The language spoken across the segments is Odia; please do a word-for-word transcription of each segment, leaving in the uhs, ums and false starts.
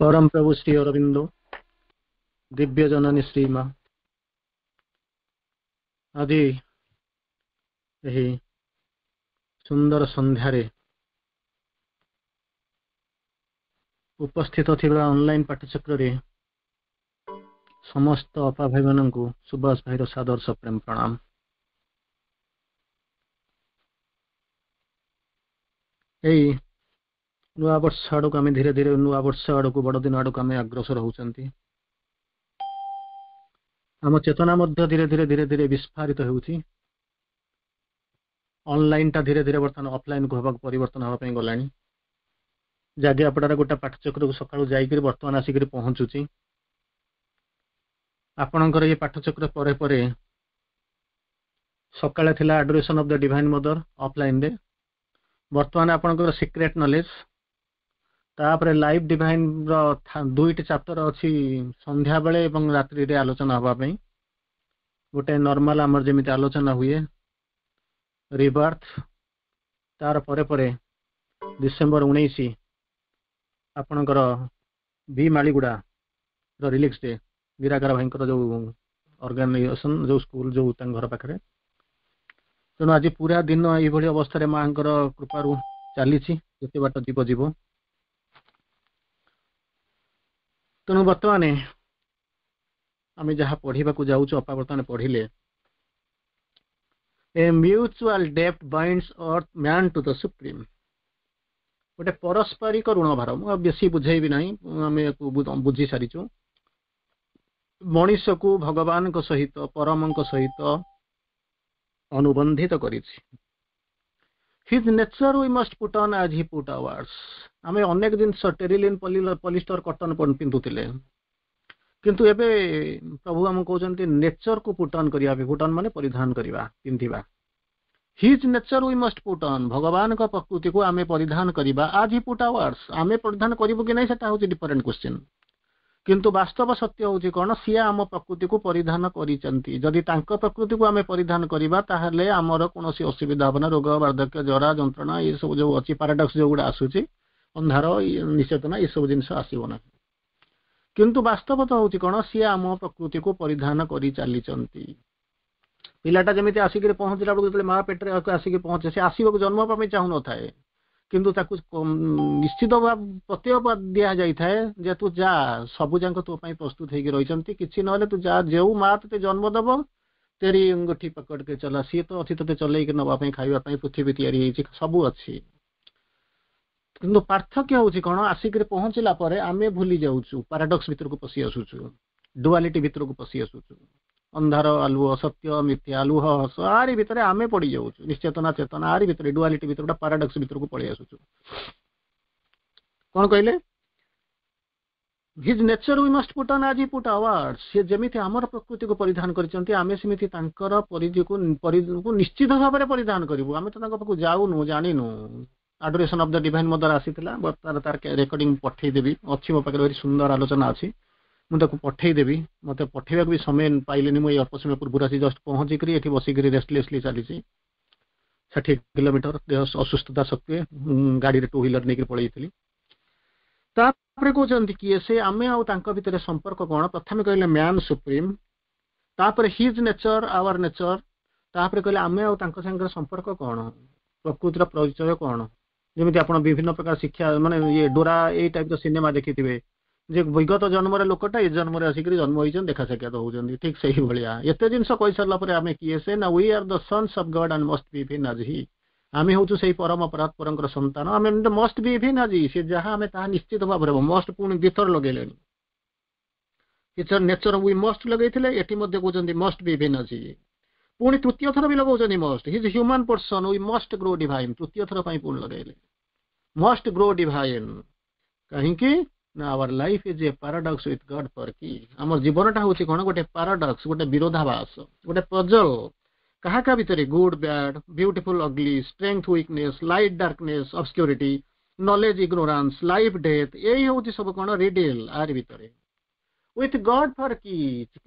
ପରମ ପ୍ରଭୁ ଶ୍ରୀ ଅରବିନ୍ଦ, ଦିବ୍ୟ ଜନନୀ ଶ୍ରୀମା ଆଜି ଏହି ସୁନ୍ଦର ସନ୍ଧ୍ୟାରେ ଉପସ୍ଥିତ ଥିବା ଅନଲାଇନ ପାଠଚକ୍ରରେ ସମସ୍ତ ଅପା ଭାଇମାନଙ୍କୁ ସୁଭାଷ ଭାଇର ସାଦର ସପ୍ରେମ ପ୍ରଣାମ। ଏଇ ନୂଆ ବର୍ଷ ଆଡ଼କୁ ଆମେ ଧୀରେ ଧୀରେ ନୂଆ ବର୍ଷ ଆଡ଼କୁ, ବଡ଼ଦିନ ଆଡ଼କୁ ଆମେ ଅଗ୍ରସର ହେଉଛନ୍ତି। ଆମ ଚେତନା ମଧ୍ୟ ଧୀରେ ଧୀରେ ଧୀରେ ଧୀରେ ବିସ୍ଫାରିତ ହେଉଛି। ଅନଲାଇନଟା ଧୀରେ ଧୀରେ ବର୍ତ୍ତମାନ ଅଫଲାଇନକୁ ହେବାକୁ ପରିବର୍ତ୍ତନ ହେବା ପାଇଁ ଗଲାଣି। ଜାଗିଆପଡ଼ାର ଗୋଟେ ପାଠଚକ୍ରକୁ ସକାଳୁ ଯାଇକରି ବର୍ତ୍ତମାନ ଆସିକରି ପହଞ୍ଚୁଛି। ଆପଣଙ୍କର ଇଏ ପାଠଚକ୍ର ପରେ ପରେ ସକାଳେ ଥିଲା Adoration of the Divine Mother ଅଫଲାଇନରେ, ବର୍ତ୍ତମାନ ଆପଣଙ୍କର ସିକ୍ରେଟ ନଲେଜ, ତାପରେ ଲାଇଫ୍ ଡିଭାଇନର ଦୁଇଟି ଚାପ୍ଟର ଅଛି ସନ୍ଧ୍ୟାବେଳେ ଏବଂ ରାତ୍ରିରେ ଆଲୋଚନା ହେବା ପାଇଁ। ଗୋଟେ ନର୍ମାଲ ଆମର ଯେମିତି ଆଲୋଚନା ହୁଏ ରିବାର୍ଥ, ତାର ପରେ ପରେ ଡିସେମ୍ବର ଉଣେଇଶ ଆପଣଙ୍କର ବି ମାଳିଗୁଡ଼ାର ରିଲିକ୍ସ ଡେ, ନିରାକାର ଭାଇଙ୍କର ଯୋଉ ଅର୍ଗାନାଇଜେସନ, ଯୋଉ ସ୍କୁଲ, ଯୋଉ ତାଙ୍କ ଘର ପାଖରେ। ତେଣୁ ଆଜି ପୁରା ଦିନ ଏଇଭଳି ଅବସ୍ଥାରେ ମାଙ୍କର କୃପାରୁ ଚାଲିଛି, ଯେତେ ବାଟ ଯିବ ଯିବ। ତେଣୁ ବର୍ତ୍ତମାନ ଆମେ ଯାହା ପଢିବାକୁ ଯାଉଛୁ, ଅପା ବର୍ତ୍ତମାନ ପଢିଲେ, A mutual debt binds earth man to the Supreme। ଗୋଟେ ପାରସ୍ପରିକ ଋଣ ଭାର। ମୁଁ ଆଉ ବେଶୀ ବୁଝେଇବି ନାହିଁ, ଆମେ ୟାକୁ ବୁଝି ସାରିଛୁ। ମଣିଷକୁ ଭଗବାନଙ୍କ ସହିତ, ପରମଙ୍କ ସହିତ ଅନୁବନ୍ଧିତ କରିଛି। His nature we must put on as he put ours। ଆମେ ଅନେକ ଜିନିଷ ଟେରିଲିନ୍, ପଲିଷ୍ଟର, କଟନ ପିନ୍ଧୁଥିଲେ, କିନ୍ତୁ ଏବେ ପ୍ରଭୁ ଆମକୁ କହୁଛନ୍ତି ନେଚରକୁ ପୁଟ୍ ଅନ୍ କରିବା ପାଇଁ। ପୁଟ୍ ଅନ୍ ମାନେ ପରିଧାନ କରିବା, ପିନ୍ଧିବା। His nature we must put on, ଭଗବାନଙ୍କ ପ୍ରକୃତିକୁ ଆମେ ପରିଧାନ କରିବା। ଆଜ୍ ହି ପୁଟ୍ ଆୱାର୍ସ, ଆମେ ପରିଧାନ କରିବୁ କି ନାହିଁ ସେଟା ହଉଛି ଡିଫରେଣ୍ଟ କ୍ୱେଶ୍ଚିନ୍, କିନ୍ତୁ ବାସ୍ତବ ସତ୍ୟ ହଉଛି କଣ, ସିଏ ଆମ ପ୍ରକୃତିକୁ ପରିଧାନ କରିଛନ୍ତି। ଯଦି ତାଙ୍କ ପ୍ରକୃତିକୁ ଆମେ ପରିଧାନ କରିବା ତାହେଲେ ଆମର କୌଣସି ଅସୁବିଧା ହବ ନା। ରୋଗ, ବାର୍ଦ୍ଧକ୍ୟ, ଜରା, ଯନ୍ତ୍ରଣା, ଏସବୁ ଯୋଉ ଅଛି ପାରାଡକ୍ସ ଯୋଉଗୁଡ଼ା ଆସୁଛି, ଅନ୍ଧାର, ନିଶ୍ଚେତନା, ଏସବୁ ଜିନିଷ ଆସିବ ନାହିଁ। କିନ୍ତୁ ବାସ୍ତବତା ହଉଛି କଣ, ସିଏ ଆମ ପ୍ରକୃତିକୁ ପରିଧାନ କରି ଚାଲିଛନ୍ତି। ପିଲାଟା ଯେମିତି ଆସିକିରି ପହଞ୍ଚିଲା ବେଳକୁ, ଯେତେବେଳେ ମା ପେଟରେ ଆସିକି ପହଞ୍ଚେ, ସେ ଆସିବାକୁ ଜନ୍ମ ହେବା ପାଇଁ ଚାହୁଁନଥାଏ, କିନ୍ତୁ ତାକୁ ନିଶ୍ଚିତ ପ୍ରତ୍ୟୟ ଦିଆଯାଇଥାଏ ଯେ ତୁ ଯା, ସବୁ ଯାକ ତୋ ପାଇଁ ପ୍ରସ୍ତୁତ ହେଇକି ରହିଛନ୍ତି, କିଛି ନହେଲେ ତୁ ଯା, ଯେଉଁ ମା ତତେ ଜନ୍ମ ଦବ तेरी अंगूठी पकड़ के चला, ସିଏ ତ ଅଛି ତତେ ଚଲେଇକି ନବା ପାଇଁ, ଖାଇବା ପାଇଁ ପୃଥିବୀ ତିଆରି ହେଇଛି, ସବୁ ଅଛି। କିନ୍ତୁ ପାର୍ଥକ୍ୟ ହଉଛି କଣ, ଆସିକିରି ପହଞ୍ଚିଲା ପରେ ଆମେ ଭୁଲି ଯାଉଛୁ, ପାରାଡକ୍ସ ଭିତରକୁ ପଶି ଆସୁଛୁ, ଡୁଆଲିଟି ଭିତରକୁ ପଶି ଆସୁଛୁ, ଅନ୍ଧାର ଆଲୁଅ, ସତ୍ୟ ମିଥ୍ୟା, ଲୁହ ହସ, ଆରି ଭିତରେ ଆମେ ପଡି ଯାଉଛୁ। ନିଶ୍ଚେତନା ଚେତନା, ଆରି ଭିତରେ ଡୁଆଲିଟି ଭିତରେ ଗୋଟେ ପାରାଡକ୍ସ ଭିତରକୁ ପଳେଇ ଆସୁଛୁ। କଣ କହିଲେ? His nature we must put on as he put ours। ସିଏ ଯେମିତି ଆମର ପ୍ରକୃତିକୁ ପରିଧାନ କରିଛନ୍ତି, ଆମେ ସେମିତି ତାଙ୍କର ପରିଧିକୁ ପରିଧିକୁ ନିଶ୍ଚିତ ଭାବରେ ପରିଧାନ କରିବୁ। ଆମେ ତ ତାଙ୍କ ପାଖକୁ ଯାଉନୁ, ଜାଣିନୁ। Adoration of the Divine Mother ଆସିଥିଲା, ବର୍ତ୍ତମାନ ତାର ରେକର୍ଡିଂ ପଠେଇଦେବି, ଅଛି ମୋ ପାଖରେ, ଭାରି ସୁନ୍ଦର ଆଲୋଚନା ଅଛି, ମୁଁ ତାକୁ ପଠେଇଦେବି। ମତେ ପଠେଇବାକୁ ବି ସମୟ ପାଇଲିନି, ମୁଁ ଏଇ ଅଳ୍ପ ସମୟ ପୂର୍ବରୁ ଆସି ଜଷ୍ଟ ପହଞ୍ଚିକରି ଏଠି ବସିକରି ରେଷ୍ଟଲେସଲି ଚାଲିଛି। ଷାଠିଏ କିଲୋମିଟର ଦେହ ଅସୁସ୍ଥତା ସତ୍ତ୍ୱେ ଗାଡ଼ିରେ ଟୁ ହ୍ୱିଲର ନେଇକି ପଳେଇଥିଲି। ତାପରେ କହୁଛନ୍ତି କିଏ ସେ, ଆମେ ଆଉ ତାଙ୍କ ଭିତରେ ସମ୍ପର୍କ କଣ? ପ୍ରଥମେ କହିଲେ ମ୍ୟାନ୍ ସୁପ୍ରିମ, ତାପରେ his nature hour nature, ତାପରେ କହିଲେ ଆମେ ଆଉ ତାଙ୍କ ସାଙ୍ଗରେ ସମ୍ପର୍କ କଣ, ପ୍ରକୃତିର ପରିଚୟ କଣ। ଯେମିତି ଆପଣ ବିଭିନ୍ନ ପ୍ରକାର ଶିକ୍ଷା ମାନେ ଇଏ ଡୋରା ଏଇ ଟାଇପର ସିନେମା ଦେଖିଥିବେ, ଯେ ବିଗତ ଜନ୍ମର ଲୋକଟା ଏ ଜନ୍ମରେ ଆସିକରି ଜନ୍ମ ହେଇଛନ୍ତି, ଦେଖା ସାକ୍ଷାତ ହଉଛନ୍ତି, ଠିକ ସେଇଭଳିଆ। ଏତେ ଜିନିଷ କହିସାରିଲା ପରେ ଆମେ କିଏ ସେ ନା, we are the sons of God and must be even as he। ଆମେ ହଉଛୁ ସେଇ ପରମ ପରାତ୍ପରଙ୍କର ସନ୍ତାନ, ଆମେ ମଷ୍ଟ ବି ଇଭିନ୍ ଆଜ୍ ହି, ସେ ଯାହା ଆମେ ତାହା ନିଶ୍ଚିତ ଭାବରେ ହବ। ମଷ୍ଟ ପୁଣି ଦ୍ୱିଥର ଲଗେଇଲେଣି, ନେଚର we ମଷ୍ଟ ଲଗେଇଥିଲେ, ଏଠି ମଧ୍ୟ କହୁଛନ୍ତି ମଷ୍ଟ ବି ଇଭିନ୍ ଆଜ୍ ହି। ପୁଣି ତୃତୀୟ ଥର ବି ଲଗାଉଛନ୍ତି must, his human person we must grow divine। ତୃତୀୟ ଥର ପାଇଁ ପୁଣି ଲଗେଇଲେ ମଷ୍ଟ ଗ୍ରୋ ଡିଭାଇନ୍। କାହିଁକି ନା our life is a paradox with God for key। ଆମ ଜୀବନଟା ହଉଛି କଣ, ଗୋଟେ ପାରାଡକ୍ସ, ଗୋଟେ ବିରୋଧାଭାସ, ଗୋଟେ ପଜଲ। କାହା କାହା ଭିତରେ? Good bad, beautiful ugly, strength weakness, light darkness, obscurity, knowledge ignorance, life death, ଏଇ ହଉଛି ସବୁ କଣ ରିଡିଲ। ଆରି ଭିତରେ ୱିଥ୍ ଗଡ୍ ଫର୍ କି,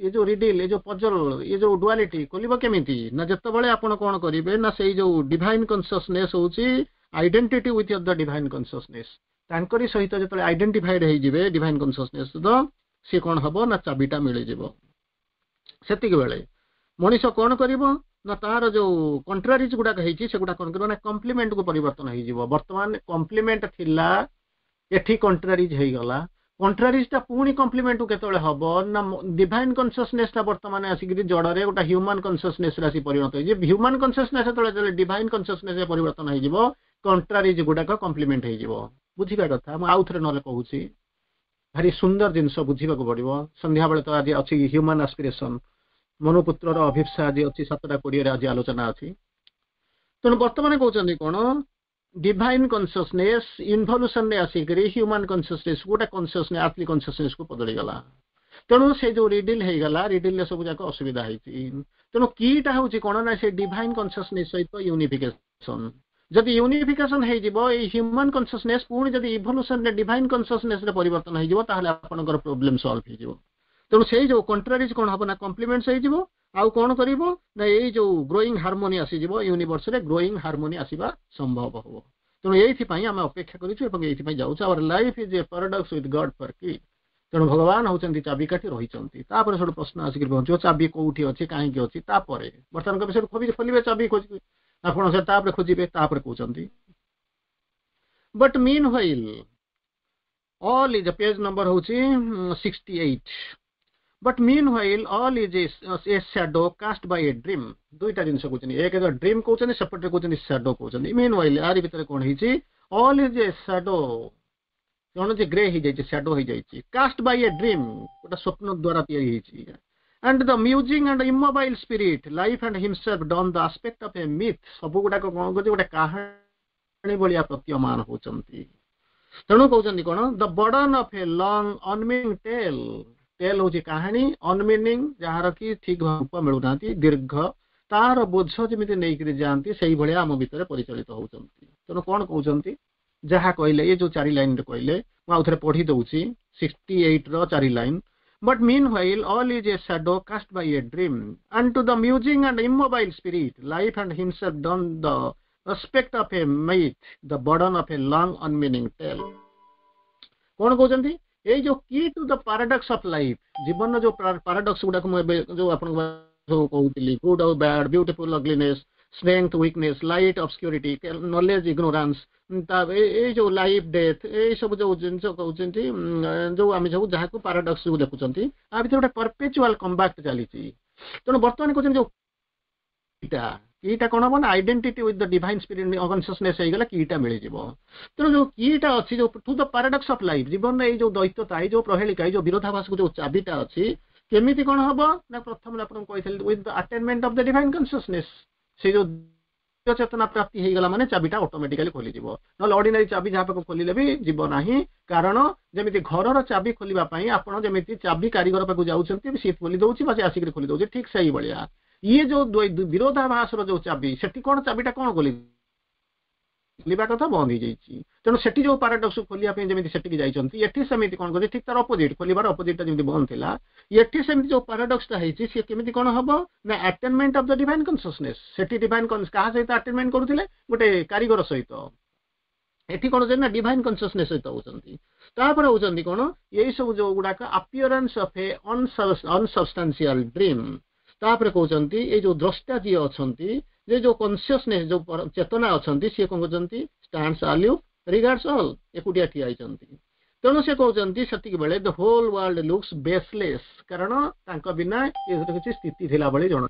ଏ ଯୋଉ ରିଡିଲ, ଏ ଯୋଉ ପଜଲ, ଏ ଯୋଉ ଡୁଆଲିଟି ଖୋଲିବ କେମିତି ନା ଯେତେବେଳେ ଆପଣ କଣ କରିବେ ନା ସେଇ ଯୋଉ ଡିଭାଇନ କନସିୟସନେସ୍ ହଉଛି identity with the divine consciousness, ତାଙ୍କରି ସହିତ ଯେତେବେଳେ ଆଇଡେଣ୍ଟିଫାଇଡ୍ ହେଇଯିବେ ଡିଭାଇନ୍ କନସିୟସନେସ୍ ସହିତ ସିଏ କ'ଣ ହବ ନା ଚାବିଟା ମିଳିଯିବ ସେତିକି ବେଳେ ମଣିଷ କ'ଣ କରିବ ନା ତାର ଯୋଉ କଣ୍ଟ୍ରାରିଜ ଗୁଡାକ ହେଇଛି ସେଗୁଡା କ'ଣ କରିବ ନା କମ୍ପ୍ଲିମେଣ୍ଟକୁ ପରିବର୍ତ୍ତନ ହେଇଯିବ ବର୍ତ୍ତମାନ କମ୍ପ୍ଲିମେଣ୍ଟ ଥିଲା ଏଠି କଣ୍ଟ୍ରାରିଜ ହେଇଗଲା କଣ୍ଟ୍ରାରିଜଟା ପୁଣି କମ୍ପ୍ଲିମେଣ୍ଟକୁ କେତେବେଳେ ହବ ନା ଡିଭାଇନ୍ କନସିୟସନେସଟା ବର୍ତ୍ତମାନ ଆସିକିରି ଜଡ଼ରେ ଗୋଟେ ହ୍ୟୁମାନ କନସିୟସନେସରେ ଆସି ପରିଣତ ହେଇଯିବ ହ୍ୟୁମାନ କନସିୟସନେସ୍ ଯେତେବେଳେ ଯେତେବେଳେ ଡିଭାଇନ୍ କନସିୟସନେସରେ ପରିବର୍ତ୍ତନ ହେଇଯିବ କଣ୍ଟ୍ରାରିଜ ଗୁଡାକ କମ୍ପ୍ଲିମେଣ୍ଟ ହେଇଯିବ ବୁଝିବା କଥା ମୁଁ ଆଉ ଥରେ ନହେଲେ କହୁଛି ଭାରି ସୁନ୍ଦର ଜିନିଷ ବୁଝିବାକୁ ପଡିବ ସନ୍ଧ୍ୟାବେଳେ ତ ଆଜି ଅଛି ହ୍ୟୁମାନ ଆସ୍ପିରେସନ ମନୁପୁତ୍ରର ଅଭିପ୍ସା ଆଜି ଅଛି ସାତଟା କୋଡ଼ିଏରେ ଆଜି ଆଲୋଚନା ଅଛି ତେଣୁ ବର୍ତ୍ତମାନ କହୁଛନ୍ତି କ'ଣ ଡିଭାଇନ୍ କନସିୟସନେସ୍ ଇନଭଲ୍ୟୁସନରେ ଆସିକରି ହ୍ୟୁମାନ କନସିୟସନେସ୍ ଗୋଟେ କନସିୟସନେସ୍ ଆର୍ଥଲି କନସିୟସନେସକୁ ବଦଳିଗଲା ତେଣୁ ସେ ଯୋଉ ରିଡିଲ୍ ହେଇଗଲା ରିଡିଲରେ ସବୁ ଯାକ ଅସୁବିଧା ହେଇଛି ତେଣୁ କିଟା ହଉଛି କ'ଣ ନା ସେ ଡିଭାଇନ୍ କନସିୟସନେସ୍ ସହିତ ୟୁନିଫିକେସନ ଯଦି ୟୁନିଫିକେସନ ହେଇଯିବ ଏଇ ହ୍ୟୁମାନ କନସିୟସନେସ୍ ପୁଣି ଯଦି ଇଭଲ୍ୟୁସନରେ ଡିଭାଇନ୍ କନସିୟସନେସରେ ପରିବର୍ତ୍ତନ ହେଇଯିବ ତାହେଲେ ଆପଣଙ୍କର ପ୍ରୋବ୍ଲେମ ସଲ୍ଭ ହେଇଯିବ ତେଣୁ ସେଇ ଯୋଉ କଣ୍ଟ୍ରାରିଜ କ'ଣ ହବ ନା କମ୍ପ୍ଲିମେଣ୍ଟସ ହେଇଯିବ ଆଉ କ'ଣ କରିବ ନା ଏଇ ଯୋଉ ଗ୍ରୋଇଂ ହାରମୋନି ଆସିଯିବ ୟୁନିଭର୍ସରେ ଗ୍ରୋଇଂ ହାରମୋନି ଆସିବା ସମ୍ଭବ ହବ ତେଣୁ ଏଇଥିପାଇଁ ଆମେ ଅପେକ୍ଷା କରିଛୁ ଏବଂ ଏଇଥିପାଇଁ ଯାଉଛୁ Our life is a paradox with God for key ତେଣୁ ଭଗବାନ ହଉଛନ୍ତି ଚାବିକାଠି ରହିଛନ୍ତି ତାପରେ ସେଠୁ ପ୍ରଶ୍ନ ଆସିକି ପହଞ୍ଚିବ ଚାବି କୋଉଠି ଅଛି କାହିଁକି ଅଛି ତାପରେ ବର୍ତ୍ତମାନ କହିବେ ସେଠୁ ଖୋଲି ଖୋଲିବେ ଚାବି ଖୋଜିବେ ଆପଣ ସେ ତାପରେ ଖୋଜିବେ ତାପରେ କହୁଛନ୍ତି But meanwhile all is page number ହଉଛି sixty eight But meanwhile all is a shadow cast by a dream ଦୁଇଟା ଜିନିଷ କହୁଛନ୍ତି ଏକ ତ ଡ୍ରିମ୍ କହୁଛନ୍ତି ସେପଟରେ କହୁଛନ୍ତି ସ୍ୟାଡୋ କହୁଛନ୍ତି ମିନ୍ ହ୍ୱାଇଲ୍ ଆରି ଭିତରେ କ'ଣ ହେଇଛି ଅଲ୍ is a shadow କଣ ଯେ ଗ୍ରେ ହେଇଯାଇଛି ସ୍ୟାଡୋ ହେଇଯାଇଛି କାଷ୍ଟ ବାଇ ଏ ଡ୍ରିମ୍ ଗୋଟେ ସ୍ୱପ୍ନ ଦ୍ୱାରା ତିଆରି ହେଇଛି and the musing and immobile spirit life and himself don the aspect of a myth ସବୁ ଗୁଡାକ କଣ କରୁଛି ଗୋଟେ କାହାଣୀ ଭଳିଆ ପ୍ରତୀୟମାନ ହଉଛନ୍ତି ତେଣୁ କହୁଛନ୍ତି କଣ the burden of a long unmeaning tale tale ହଉଛି କାହାଣୀ ଅନମିନିଂ ଯାହାର କି ଠିକ ରୂପ ମିଳୁନାହାନ୍ତି ଦୀର୍ଘ ତାର ବୋଝ ଯେମିତି ନେଇକିରି ଯାଆନ୍ତି ସେଇଭଳିଆ ଆମ ଭିତରେ ପରିଚାଳିତ ହଉଛନ୍ତି ତେଣୁ କଣ କହୁଛନ୍ତି ଯାହା କହିଲେ ଏ ଯୋଉ ଚାରି ଲାଇନରେ କହିଲେ ମୁଁ ଆଉ ଥରେ ପଢି ଦଉଛି ସିକ୍ସଟି ଏଇଟ ର ଚାରି line But meanwhile all is a shadow cast by a dream and to the musing and immobile spirit life and himself don the aspect of a myth the burden of a long unmeaning tale କଣ କହୁଛନ୍ତି ଏଇ ଯୋଉ key to the paradox of life ଜୀବନର ଯୋଉ ପାରାଡକ୍ସ ଗୁଡାକ ମୁଁ ଏବେ ଯୋଉ ଆପଣଙ୍କୁ ସବୁ କହୁଥିଲି ଗୁଡ୍ ଆଉ bad beautiful ugliness strength weakness light obscurity knowledge ignorance ତା ଏଇ ଯୋଉ ଲାଇଫ ଡେଥ୍ ଏଇ ସବୁ ଯୋଉ ଜିନିଷ କହୁଛନ୍ତି ଯୋଉ ଆମେ ସବୁ ଯାହାକୁ ପାରାଡକ୍ସ ଦେଖୁଛନ୍ତି ଆ ଭିତରେ ଗୋଟେ ପରପେଚୁଆଲ କମ୍ବାକ୍ଟ ଚାଲିଛି ତେଣୁ ବର୍ତ୍ତମାନ କହୁଛନ୍ତି ଯୋଉ କିଟା କିଟା କଣ ହବ ନା identity with the divine spirit consciousness ହେଇଗଲା କିଟା ମିଳିଯିବ ତେଣୁ ଯୋଉ କିଟା ଅଛି ଯୋଉ to the paradox of life ଜୀବନରେ ଏଇ ଯୋଉ ଦ୍ୱୈତତା ଏଇ ଯୋଉ ପ୍ରହେଳିକା ଏଇ ଯୋଉ ବିରୋଧାଭାସକୁ ଯୋଉ ଚାବିଟା ଅଛି କେମିତି କଣ ହବ ନା ପ୍ରଥମେ ଆପଣଙ୍କୁ କହିଥିଲି with the attainment of the divine consciousness ସେଇ ଯୋଉ ଚେତନା ପ୍ରାପ୍ତି ହେଇଗଲା ମାନେ ଚାବିଟା ଅଟୋମେଟିକାଲି ଖୋଲିଯିବ ନହେଲେ ଅର୍ଡିନାରୀ ଚାବି ଯାହା ପାଖକୁ ଖୋଲିଲେ ବି ଯିବ ନାହିଁ କାରଣ ଯେମିତି ଘରର ଚାବି ଖୋଲିବା ପାଇଁ ଆପଣ ଯେମିତି ଚାବି କାରିଗର ପାଖକୁ ଯାଉଛନ୍ତି ସିଏ ଖୋଲି ଦଉଛି ବା ସେ ଆସିକିରି ଖୋଲି ଦଉଛି ଠିକ ସେଇଭଳିଆ ଇଏ ଯୋଉ ବିରୋଧାଭାସର ଯୋଉ ଚାବି ସେଠି କଣ ଚାବିଟା କଣ ଖୋଲି ଖୋଲିବା କଥା ବନ୍ଦ ହେଇଯାଇଛି ତେଣୁ ସେଠି ଯୋଉ ପାରାଡକ୍ସ ଖୋଲିବା ପାଇଁ ଯେମିତି ସେଠିକି ଯାଇଛନ୍ତି ଏଠି ସେମିତି କଣ କରୁଛି ଠିକ ତାର ଅପୋଜିଟ ଖୋଲିବାର ଅପୋଜିଟଟା ଯେମିତି ବନ୍ଦ ଥିଲା ଏଠି ସେମିତି ଯୋଉ ପାରାଡକ୍ସଟା ହେଇଛି ସିଏ କେମିତି କଣ ହବ ନା attainment of the divine consciousness ସେଠି ଡିଭାଇନ୍ କାହା ସହିତ ଆଟେନମେଣ୍ଟ କରୁଥିଲେ ଗୋଟେ କାରିଗର ସହିତ ଏଠି କଣ ହଉଛି ନା ଡିଭାଇନ୍ କନସିୟସନେସ୍ ସହିତ ହଉଛନ୍ତି ତାପରେ ହଉଛନ୍ତି କଣ ଏଇ ସବୁ ଯୋଉ ଗୁଡାକ appearance of a unsubstantial dream ତାପରେ କହୁଛନ୍ତି ଏଇ ଯୋଉ ଦ୍ରଷ୍ଟା ଯିଏ ଅଛନ୍ତି ଯେ ଯୋଉ କନସିୟସନେସ୍ ଯୋଉ ଚେତନା ଅଛନ୍ତି ସିଏ କଣ କହୁଛନ୍ତି ଷ୍ଟାଣ୍ଡସ୍ ଆଲୁଫ୍ ରିଗାର୍ଡସ୍ ଅଲ୍ ଏକୁଟିଆ ଠିଆ ହେଇଛନ୍ତି ତେଣୁ ସେ କହୁଛନ୍ତି ସେତିକି ବେଳେ the whole world looks baseless କାରଣ ତାଙ୍କ ବିନା ଏ କିଛି ସ୍ଥିତି ଥିଲା ଭଳି ଜଣା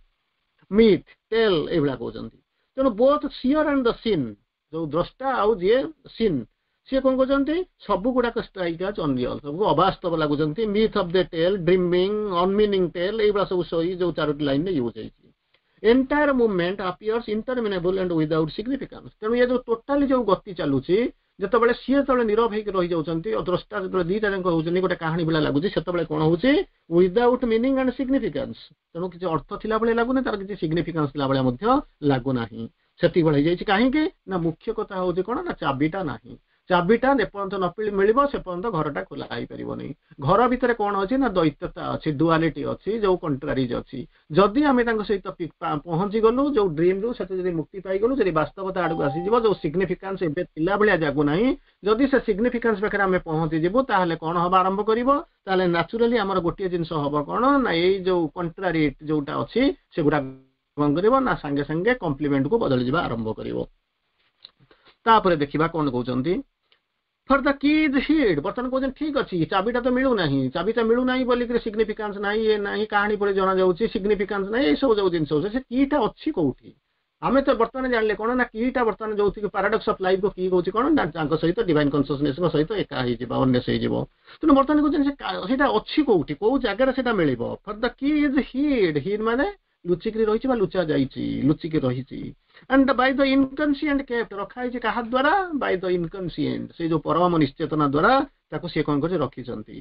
ମିଥ୍ ଟେଲ୍ ଏଇଭଳିଆ କହୁଛନ୍ତି ତେଣୁ both seer and the seen ଯୋଉ ଦ୍ରଷ୍ଟା ଆଉ ଯିଏ ସିନ୍ ସିଏ କଣ କହୁଛନ୍ତି ସବୁ ଗୁଡାକ ଷ୍ଟ୍ରାଇକ୍ ଆଜ୍ ଅନରିଅଲ ସବୁ ଅବାସ୍ତବ ଲାଗୁଛନ୍ତି myth of the tale dreaming unmeaning tale ଏଇଭଳିଆ ସବୁ ସଇ ଯୋଉ ଚାରୋଟି ଲାଇନରେ ୟୁଜ୍ ହେଇଛି entire movement appears interminable and without significance ତେଣୁ ଇଏ ଯୋଉ ଟୋଟାଲି ଯୋଉ ଗତି ଚାଲୁଛି ଯେତେବେଳେ ସିଏ ଯେତେବେଳେ ନିରବ ହେଇକି ରହିଯାଉଛନ୍ତି ଆଉ ଦ୍ରଷ୍ଟା ଯେତେବେଳେ ଦିଟା ଯାକ ହଉଛନ୍ତି ଗୋଟେ କାହାଣୀ ଭଳିଆ ଲାଗୁଛି ସେତେବେଳେ କଣ ହଉଛି ୱିଦାଉଟ୍ ମିନିଂ ଆଣ୍ଡ ସିଗ୍ନିଫିକାନ୍ସ ତେଣୁ କିଛି ଅର୍ଥ ଥିଲା ଭଳିଆ ଲାଗୁନି ତାର କିଛି ସିଗ୍ନିଫିକାନ୍ସ ଥିଲା ଭଳିଆ ମଧ୍ୟ ଲାଗୁନାହିଁ ସେତିକି ଭଳି ହେଇଯାଇଛି କାହିଁକି ନା ମୁଖ୍ୟ କଥା ହଉଛି କଣ ନା ଚାବିଟା ନାହିଁ ଚାବିଟା ଯେପର୍ଯ୍ୟନ୍ତ ନ ମିଳିବ ସେ ପର୍ଯ୍ୟନ୍ତ ଘରଟା ଖୋଲା ହେଇପାରିବନି ଘର ଭିତରେ କଣ ଅଛି ନା ଦ୍ୱୈତତା ଅଛି ଡୁଆଲିଟି ଅଛି ଯୋଉ କଣ୍ଟ୍ରାରିଜ ଅଛି ଯଦି ଆମେ ତାଙ୍କ ସହିତ ପହଞ୍ଚି ଗଲୁ ଯୋଉ ଡ୍ରିମରୁ ସେଠୁ ଯଦି ମୁକ୍ତି ପାଇଗଲୁ ଯଦି ବାସ୍ତବତା ଆଡକୁ ଆସିଯିବ ଯୋଉ ସିଗ୍ନିଫିକାନ୍ସ ଏବେ ଥିଲା ଭଳିଆ ଜାଗୁନାହିଁ ଯଦି ସେ ସିଗ୍ନିଫିକାନ୍ସ ପାଖରେ ଆମେ ପହଞ୍ଚିଯିବୁ ତାହେଲେ କଣ ହବା ଆରମ୍ଭ କରିବ ତାହେଲେ ନ୍ୟାଚୁରାଲି ଆମର ଗୋଟିଏ ଜିନିଷ ହବ କଣ ନା ଏଇ ଯୋଉ କଣ୍ଟ୍ରାରି ଯୋଉଟା ଅଛି ସେଗୁଡା କଣ କରିବ ନା ସାଙ୍ଗେ ସାଙ୍ଗେ କମ୍ପ୍ଲିମେଣ୍ଟକୁ ବଦଳିଯିବା ଆରମ୍ଭ କରିବ ତାପରେ ଦେଖିବା କଣ କହୁଛନ୍ତି For the key is hid ବର୍ତ୍ତମାନ କହୁଛନ୍ତି ଠିକ ଅଛି ଚାବିଟା ତ ମିଳୁନାହିଁ ଚାବିଟା ମିଳୁନାହିଁ ବୋଲିକିରି ସିଗ୍ନିଫିକାନ୍ସ ନାହିଁ ଇଏ ନାହିଁ କାହାଣୀ ପରି ଜଣାଯାଉଛି ସିଗ୍ନିଫିକାନ୍ସ ନାହିଁ ଏଇସବୁ ଯୋଉ ଜିନିଷ ହଉଛି ସେ କିଟା ଅଛି କୋଉଠି ଆମେ ତ ବର୍ତ୍ତମାନ ଜାଣିଲେ କଣ ନା କିଟା ବର୍ତ୍ତମାନ ଯୋଉଥିକି ପାରାଡକ୍ସ ଅଫ ଲାଇଫ କି କହୁଛି କଣ ନା ତାଙ୍କ ସହିତ ଡିଭାଇନ କନସିୟସନେସଙ୍କ ସହିତ ଏକା ହେଇଯିବ ୱାନନେସ୍ ହେଇଯିବ ତେଣୁ ବର୍ତ୍ତମାନ କହୁଛନ୍ତି ସେ ସେଇଟା ଅଛି କୋଉଠି କୋଉ ଜାଗାରେ ସେଇଟା ମିଳିବ For the key is hid hid ମାନେ ଲୁଚିକିରି ରହିଛି ବା ଲୁଚା ଯାଇଛି ଲୁଚିକି ରହିଛି and by the inconscient kept ରଖା ହେଇଛି କାହା ଦ୍ୱାରା ବାଇ ଦ ଇନକନସିଏଣ୍ଟ ସେଇ ଯୋଉ ପରମ ନିଶ୍ଚେତନା ଦ୍ୱାରା ତାକୁ ସିଏ କଣ କରିଛି ରଖିଛନ୍ତି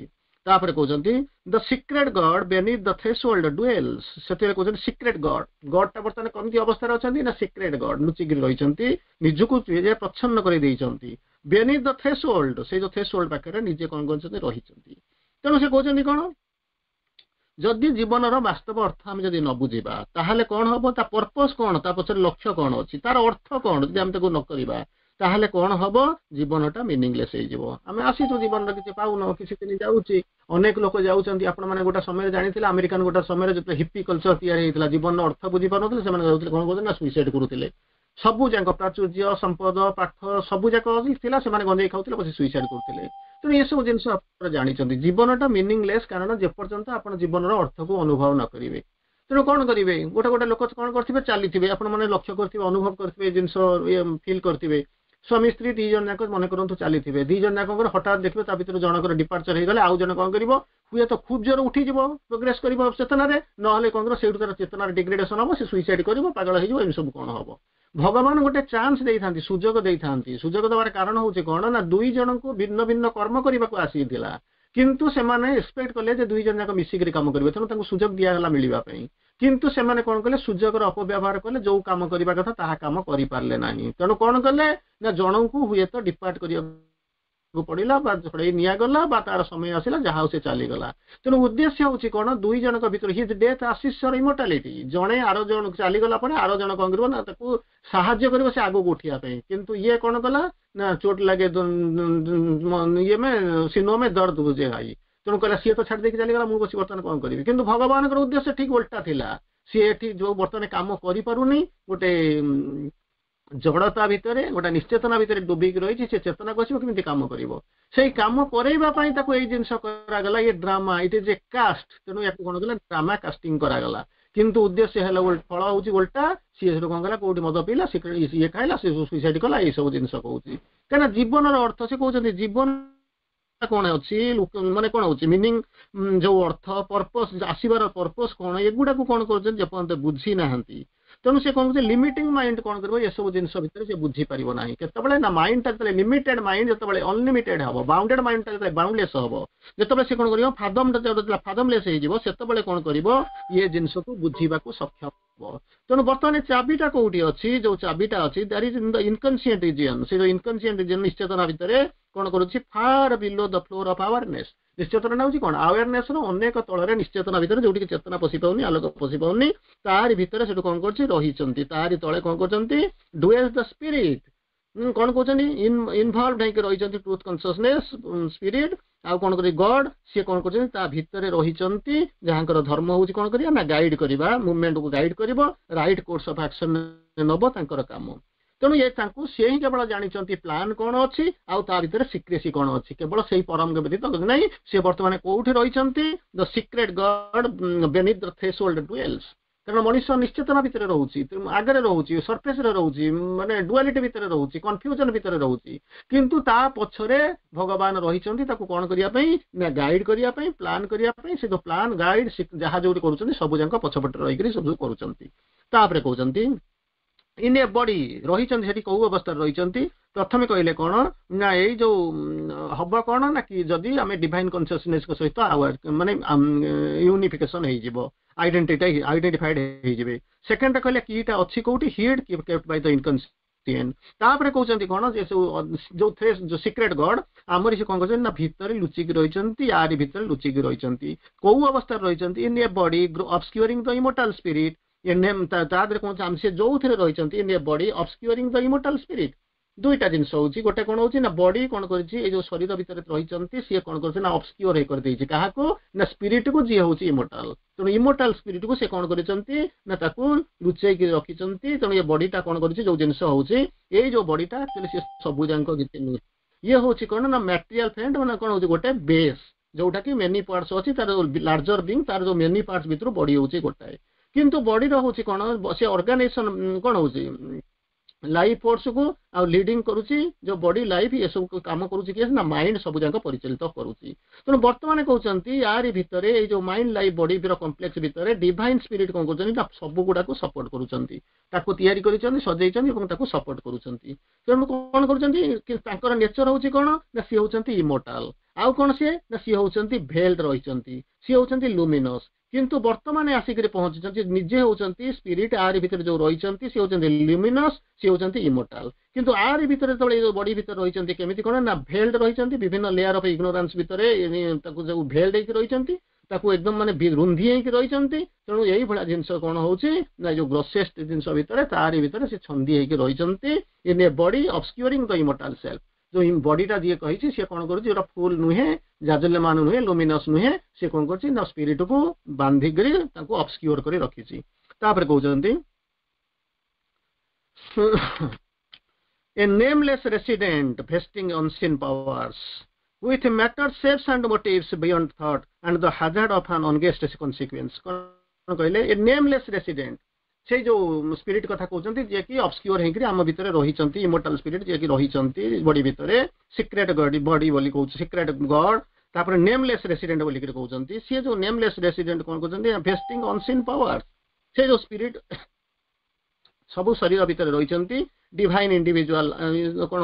ତାପରେ କହୁଛନ୍ତି The secret God beneath the threshold dwells ସେଥିରେ କହୁଛନ୍ତି ସିକ୍ରେଟ ଗଡ୍ ଗଡ୍ ଟା ବର୍ତ୍ତମାନ କେମିତି ଅବସ୍ଥାରେ ଅଛନ୍ତି ନା ସିକ୍ରେଟ ଗଡ୍ ଲୁଚିକିରି ରହିଛନ୍ତି ନିଜକୁ ପ୍ରଚ୍ଛନ୍ନ କରି ଦେଇଛନ୍ତି ବେନିଥ୍ ଦ ଥ୍ରେସହୋଲ୍ଡ ସେଇ ଯୋଉ ଥ୍ରେସହୋଲ୍ଡ ପାଖରେ ନିଜେ କଣ କରିଛନ୍ତି ରହିଛନ୍ତି ତେଣୁ ସେ କହୁଛନ୍ତି କଣ ଯଦି ଜୀବନର ବାସ୍ତବ ଅର୍ଥ ଆମେ ଯଦି ନ ବୁଝିବା ତାହେଲେ କଣ ହବ ତା ପର୍ପସ କଣ ତା ପଛରେ ଲକ୍ଷ୍ୟ କଣ ଅଛି ତାର ଅର୍ଥ କଣ ଯଦି ଆମେ ତାକୁ ନ କରିବା ତାହେଲେ କଣ ହବ ଜୀବନଟା ମିନିଂଲେସ୍ ହେଇଯିବ ଆମେ ଆସିଛୁ ଜୀବନର କିଛି ପାଉନ କିଛି ଦିନ ଯାଉଛି ଅନେକ ଲୋକ ଯାଉଛନ୍ତି ଆପଣମାନେ ଗୋଟେ ସମୟରେ ଜାଣିଥିଲେ ଆମେରିକାନ ଗୋଟେ ସମୟରେ ଯେତେବେଳେ ହିପି କଲଚର ତିଆରି ହେଇଥିଲା ଜୀବନର ଅର୍ଥ ବୁଝିପାରୁନଥିଲେ ସେମାନେ ଯାଉଥିଲେ କଣ କରୁଥିଲେ ନା ସୁଇସାଇଡ କରୁଥିଲେ ସବୁ ଯାକ ପ୍ରାଚୁର୍ଯ୍ୟ ସମ୍ପଦ ପାଠ ସବୁ ଯାକ ଥିଲା ସେମାନେ ଗଞ୍ଜେଇ ଖାଉଥିଲେ ବସି ସୁଇସାଇଡ କରୁଥିଲେ ତେଣୁ ଏସବୁ ଜିନିଷ ଆପଣ ଜାଣିଛନ୍ତି ଜୀବନଟା ମିନିଂଲେସ୍ କାରଣ ଯେପର୍ଯ୍ୟନ୍ତ ଆପଣ ଜୀବନର ଅର୍ଥକୁ ଅନୁଭବ ନ କରିବେ ତେଣୁ କଣ କରିବେ ଗୋଟେ ଗୋଟେ ଲୋକ କଣ କରିଥିବେ ଚାଲିଥିବେ ଆପଣ ମାନେ ଲକ୍ଷ୍ୟ କରିଥିବେ ଅନୁଭବ କରିଥିବେ ଏ ଜିନିଷ ଫିଲ୍ କରିଥିବେ ସ୍ୱାମୀ ସ୍ତ୍ରୀ ଦି ଜଣ ଯାକ ମନେ କରନ୍ତୁ ଚାଲିଥିବେ ଦି ଜଣ ଯାକଙ୍କର ହଠାତ୍ ଦେଖିବେ ତା ଭିତରୁ ଜଣଙ୍କର ଡିପାର୍ଚର ହେଇଗଲେ ଆଉ ଜଣେ କଣ କରିବ ହୁଏତ ଖୁବ ଜୋର ଉଠିଯିବ ପ୍ରୋଗ୍ରେସ କରିବ ଚେତନାରେ ନହେଲେ କଣ କରିବ ସେଇଠୁ ତାର ଚେତନାର ଡିଗ୍ରେଡେସନ ହବ ସେ ସୁଇସାଇଡ କରିବ ପାଗଳ ହେଇଯିବ ଏମିତି ସବୁ କଣ ହବ ଭଗବାନ ଗୋଟେ ଚାନ୍ସ ଦେଇଥାନ୍ତି ସୁଯୋଗ ଦେଇଥାନ୍ତି ସୁଯୋଗ ଦେବାର କାରଣ ହଉଛି କଣ ନା ଦୁଇ ଜଣଙ୍କୁ ଭିନ୍ନ ଭିନ୍ନ କର୍ମ କରିବାକୁ ଆସିଥିଲା କିନ୍ତୁ ସେମାନେ ଏକ୍ସପେକ୍ଟ କଲେ ଯେ ଦୁଇ ଜଣ ଯାକ ମିଶିକିରି କାମ କରିବେ ତେଣୁ ତାଙ୍କୁ ସୁଯୋଗ ଦିଆଗଲା ମିଳିବା ପାଇଁ କିନ୍ତୁ ସେମାନେ କଣ କଲେ ସୁଯୋଗର ଅପବ୍ୟବହାର କଲେ ଯୋଉ କାମ କରିବା କଥା ତାହା କାମ କରିପାରିଲେ ନାହିଁ ତେଣୁ କଣ କଲେ ନା ଜଣଙ୍କୁ ହୁଏତ ଡିପାର୍ଟ କରିବାକୁ ପଡିଲା ବା ଛଡେଇ ନିଆଗଲା ବା ତାର ସମୟ ଆସିଲା ଯାହା ହଉ ସେ ଚାଲିଗଲା ତେଣୁ ଉଦ୍ଦେଶ୍ୟ ହଉଛି କଣ ଦୁଇ ଜଣଙ୍କ ଭିତରେ His death assist immortality ଜଣେ ଆର ଜଣ ଚାଲିଗଲା ପରେ ଆର ଜଣ କଣ କରିବ ନା ତାକୁ ସାହାଯ୍ୟ କରିବ ସେ ଆଗକୁ ଉଠିବା ପାଇଁ କିନ୍ତୁ ଇଏ କଣ କଲା ନା चोट लगे ଇଏ में सीनों में दर्द बुझे भाई ତେଣୁ କହିଲା ସିଏ ତ ଛାଡ଼ି ଦେଇକି ଚାଲିଗଲା ମୁଁ ବସି ବର୍ତ୍ତମାନ କଣ କରିବି କିନ୍ତୁ ଭଗବାନଙ୍କର ଉଦ୍ଦେଶ୍ୟ ଠିକ ଓଲଟା ଥିଲା ସିଏ ଏଠି ଯୋଉ ବର୍ତ୍ତମାନ କାମ କରିପାରୁନି ଗୋଟେ ଜଡ଼ତା ଭିତରେ ଗୋଟେ ନିଶ୍ଚେତନା ଭିତରେ ଡୁବିକି ରହିଛି ସେ ଚେତନାକୁ ଆସିବ କେମିତି କାମ କରିବ ସେଇ କାମ କରେଇବା ପାଇଁ ତାକୁ ଏଇ ଜିନିଷ କରାଗଲା ଇଏ drama it is a cast ତେଣୁ ୟାକୁ କଣ କଲା ଡ୍ରାମା କାଷ୍ଟିଂ କରାଗଲା କିନ୍ତୁ ଉଦ୍ଦେଶ୍ୟ ହେଲା ଫଳ ହଉଛି ଓଲଟା ସିଏ ସେଠୁ କଣ କଲା କୋଉଠି ମଦ ପିଇଲା ଇଏ ଖାଇଲା ସେ ସୁଇସାଇଡ କଲା ଏଇ ସବୁ ଜିନିଷ କହୁଛି କାହିଁକିନା ଜୀବନର ଅର୍ଥ ସେ କହୁଛନ୍ତି ଜୀବନ କଣ ଅଛି ମାନେ କଣ ହଉଛି ମିନିଂ ଯୋଉ ଅର୍ଥ ପର୍ପସ ଆସିବାର ପର୍ପସ କଣ ଏଗୁଡାକୁ କଣ କରୁଛନ୍ତି ଯେପର୍ଯ୍ୟନ୍ତ ବୁଝି ନାହାନ୍ତି ତେଣୁ ସେ କଣ କରୁଛି ଲିମିଟିଂ ମାଇଣ୍ଡ କଣ କରିବ ଏସବୁ ଜିନିଷ ଭିତରେ ସେ ବୁଝିପାରିବ ନାହିଁ କେତେବେଳେ ନା ମାଇଣ୍ଡଟା ଯେତେବେଳେ ଲିମିଟେଡ ମାଇଣ୍ଡ ଯେତେବେଳେ ଅନଲିମିଟେଡ ହବ ବାଉଣ୍ଡେଡ ମାଇଣ୍ଡଟା ଯେତେବେଳେ ବାଉଣ୍ଡଲେସ୍ ହବ ଯେତେବେଳେ ସେ କଣ କରିବ ଫାଦମ ଯେତେବେଳେ ଫାଦମଲେସ୍ ହେଇଯିବ ସେତେବେଳେ କଣ କରିବ ଇଏ ଜିନିଷକୁ ବୁଝିବାକୁ ସକ୍ଷମ ହବ ତେଣୁ ବର୍ତ୍ତମାନ ଚାବିଟା କୋଉଠି ଅଛି ଯୋଉ ଚାବିଟା ଅଛି that is in the inconscient region ସେ ଯୋଉ ଇନକନସିଏଣ୍ଟ ରିଜିଅନ ନିଶ୍ଚେତନା ଭିତରେ କଣ କରୁଛି far below the floor of awareness ନିଶ୍ଚେତନା ହଉଛି କଣ ଆୱାରନେସ ର ଅନେକ ତଳରେ ନିଶ୍ଚେତନା ଭିତରେ ଯୋଉଠିକି ଚେତନା ପଶି ପାଉନି ଆଲୋକ ପଶି ପାଉନି ତାରି ଭିତରେ ସେଠୁ କଣ କରୁଛି ରହିଛନ୍ତି ତାରି ତଳେ କଣ କରୁଛନ୍ତି ଡୁଏଲ୍ସ ଦ ସ୍ପିରିଟ କଣ କହୁଛନ୍ତି ଇନଭଲଭ ହେଇକି ରହିଛନ୍ତି ଟ୍ରୁଥ କନସିୟସନେସ ସ୍ପିରିଟ ଆଉ କଣ କରିବେ ଗଡ ସିଏ କଣ କରୁଛନ୍ତି ତା ଭିତରେ ରହିଛନ୍ତି ଯାହାଙ୍କର ଧର୍ମ ହଉଛି କଣ କରିବା ନା ଗାଇଡ କରିବା ମୁଭମେଣ୍ଟକୁ ଗାଇଡ କରିବ ରାଇଟ କୋର୍ସ ଅଫ ଆକ୍ସନ ନବ ତାଙ୍କର କାମ ତେଣୁ ଏ ତାଙ୍କୁ ସେ ହିଁ କେବଳ ଜାଣିଛନ୍ତି ପ୍ଲାନ୍ କଣ ଅଛି ଆଉ ତା ଭିତରେ ସିକ୍ରେସି କଣ ଅଛି କେବଳ ସେଇ ପରମ ବ୍ୟତୀତ ନାହିଁ ସେ ବର୍ତ୍ତମାନ କୋଉଠି ରହିଛନ୍ତି The secret God beneath the threshold dwells କାରଣ ମଣିଷ ନିଶ୍ଚେତନା ଭିତରେ ରହୁଛି ଆଗରେ ରହୁଛି ସର୍ଫେସରେ ରହୁଛି ମାନେ ଡୁଆଲିଟି ଭିତରେ ରହୁଛି କନଫ୍ୟୁଜନ ଭିତରେ ରହୁଛି କିନ୍ତୁ ତା ପଛରେ ଭଗବାନ ରହିଛନ୍ତି ତାକୁ କଣ କରିବା ପାଇଁ ନା ଗାଇଡ କରିବା ପାଇଁ ପ୍ଲାନ୍ କରିବା ପାଇଁ ସେ ଯୋଉ ପ୍ଲାନ୍ ଗାଇଡ ଯାହା ଯୋଉଠି କରୁଛନ୍ତି ସବୁ ଯାକ ପଛପଟେ ରହିକରି ସବୁ କରୁଛନ୍ତି ତାପରେ କହୁଛନ୍ତି ଇନ୍ ଏ ବଡି ରହିଛନ୍ତି ସେଠି କୋଉ ଅବସ୍ଥାରେ ରହିଛନ୍ତି ପ୍ରଥମେ କହିଲେ କଣ ନା ଏଇ ଯୋଉ ହବ କଣ ନା କି ଯଦି ଆମେ ଡିଭାଇନ କନସିୟସନେସ ସହିତ ମାନେ ୟୁନିଫିକେସନ ହେଇଯିବ ଆଇଡେଣ୍ଟିଟି ଆଇଡେଣ୍ଟିଫାଇଡ ହେଇଯିବେ ସେକେଣ୍ଡ କହିଲେ କିଟା ଅଛି କୋଉଠି hid kept by the inconscient ତାପରେ କହୁଛନ୍ତି କଣ ଯେ ସବୁ ଯୋଉ ଯୋଉ ସିକ୍ରେଟ ଗଡ୍ ଆମରି ସେ କଣ କରୁଛନ୍ତି ନା ଭିତରେ ଲୁଚିକି ରହିଛନ୍ତି ୟାରି ଭିତରେ ଲୁଚିକି ରହିଛନ୍ତି କୋଉ ଅବସ୍ଥାରେ ରହିଛନ୍ତି in a body obscuring the immortal spirit ତା ଦେହରେ କଣ ସେ ଯୋଉଥିରେ ରହିଛନ୍ତି in a body obscuring the immortal spirit ଦୁଇଟା ଜିନିଷ ହଉଛି ଗୋଟେ କଣ ହଉଛି ନା ବଡି କଣ କରିଛି ଏଇ ଯୋଉ ଶରୀର ଭିତରେ ରହିଛନ୍ତି ସିଏ କଣ କରୁଛି ନା ଅବସ୍କ୍ୟୁର ହେଇ କରିଦେଇଛି କାହାକୁ ନା ସ୍ପିରିଟ କୁ ଯିଏ ହଉଛି ଇମୋର୍ଟାଲ ତେଣୁ ଇମୋର୍ଟାଲ ସ୍ପିରିଟ କୁ ସେ କଣ କରିଛନ୍ତି ନା ତାକୁ ଲୁଚେଇକି ରଖିଛନ୍ତି ତେଣୁ ଏ ବଡିଟା କଣ କରିଛି ଯୋଉ ଜିନିଷ ହଉଛି ଏଇ ଯୋଉ ବଡିଟା ଆକ୍ଚୁଆଲି ସିଏ ସବୁ ଯାକ କିଛି ନୁହେଁ ଇଏ ହଉଛି କଣ ନା ମ୍ୟାଟେରିଆଲ ଫ୍ରେଣ୍ଡ ମାନେ କଣ ହଉଛି ଗୋଟେ ବେସ୍ ଯୋଉଟା କି ମେନି ପାର୍ଟସ ଅଛି ତାର ଲାର୍ଜର ବିଙ୍ଗ ତାର ଯୋଉ ମେନି ପାର୍ଟସ ଭିତରୁ ବଡି ହଉଛି ଗୋଟାଏ କିନ୍ତୁ ବଡିର ହଉଛି କଣ ସେ ଅର୍ଗାନାଇଜେସନ କଣ ହଉଛି ଲାଇଫ ଫୋର୍ସକୁ ଆଉ ଲିଡିଂ କରୁଛି ଯୋଉ ବଡି ଲାଇଫ ଏସବୁ କାମ କରୁଛି କିଏ ନା ମାଇଣ୍ଡ ସବୁ ଯାକ ପରିଚାଳିତ କରୁଛି ତେଣୁ ବର୍ତ୍ତମାନ କହୁଛନ୍ତି ୟାରି ଭିତରେ ଏଇ ଯୋଉ ମାଇଣ୍ଡ ଲାଇଫ ବଡିର କମ୍ପ୍ଲେକ୍ସ ଭିତରେ ଡିଭାଇନ ସ୍ପିରିଟ କଣ କରୁଛନ୍ତି ନା ସବୁ ଗୁଡାକୁ ସପୋର୍ଟ କରୁଛନ୍ତି ତାକୁ ତିଆରି କରିଛନ୍ତି ସଜେଇଛନ୍ତି ଏବଂ ତାକୁ ସପୋର୍ଟ କରୁଛନ୍ତି ତେଣୁ କଣ କରୁଛନ୍ତି ତାଙ୍କର ନେଚର ହଉଛି କଣ ନା ସିଏ ହଉଛନ୍ତି ଇମୋର୍ଟାଲ ଆଉ କଣ ସିଏ ନା ସିଏ ହଉଛନ୍ତି ଭେଲ୍ଡ ରହିଛନ୍ତି ସିଏ ହଉଛନ୍ତି ଲୁମିନସ୍ କିନ୍ତୁ ବର୍ତ୍ତମାନ ଆସିକିରି ପହଞ୍ଚିଛନ୍ତି ନିଜେ ହଉଛନ୍ତି ସ୍ପିରିଟ ୟାରି ଭିତରେ ଯୋଉ ରହିଛନ୍ତି ସିଏ ହଉଛନ୍ତି ଲୁମିନସ୍ ସିଏ ହଉଛନ୍ତି ଇମୋର୍ଟାଲ କିନ୍ତୁ ୟାରି ଭିତରେ ଯେତେବେଳେ ଏଇ ଯୋଉ ବଡି ଭିତରେ ରହିଛନ୍ତି କେମିତି କଣ ନା ଭେଲ୍ଡ ରହିଛନ୍ତି ବିଭିନ୍ନ ଲେୟାର ଅଫ ଇଗ୍ନୋରାନ୍ସ ଭିତରେ ତାକୁ ଯୋଉ ଭେଲ୍ଡ ହେଇକି ରହିଛନ୍ତି ତାକୁ ଏକଦମ ମାନେ ରୁନ୍ଧି ହେଇକି ରହିଛନ୍ତି ତେଣୁ ଏଇଭଳିଆ ଜିନିଷ କଣ ହଉଛି ନା ଯୋଉ ଗ୍ରୋସେଷ୍ଟ ଜିନିଷ ଭିତରେ ତାରି ଭିତରେ ସେ ଛନ୍ଦି ହେଇକି ରହିଛନ୍ତି in a body obscuring the immortal self ଯୋଉ ବଡିଟା ଯିଏ କହିଛି ସିଏ କଣ କରୁଛି ଯୋଉଟା ଫୁଲ ନୁହେଁ ଜାଜଲ୍ୟମାନ ନୁହେଁ ଲୁମିନସ୍ ନୁହେଁ ସିଏ କଣ କରୁଛି ନା ସ୍ପିରିଟକୁ ବାନ୍ଧିକରି ତାକୁ ଅବସ୍କ୍ୟୁର କରି ରଖିଛି ତାପରେ କହୁଛନ୍ତି a nameless resident vesting unseen powers with matter shapes and motives beyond thought and the hazard of an unguessed consequence କଣ କହିଲେ ଏ ନେମଲେସ୍ ରେସିଡେଣ୍ଟ ସେଇ ଯୋଉ ସ୍ପିରିଟ କଥା କହୁଛନ୍ତି ଯିଏକି ଅବସ୍କ୍ୟୁର ହେଇକିରି ଆମ ଭିତରେ ରହିଛନ୍ତି ଇମୋର୍ଟାଲ ସ୍ପିରିଟ ଯିଏକି ରହିଛନ୍ତି ବଡି ଭିତରେ ସିକ୍ରେଟ ବଡି ବୋଲି କହୁଛି ସିକ୍ରେଟ ଗଡ୍ ତାପରେ ନେମଲେସ୍ ରେସିଡେଣ୍ଟ ବୋଲିକିରି କହୁଛନ୍ତି ସିଏ ଯୋଉ ନେମଲେସ୍ ରେସିଡେଣ୍ଟ କଣ କହୁଛନ୍ତି ଭେଷ୍ଟିଂ ଅନସିନ୍ ପାୱାର ସେ ଯୋଉ ସ୍ପିରିଟ ସବୁ ଶରୀର ଭିତରେ ରହିଛନ୍ତି ଡିଭାଇନ ଇଣ୍ଡିଭିଜୁଆଲ କଣ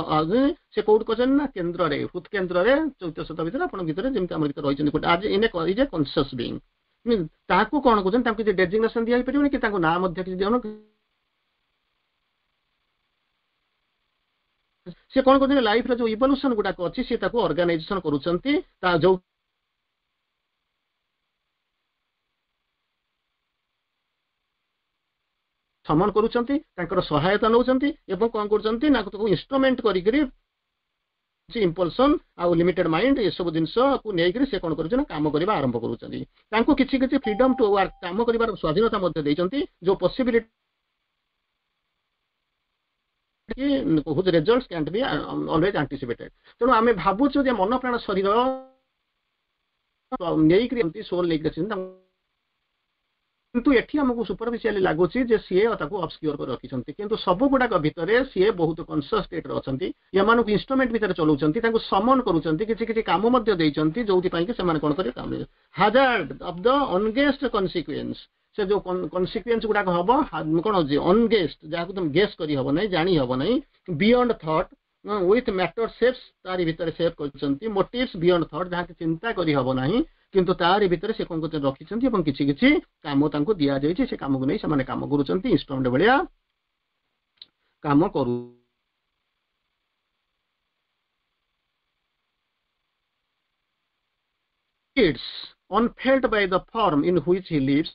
ସେ କୋଉଠି କହିଛନ୍ତି ନା କେନ୍ଦ୍ରରେ ହୃଦ୍ କେନ୍ଦ୍ରରେ ଚୈତ୍ୟ ଭିତରେ ଆପଣଙ୍କ ଭିତରେ ଯେମିତି ଆମ ଭିତରେ ରହିଛନ୍ତି ଗୋଟେ ଆଜ in is a conscious being ତାହାକୁ କଣ କହୁଛନ୍ତି ତାଙ୍କୁ କିଛି ଡେଜିଗ୍ନେସନ ଦିଆହେଇପାରିବନି କି ତାଙ୍କୁ ନାଁ ମଧ୍ୟ କିଛି ଦିଅନ ସେ କଣ କରୁଛନ୍ତି ଲାଇଫର ଯୋଉ ଇଭଲ୍ୟୁସନ ଗୁଡାକ ଅଛି ସେ ତାକୁ ଅର୍ଗାନାଇଜେସନ କରୁଛନ୍ତି ତା ଯୋଉ ସମନ କରୁଛନ୍ତି ତାଙ୍କର ସହାୟତା ନେଉଛନ୍ତି ଏବଂ କଣ କରୁଛନ୍ତି ନା ତାକୁ ଇନଷ୍ଟ୍ରୁମେଣ୍ଟ କରିକିରି ଇମ୍ପଲସନ ଆଉ ଲିମିଟେଡ ମାଇଣ୍ଡ ଏସବୁ ଜିନିଷକୁ ନେଇକରି ସେ କଣ କରୁଛନ୍ତି ନା କାମ କରିବା ଆରମ୍ଭ କରୁଛନ୍ତି ତାଙ୍କୁ କିଛି କିଛି ଫ୍ରିଡମ ଟୁ ୱାର୍କ କାମ କରିବାର ସ୍ୱାଧୀନତା ମଧ୍ୟ ଦେଇଛନ୍ତି ଯୋଉ possibility whose results can't be always anticipated ତେଣୁ ଆମେ ଭାବୁଛୁ ଯେ ମନ ପ୍ରାଣ ଶରୀର ନେଇକରି ଏମିତି ସୋଲ ନେଇକରି ଅଛନ୍ତି କିନ୍ତୁ ଏଠି ଆମକୁ ସୁପରଫିସିଆଲି ଲାଗୁଛି ଯେ ସିଏ ତାକୁ ଅବସ୍କ୍ୟୁର କରି ରଖିଛନ୍ତି କିନ୍ତୁ ସବୁ ଗୁଡାକ ଭିତରେ ସିଏ ବହୁତ କନସିୟସ୍ ଷ୍ଟେଟରେ ଅଛନ୍ତି ଏମାନଙ୍କୁ ଇନଷ୍ଟ୍ରୁମେଣ୍ଟ ଭିତରେ ଚଲାଉଛନ୍ତି ତାଙ୍କୁ ସମନ କରୁଛନ୍ତି କିଛି କିଛି କାମ ମଧ୍ୟ ଦେଇଛନ୍ତି ଯୋଉଥିପାଇଁ କି ସେମାନେ କଣ କରିବେ କାମ hazard of the unguessed consequence ସେ ଯୋଉ କନସିକ୍ୱେନ୍ସ ଗୁଡାକ ହବ କଣ ହଉଛି ଅନଗେଷ୍ଟ ଯାହାକୁ ତମେ ଗେସ୍ କରି ହବ ନାହିଁ ଜାଣି ହବ ନାହିଁ beyond thought with matter shapes ତାରି ଭିତରେ ସେପ୍ କରିଛନ୍ତି ମୋଟିଭ୍ସ ବିୟଣ୍ଡ ଥଟ୍ ଯାହାକି ଚିନ୍ତା କରି ହବ ନାହିଁ କିନ୍ତୁ ତାରି ଭିତରେ ସେ କଣ କରୁଛନ୍ତି ରଖିଛନ୍ତି ଏବଂ କିଛି କିଛି କାମ ତାଙ୍କୁ ଦିଆଯାଇଛି ସେ କାମକୁ ନେଇ ସେମାନେ କାମ କରୁଛନ୍ତି ଇନଷ୍ଟ୍ରୁମେଣ୍ଟ ଭଳିଆ କାମ କରୁ It's unfelt by the form in which he lives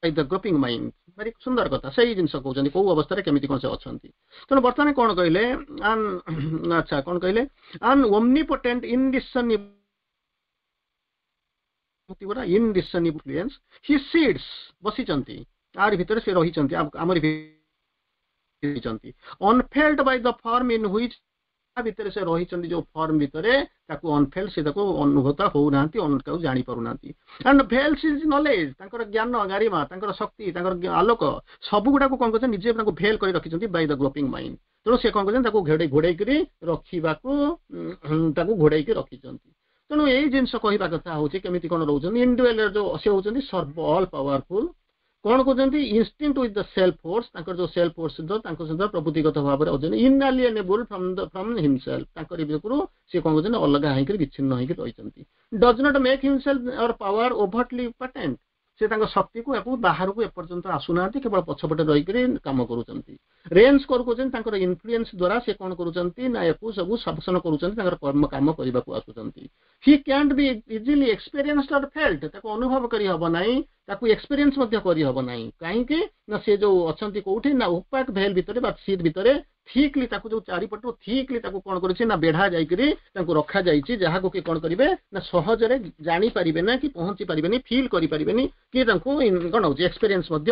by the groping mind ଭାରି ସୁନ୍ଦର କଥା ସେଇ ଜିନିଷ କହୁଛନ୍ତି କୋଉ ଅବସ୍ଥାରେ କେମିତି କଣ ସେ ଅଛନ୍ତି ତେଣୁ ବର୍ତ୍ତମାନ କଣ କହିଲେ ଆଚ୍ଛା କଣ କହିଲେ ଆନ୍ ଓମନିପୋଟେଣ୍ଟ ଇନଡିସର୍ନିବଲ ଇନଡିସର୍ନିବଲ ହି ସିଟ୍ସ ବସିଛନ୍ତି ଆରି ଭିତରେ ସେ ରହିଛନ୍ତି ଆମରି ରହିଛନ୍ତି unfelt by the form in which ଭିତରେ ସେ ରହିଛନ୍ତି ଯୋଉ ଫର୍ମ ଭିତରେ ତାକୁ ଅନଫେଲ୍ଟ ସେ ତାକୁ ଅନୁଭୂତ ହଉନାହାନ୍ତି ତାକୁ ଜାଣିପାରୁନାହାନ୍ତି ଆଣ୍ଡ ଭେଲ୍ସ is knowledge ତାଙ୍କର ଜ୍ଞାନ ଗାରିମା ତାଙ୍କର ଶକ୍ତି ତାଙ୍କର ଆଲୋକ ସବୁ ଗୁଡାକୁ କଣ କରୁଛନ୍ତି ନିଜେ ତାଙ୍କୁ ଭେଲ୍ କରି ରଖିଛନ୍ତି ବାଇ ଦ ଗ୍ରୋପିଂ ମାଇଣ୍ଡ ତେଣୁ ସେ କଣ କରୁଛନ୍ତି ତାକୁ ଘୋଡେଇ ଘୋଡେଇକିରି ରଖିବାକୁ ତାକୁ ଘୋଡେଇକି ରଖିଛନ୍ତି ତେଣୁ ଏଇ ଜିନିଷ କହିବା କଥା ହଉଛି କେମିତି କଣ ରହୁଛନ୍ତି ଇଣ୍ଡିଭିଜୁଆଲ ଯୋଉ ସେ ହଉଛନ୍ତି ସର୍ବ ଅଲ୍ ପାୱାରଫୁଲ କଣ କହୁଛନ୍ତି instinct with the self force ତାଙ୍କର ଯୋଉ ସେଲ୍ଫ ଫୋର୍ସ ସହିତ ତାଙ୍କ ସହିତ ପ୍ରଭୃତିଗତ ଭାବରେ ଅଛନ୍ତି inalienable from the from himself ତାଙ୍କର ଭିତରୁ ସେ କଣ କରୁଛନ୍ତି ଅଲଗା ହେଇକିରି ବିଚ୍ଛିନ୍ନ ହେଇକି ରହିଛନ୍ତି does not make himself or power overtly patent ସେ ତାଙ୍କ ଶକ୍ତିକୁ ୟାକୁ ବାହାରକୁ ଏପର୍ଯ୍ୟନ୍ତ ଆସୁନାହାନ୍ତି କେବଳ ପଛପଟେ ରହିକରି କାମ କରୁଛନ୍ତି ରେନ୍ସ କହୁଛନ୍ତି ତାଙ୍କର ଇନଫ୍ଲୁଏନ୍ସ ଦ୍ୱାରା ସେ କଣ କରୁଛନ୍ତି ନା ୟାକୁ ସବୁ ଶାସନ କରୁଛନ୍ତି ତାଙ୍କର କର୍ମ କାମ କରିବାକୁ ଆସୁଛନ୍ତି he can't B easily experience or felt ତାକୁ ଅନୁଭବ କରିହବ ନାହିଁ ତାକୁ ଏକ୍ସପେରିଏନ୍ସ ମଧ୍ୟ କରିହବ ନାହିଁ କାହିଁକି ନା ସେ ଯୋଉ ଅଛନ୍ତି କୋଉଠି ନା ଓପାକ ଭେଲ ଭିତରେ ବା ସିଟ୍ ଭିତରେ ଥିକଲି ତାକୁ ଯୋଉ ଚାରିପଟୁ ଥିକଲି ତାକୁ କଣ କରିଛି ନା ବେଢା ଯାଇକରି ତାଙ୍କୁ ରଖାଯାଇଛି ଯାହାକୁ କି କଣ କରିବେ ନା ସହଜରେ ଜାଣିପାରିବେ ନା କି ପହଞ୍ଚି ପାରିବେନି ଫିଲ୍ କରିପାରିବେନି କି ତାଙ୍କୁ କଣ ହଉଛି ଏକ୍ସପେରିଏନ୍ସ ମଧ୍ୟ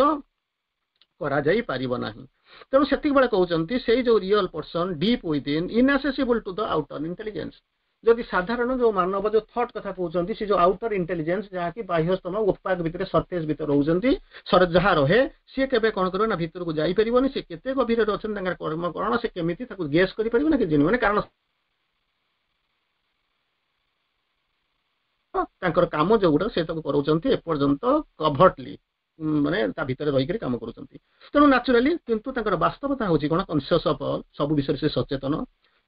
କରାଯାଇ ପାରିବ ନାହିଁ ତେଣୁ ସେତିକି ବେଳେ କହୁଛନ୍ତି ସେଇ ଯୋଉ real person deep within inaccessible to the outer intelligence ଯଦି ସାଧାରଣ ଯୋଉ ମାନବ ଯୋଉ ଥଟ୍ କଥା କହୁଛନ୍ତି ସେ ଯୋଉ ଆଉଟର ଇଣ୍ଟେଲିଜେନ୍ସ ଯାହାକି ବାହ୍ୟସ୍ତମ ଓପାକ ଭିତରେ ସର୍ଫେସ୍ ଭିତରେ ରହୁଛନ୍ତି ଯାହା ରହେ ସିଏ କେବେ କଣ କରିବ ନା ଭିତରକୁ ଯାଇପାରିବନି ସେ କେତେ ଗଭୀରରେ ଅଛନ୍ତି ତାଙ୍କର କର୍ମ କଣ ସେ କେମିତି ତାକୁ ଗେସ୍ କରିପାରିବ ନା କି ଜାଣିବନି କାରଣ ତାଙ୍କର କାମ ଯୋଉଗୁଡା ସେ ତାକୁ କରାଉଛନ୍ତି ଏପର୍ଯ୍ୟନ୍ତ କଭର୍ଟଲି ମାନେ ତା ଭିତରେ ରହିକରି କାମ କରୁଛନ୍ତି ତେଣୁ ନ୍ୟାଚୁରାଲି କିନ୍ତୁ ତାଙ୍କର ବାସ୍ତବତା ହଉଛି କଣ କନସିୟସ୍ ଅଫ୍ ଅଲ୍ ସବୁ ବିଷୟରେ ସେ ସଚେତନ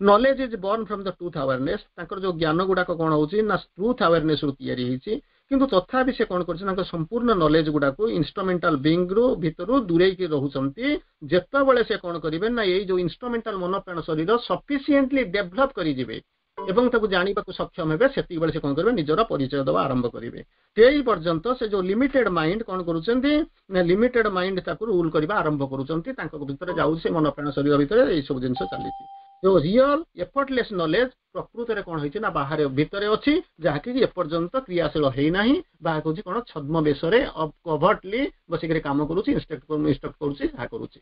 knowledge is born from the truth awareness ତାଙ୍କର ଯୋଉ ଜ୍ଞାନ ଗୁଡାକ କଣ ହଉଛି ନା ଟ୍ରୁଥ ଆୱାରନେସ୍ ରୁ ତିଆରି ହେଇଛି କିନ୍ତୁ ତଥାପି ସେ କଣ କରୁଛନ୍ତି ତାଙ୍କ ସମ୍ପୂର୍ଣ୍ଣ ନଲେଜ ଗୁଡାକୁ ଇନଷ୍ଟ୍ରୁମେଣ୍ଟାଲ ବିଙ୍ଗ ରୁ ଭିତରୁ ଦୂରେଇକି ରହୁଛନ୍ତି ଯେତେବେଳେ ସେ କଣ କରିବେ ନା ଏଇ ଯୋଉ ଇନଷ୍ଟ୍ରୁମେଣ୍ଟାଲ ମନ ପ୍ରାଣ ଶରୀର ସଫିସିଏଣ୍ଟଲି ଡେଭଲପ କରିଯିବେ ଏବଂ ତାକୁ ଜାଣିବାକୁ ସକ୍ଷମ ହେବେ ସେତିକି ବେଳେ ସେ କଣ କରିବେ ନିଜର ପରିଚୟ ଦେବା ଆରମ୍ଭ କରିବେ ସେଇ ପର୍ଯ୍ୟନ୍ତ ସେ ଯୋଉ ଲିମିଟେଡ ମାଇଣ୍ଡ କଣ କରୁଛନ୍ତି ନା ଲିମିଟେଡ ମାଇଣ୍ଡ ତାକୁ ରୁଲ କରିବା ଆରମ୍ଭ କରୁଛନ୍ତି ତାଙ୍କ ଭିତରେ ଯାଉଛି ସେ ମନ ପ୍ରାଣ ଶରୀର ଭିତରେ ଏଇ ସବୁ ଜିନିଷ ଚାଲିଛି ଯୋଉ ରିଅଲ ଏଫର୍ଟଲେସ୍ ନଲେଜ ପ୍ରକୃତରେ କଣ ହେଇଛି ନା ବାହାରେ ଭିତରେ ଅଛି ଯାହାକି ଏପର୍ଯ୍ୟନ୍ତ କ୍ରିୟାଶୀଳ ହେଇନାହିଁ ବାହା କହୁଛି କଣ ଛଦ୍ମବେଶରେ କଭର୍ଟଲି ବସିକରି କାମ କରୁଛି ଇନଷ୍ଟ୍ରକ୍ଟ କରୁଛି ଯାହା କରୁଛି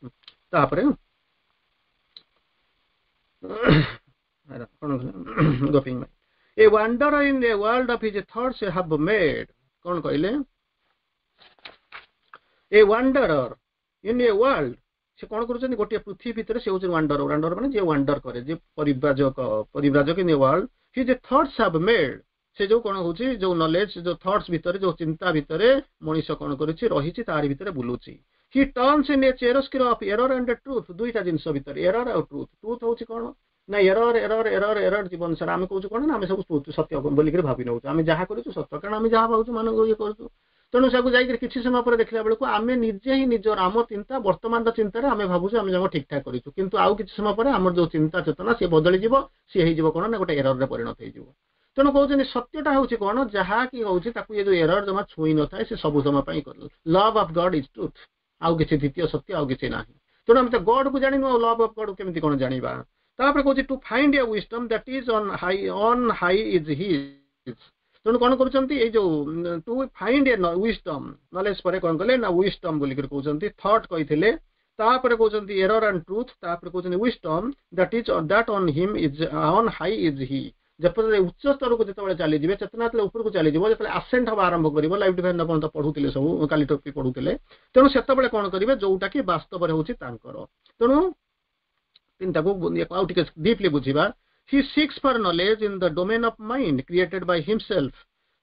ତାପରେ କଣ ଗୋପିଂ a wanderer in a world of his thoughts have made କଣ କହିଲେ a wanderer in a world ସେ କଣ କରୁଛନ୍ତି ଗୋଟିଏ ପୃଥିବୀ ଭିତରେ ସେ ହଉଛି ୱାଣ୍ଡର ୱାଣ୍ଡର ମାନେ ଯିଏ ୱାଣ୍ଡର କରେ ଯିଏ ପରିବ୍ରାଜକ ପରିବ୍ରାଜକ in a world his thoughts have made ସେ ଯୋଉ କଣ ହଉଛି ଯୋଉ ନଲେଜ ଯୋଉ ଥଟ୍ସ ଭିତରେ ଯୋଉ ଚିନ୍ତା ଭିତରେ ମଣିଷ କଣ କରୁଛି ରହିଛି ତାରି ଭିତରେ ବୁଲୁଛି he turns in a chiaroscuro of error and truth ଦୁଇଟା ଜିନିଷ ଭିତରେ ଏରର ଆଉ ଟ୍ରୁଥ ଟ୍ରୁଥ ହଉଛି କଣ ନା ଏରର ଏରର ଏରର ଏରର ଜୀବନ ସାରା ଆମେ କହୁଛୁ କଣ ନା ଆମେ ସବୁ ସତ୍ୟ ବୋଲିକିରି ଭାବି ନେଉଛୁ ଆମେ ଯାହା କରୁଛୁ ସତ୍ୟ କାରଣ ଆମେ ଯାହା ଭାବୁଛୁ ମାନଙ୍କୁ ଇଏ କରୁଛୁ ତେଣୁ ସେକୁ ଯାଇକରି କିଛି ସମୟ ପରେ ଦେଖିଲା ବେଳକୁ ଆମେ ନିଜେ ହିଁ ନିଜର ଆମ ଚିନ୍ତା ବର୍ତ୍ତମାନର ଚିନ୍ତାରେ ଆମେ ଭାବୁଛୁ ଆମେ ଯାକ ଠିକ ଠାକ କରିଛୁ କିନ୍ତୁ ଆଉ କିଛି ସମୟ ପରେ ଆମର ଯୋଉ ଚିନ୍ତା ଚେତନା ସିଏ ବଦଳିଯିବ ସିଏ ହେଇଯିବ କଣ ନା ଗୋଟେ ଏରରରେ ପରିଣତ ହେଇଯିବ ତେଣୁ କହୁଛନ୍ତି ସତ୍ୟଟା ହଉଛି କଣ ଯାହା କି ହଉଛି ତାକୁ ଏ ଯୋଉ ଏରର ଜମା ଛୁଇଁ ନଥାଏ ସେ ସବୁ ସମୟ ପାଇଁ love of God is truth ଆଉ କିଛି ଦ୍ୱିତୀୟ ସତ୍ୟ ଆଉ କିଛି ନାହିଁ ତେଣୁ ଆମେ ତ ଗଡ୍ କୁ ଜାଣିନୁ ଆଉ ଲଭ୍ ଅଫ୍ ଗଡ୍ କେମିତି କଣ ଜାଣିବା ତାପରେ କହୁଛି to find a wisdom that is on high on high is his ତେଣୁ କଣ କରୁଛନ୍ତି ଏଇ ଯୋଉ to find a wisdom knowledge ପରେ କଣ କଲେ ନା ୱିଜଡମ୍ ବୋଲିକରି କହୁଛନ୍ତି ଥଟ୍ କହିଥିଲେ ତାପରେ କହୁଛନ୍ତି ଏରର ଆଣ୍ଡ ଟ୍ରୁଥ ତାପରେ କହୁଛନ୍ତି wisdom that is that on him is on high is he ଯେପରି ଉଚ୍ଚ ସ୍ତରକୁ ଯେତେବେଳେ ଚାଲିଯିବେ ଚେତନା ଯେତେବେଳେ ଉପରକୁ ଚାଲିଯିବ ଯେତେବେଳେ ଆସେଣ୍ଟ ହବା ଆରମ୍ଭ କରିବ ଲାଇଫ୍ ଡିଭାଇନ୍ ଆପଣ ତ ପଢୁଥିଲେ ସବୁ କାଲି ଟପି ପଢୁଥିଲେ ତେଣୁ ସେତେବେଳେ କଣ କରିବେ ଯୋଉଟା କି ବାସ୍ତବରେ ହଉଛି ତାଙ୍କର ତେଣୁ ତିନିଟାକୁ ଆଉ ଟିକେ ଡିପଲି ବୁଝିବା he seeks for knowledge in the domain of mind created by himself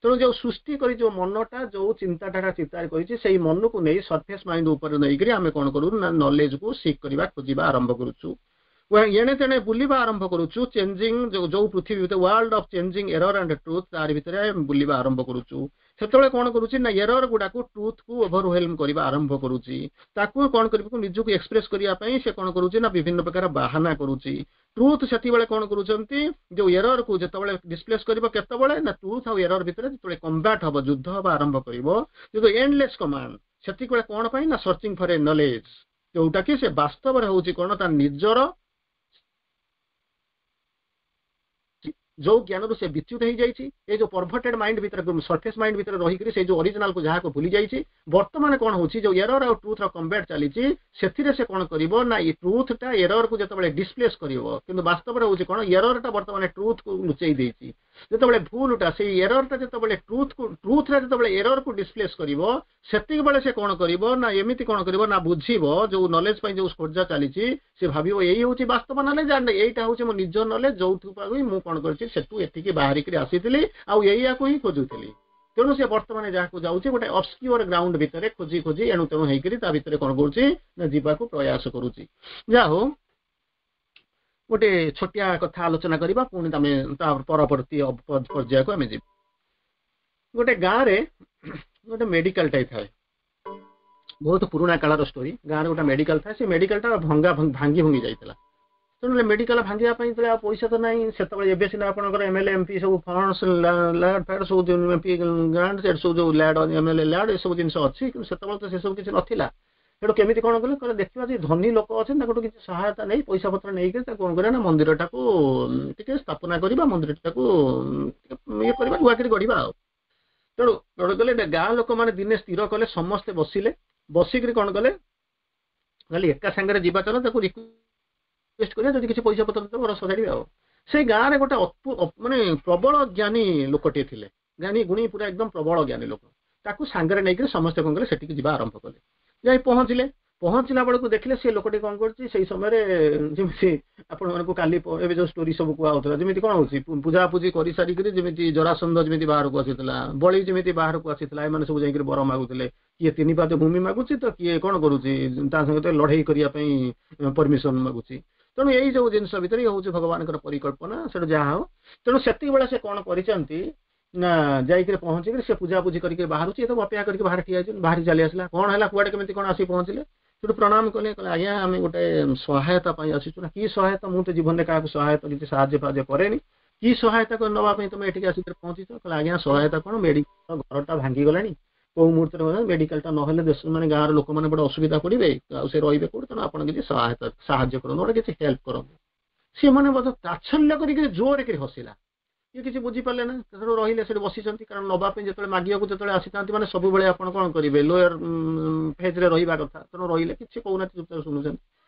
ତେଣୁ ଯୋଉ ସୃଷ୍ଟି କରି ଯୋଉ ମନଟା ଯୋଉ ଚିନ୍ତାଧାରା ଚିନ୍ତା କରିଛି ସେଇ ମନକୁ ନେଇ ସର୍ଫେସ୍ ମାଇଣ୍ଡ ଉପରେ ନେଇକରି ଆମେ କଣ କରୁ ନା ନଲେଜକୁ ସିକ୍ କରିବା ଖୋଜିବା ଆରମ୍ଭ କରୁଛୁ ଏଣେ ତେଣେ ବୁଲିବା ଆରମ୍ଭ କରୁଛୁ ଚେଞ୍ଜିଂ ଯୋଉ ପୃଥିବୀ ଭିତରେ world of changing error and truth ତାରି ଭିତରେ ବୁଲିବା ଆରମ୍ଭ କରୁଛୁ ସେତେବେଳେ କଣ କରୁଛି ନା ଏରର ଗୁଡାକୁ ଟ୍ରୁଥକୁ ଓଭରୱେଲମ କରିବା ଆରମ୍ଭ କରୁଛି ତାକୁ କଣ କରିବାକୁ ନିଜକୁ ଏକ୍ସପ୍ରେସ କରିବା ପାଇଁ ସେ କଣ କରୁଛି ନା ବିଭିନ୍ନ ପ୍ରକାର ବାହାନା କରୁଛି ଟ୍ରୁଥ ସେତିବେଳେ କଣ କରୁଛନ୍ତି ଯୋଉ ଏରରକୁ ଯେତେବେଳେ ଡିସପ୍ଲେସ କରିବ କେତେବେଳେ ନା ଟ୍ରୁଥ ଆଉ ଏରର ଭିତରେ ଯେତେବେଳେ କମ୍ବାଟ ହବ ଯୁଦ୍ଧ ହବା ଆରମ୍ଭ କରିବ ଯୋଉ ଏଣ୍ଡଲେସ୍ କମାଣ୍ଡ ସେତିକିବେଳେ କଣ ପାଇଁ ନା ସର୍ଚିଂ ଫର ଏ ନଲେଜ ଯୋଉଟା କି ସେ ବାସ୍ତବରେ ହଉଛି କଣ ତା ନିଜର ଯୋଉ ଜ୍ଞାନରୁ ସେ ବିଚ୍ୟୁତ ହେଇଯାଇଛି ଏ ଯୋଉ ପରଭର୍ଟେଡ ମାଇଣ୍ଡ ଭିତରେ ସର୍ଫେସ୍ ମାଇଣ୍ଡ ଭିତରେ ରହିକରି ସେଇ ଯୋଉ ଅରିଜିନାଲକୁ ଯାହାକୁ ଭୁଲି ଯାଇଛି ବର୍ତ୍ତମାନ କଣ ହଉଛି ଯୋଉ ଏରର ଆଉ ଟ୍ରୁଥର କମ୍ବାଟ ଚାଲିଛି ସେଥିରେ ସେ କଣ କରିବ ନା ଏଇ ଟ୍ରୁଥଟା ଏରରକୁ ଯେତେବେଳେ ଡିସପ୍ଲେସ କରିବ କିନ୍ତୁ ବାସ୍ତବରେ ହଉଛି କଣ ଏରରଟା ବର୍ତ୍ତମାନ ଟ୍ରୁଥକୁ ଲୁଚେଇ ଦେଇଛି ଯେତେବେଳେ ଭୁଲଟା ସେଇ ଏରରଟା ଯେତେବେଳେ ଟ୍ରୁଥକୁ ଟ୍ରୁଥଟା ଯେତେବେଳେ ଏରରକୁ ଡିସପ୍ଲେସ କରିବ ସେତିକି ବେଳେ ସେ କଣ କରିବ ନା ଏମିତି କଣ କରିବ ନା ବୁଝିବ ଯୋଉ ନଲେଜ ପାଇଁ ଯୋଉ ଖୋଜା ଚାଲିଛି ସେ ଭାବିବ ଏଇ ହଉଛି ବାସ୍ତବ ନଲେଜ ଆଣ୍ଡ ଏଇଟା ହଉଛି ମୋ ନିଜ ନଲେଜ ଯୋଉଠୁ ପାଇଁ ମୁଁ କଣ କରିଛି ସେଠୁ ଏଠିକି ବାହାରିକିରି ଆସିଥିଲି ଆଉ ଏଇଆକୁ ହିଁ ଖୋଜୁଥିଲି ତେଣୁ ସେ ବର୍ତ୍ତମାନ ଯାହାକୁ ଯାଉଛି ଗୋଟେ ଅବସ୍କିଓର ଗ୍ରାଉଣ୍ଡ ଭିତରେ ଖୋଜି ଖୋଜି ଏଣୁ ତେଣୁ ହେଇକରି ତା ଭିତରେ କଣ କରୁଛି ନା ଯିବାକୁ ପ୍ରୟାସ କରୁଛି ଯାହା ହଉ ଗୋଟେ ଛୋଟିଆ କଥା ଆଲୋଚନା କରିବା ପୁଣି ଆମେ ତା ପରବର୍ତ୍ତୀ ପର୍ଯ୍ୟାୟକୁ ଆମେ ଯିବା ଗୋଟେ ଗାଁରେ ଗୋଟେ ମେଡିକାଲଟାଏ ଥାଏ। ବହୁତ ପୁରୁଣା କାଳର ଷ୍ଟୋରି। ଗାଁରେ ଗୋଟେ ମେଡିକାଲ ଥାଏ। ସେ ମେଡିକାଲଟା ଭଙ୍ଗା ଭାଙ୍ଗି ଭୁଙ୍ଗି ଯାଇଥିଲା। ତେଣୁ ମେଡିକାଲ ଭାଙ୍ଗିବା ପାଇଁ ଯେତେବେଳେ ଆଉ ପଇସା ତ ନାହିଁ ସେତେବେଳେ, ଏବେ ସିନା ଆପଣଙ୍କର ଏମଏଲଏ, ଏମପି ସବୁ ଫଣ୍ଡସ୍, ଲ୍ୟାଡ୍ ଫ୍ୟାଡ୍ ସବୁ, ଏମପି ଗ୍ରାଣ୍ଟ, ସବୁ ଯୋଉ ଲ୍ୟାଡ୍, ଏମଏଲଏ ଲ୍ୟାଡ୍, ଏସବୁ ଜିନିଷ ଅଛି। କିନ୍ତୁ ସେତେବେଳେ ତ ସେସବୁ କିଛି ନଥିଲା। ସେଠୁ କେମିତି କଣ କଲେ? କହିଲେ, ଦେଖିବା ଯେ ଧନୀ ଲୋକ ଅଛନ୍ତି, ତାଙ୍କଠୁ କିଛି ସହାୟତା ନେଇ, ପଇସା ପତ୍ର ନେଇକି ତାକୁ କଣ କରିବା ନା ମନ୍ଦିରଟାକୁ ଟିକେ ସ୍ଥାପନା କରିବା, ମନ୍ଦିରଟାକୁ ଟିକେ ଇଏ କରିବା, ନୂଆ କରି ଗଢିବା। ଆଉ ତେଣୁ କଣ କଲେ? ଗାଁ ଲୋକମାନେ ଦିନେ ସ୍ଥିର କଲେ। ସମସ୍ତେ ବସିଲେ। ବସିକିରି କଣ କଲେ? କହିଲେ, ଏକା ସାଙ୍ଗରେ ଯିବା, ଚାଲ ତାକୁ ରିକ୍ୱେଷ୍ଟ କରିବା, ଯଦି କିଛି ପଇସା ପତ୍ର ଦେବ ସଜାଡ଼ିବେ। ଆଉ ସେଇ ଗାଁରେ ଗୋଟେ ମାନେ ପ୍ରବଳ ଜ୍ଞାନୀ ଲୋକଟିଏ ଥିଲେ। ଜ୍ଞାନୀ ଗୁଣୀ, ପୁରା ଏକଦମ ପ୍ରବଳ ଜ୍ଞାନୀ ଲୋକ। ତାକୁ ସାଙ୍ଗରେ ନେଇକରି ସମସ୍ତେ କଣ କଲେ? ସେଠିକି ଯିବା ଆରମ୍ଭ କଲେ। ଯାଇ ପହଞ୍ଚିଲେ। ପହଞ୍ଚିଲା ବେଳକୁ ଦେଖିଲେ ସେ ଲୋକଟି କଣ କରୁଛି। ସେଇ ସମୟରେ ଯେମିତି ଆପଣମାନଙ୍କୁ କାଲି ଏବେ ଯୋଉ ଷ୍ଟୋରି ସବୁ କୁହା ହଉଥିଲା, ଯେମିତି କଣ ହଉଛି, ପୂଜାପୂଜି କରିସାରିକିରି ଯେମିତି ଜରାସନ୍ଧ ଯେମିତି ବାହାରକୁ ଆସିଥିଲା, ବଳି ଯେମିତି ବାହାରକୁ ଆସିଥିଲା, ଏମାନେ ସବୁ ଯାଇକିରି ବର ମାଗୁଥିଲେ। କିଏ ତିନି ପାଦ ଭୂମି ମାଗୁଛି ତ କିଏ କଣ କରୁଛି, ତା ସହିତ ଲଢେଇ କରିବା ପାଇଁ ପରମିଶନ ମାଗୁଛି। ତେଣୁ ଏଇ ଯୋଉ ଜିନିଷ ଭିତରେ ହଉଛି ଭଗବାନଙ୍କର ପରିକଳ୍ପନା। ସେଠୁ ଯାହା ହଉ, ତେଣୁ ସେତିକି ବେଳେ ସେ କଣ କରିଛନ୍ତି ନା ଯାଇକିରି ପହଞ୍ଚିକିରି ସେ ପୂଜାପୂଜି କରିକି ବାହାରୁଛି। ଏ ତ ଅପେକ୍ଷା କରିକି ବାହାରେ ଠିଆ ହେଇଛନ୍ତି। ବାହାରି ଚାଲି ଆସିଲା। କଣ ହେଲା, କୁଆଡେ କେମିତି କଣ ଆସିକି ପହଞ୍ଚିଲେ? ସେଠୁ ପ୍ରଣାମ କଲେ। କହିଲେ, ଆଜ୍ଞା, ଆମେ ଗୋଟେ ସହାୟତା ପାଇଁ ଆସିଛୁ। ନା, କି ସହାୟତା? ମୁଁ ତ ଜୀବନରେ କାହାକୁ ସହାୟତା କିଛି ସାହାଯ୍ୟ ଫାହାଯ୍ୟ କରେନି। କି ସହାୟତା ନେବା ପାଇଁ ତମେ ଏଠିକି ଆସିକି ପହଞ୍ଚିଛ? କହିଲେ, ଆଜ୍ଞା, ସହାୟତା କଣ, ମେଡିକାଲ ଘରଟା ଭାଙ୍ଗିଗଲାଣି, କୋଉ ମୁହୂର୍ତ୍ତରେ ମେଡିକାଲଟା ନହେଲେ ଦେଶ ମାନେ ଗାଁର ଲୋକମାନେ ବଡ ଅସୁବିଧା ପଡିବେ, ଆଉ ସେ ରହିବେ କୋଉଠି? ତେଣୁ ଆପଣ କିଛି ସହାୟତା ସାହାଯ୍ୟ କରନ୍ତୁ, ଗୋଟେ କିଛି ହେଲ୍ପ କରନ୍ତୁ। ସେମାନେ ବୋଧେ ତାଚ୍ଛଲ୍ୟ କରିକି ଜୋରରେ କରି ହସିଲା। ଇଏ କିଛି ବୁଝିପାରିଲେ ନା। ସେଠୁ ରହିଲେ, ସେଠି ବସିଛନ୍ତି। କାରଣ ନବା ପାଇଁ ଯେତେବେଳେ ମାଗିବାକୁ ଯେତେବେଳେ ଆସିଥାନ୍ତି, ମାନେ ସବୁବେଳେ ଆପଣ କଣ କରିବେ? ଲୋୟର ଫେଜରେ ରହିବା କଥା। ତେଣୁ ରହିଲେ, କିଛି କହୁନାହାନ୍ତି, ଚୁପଚାପ ଶୁଣୁଛନ୍ତି।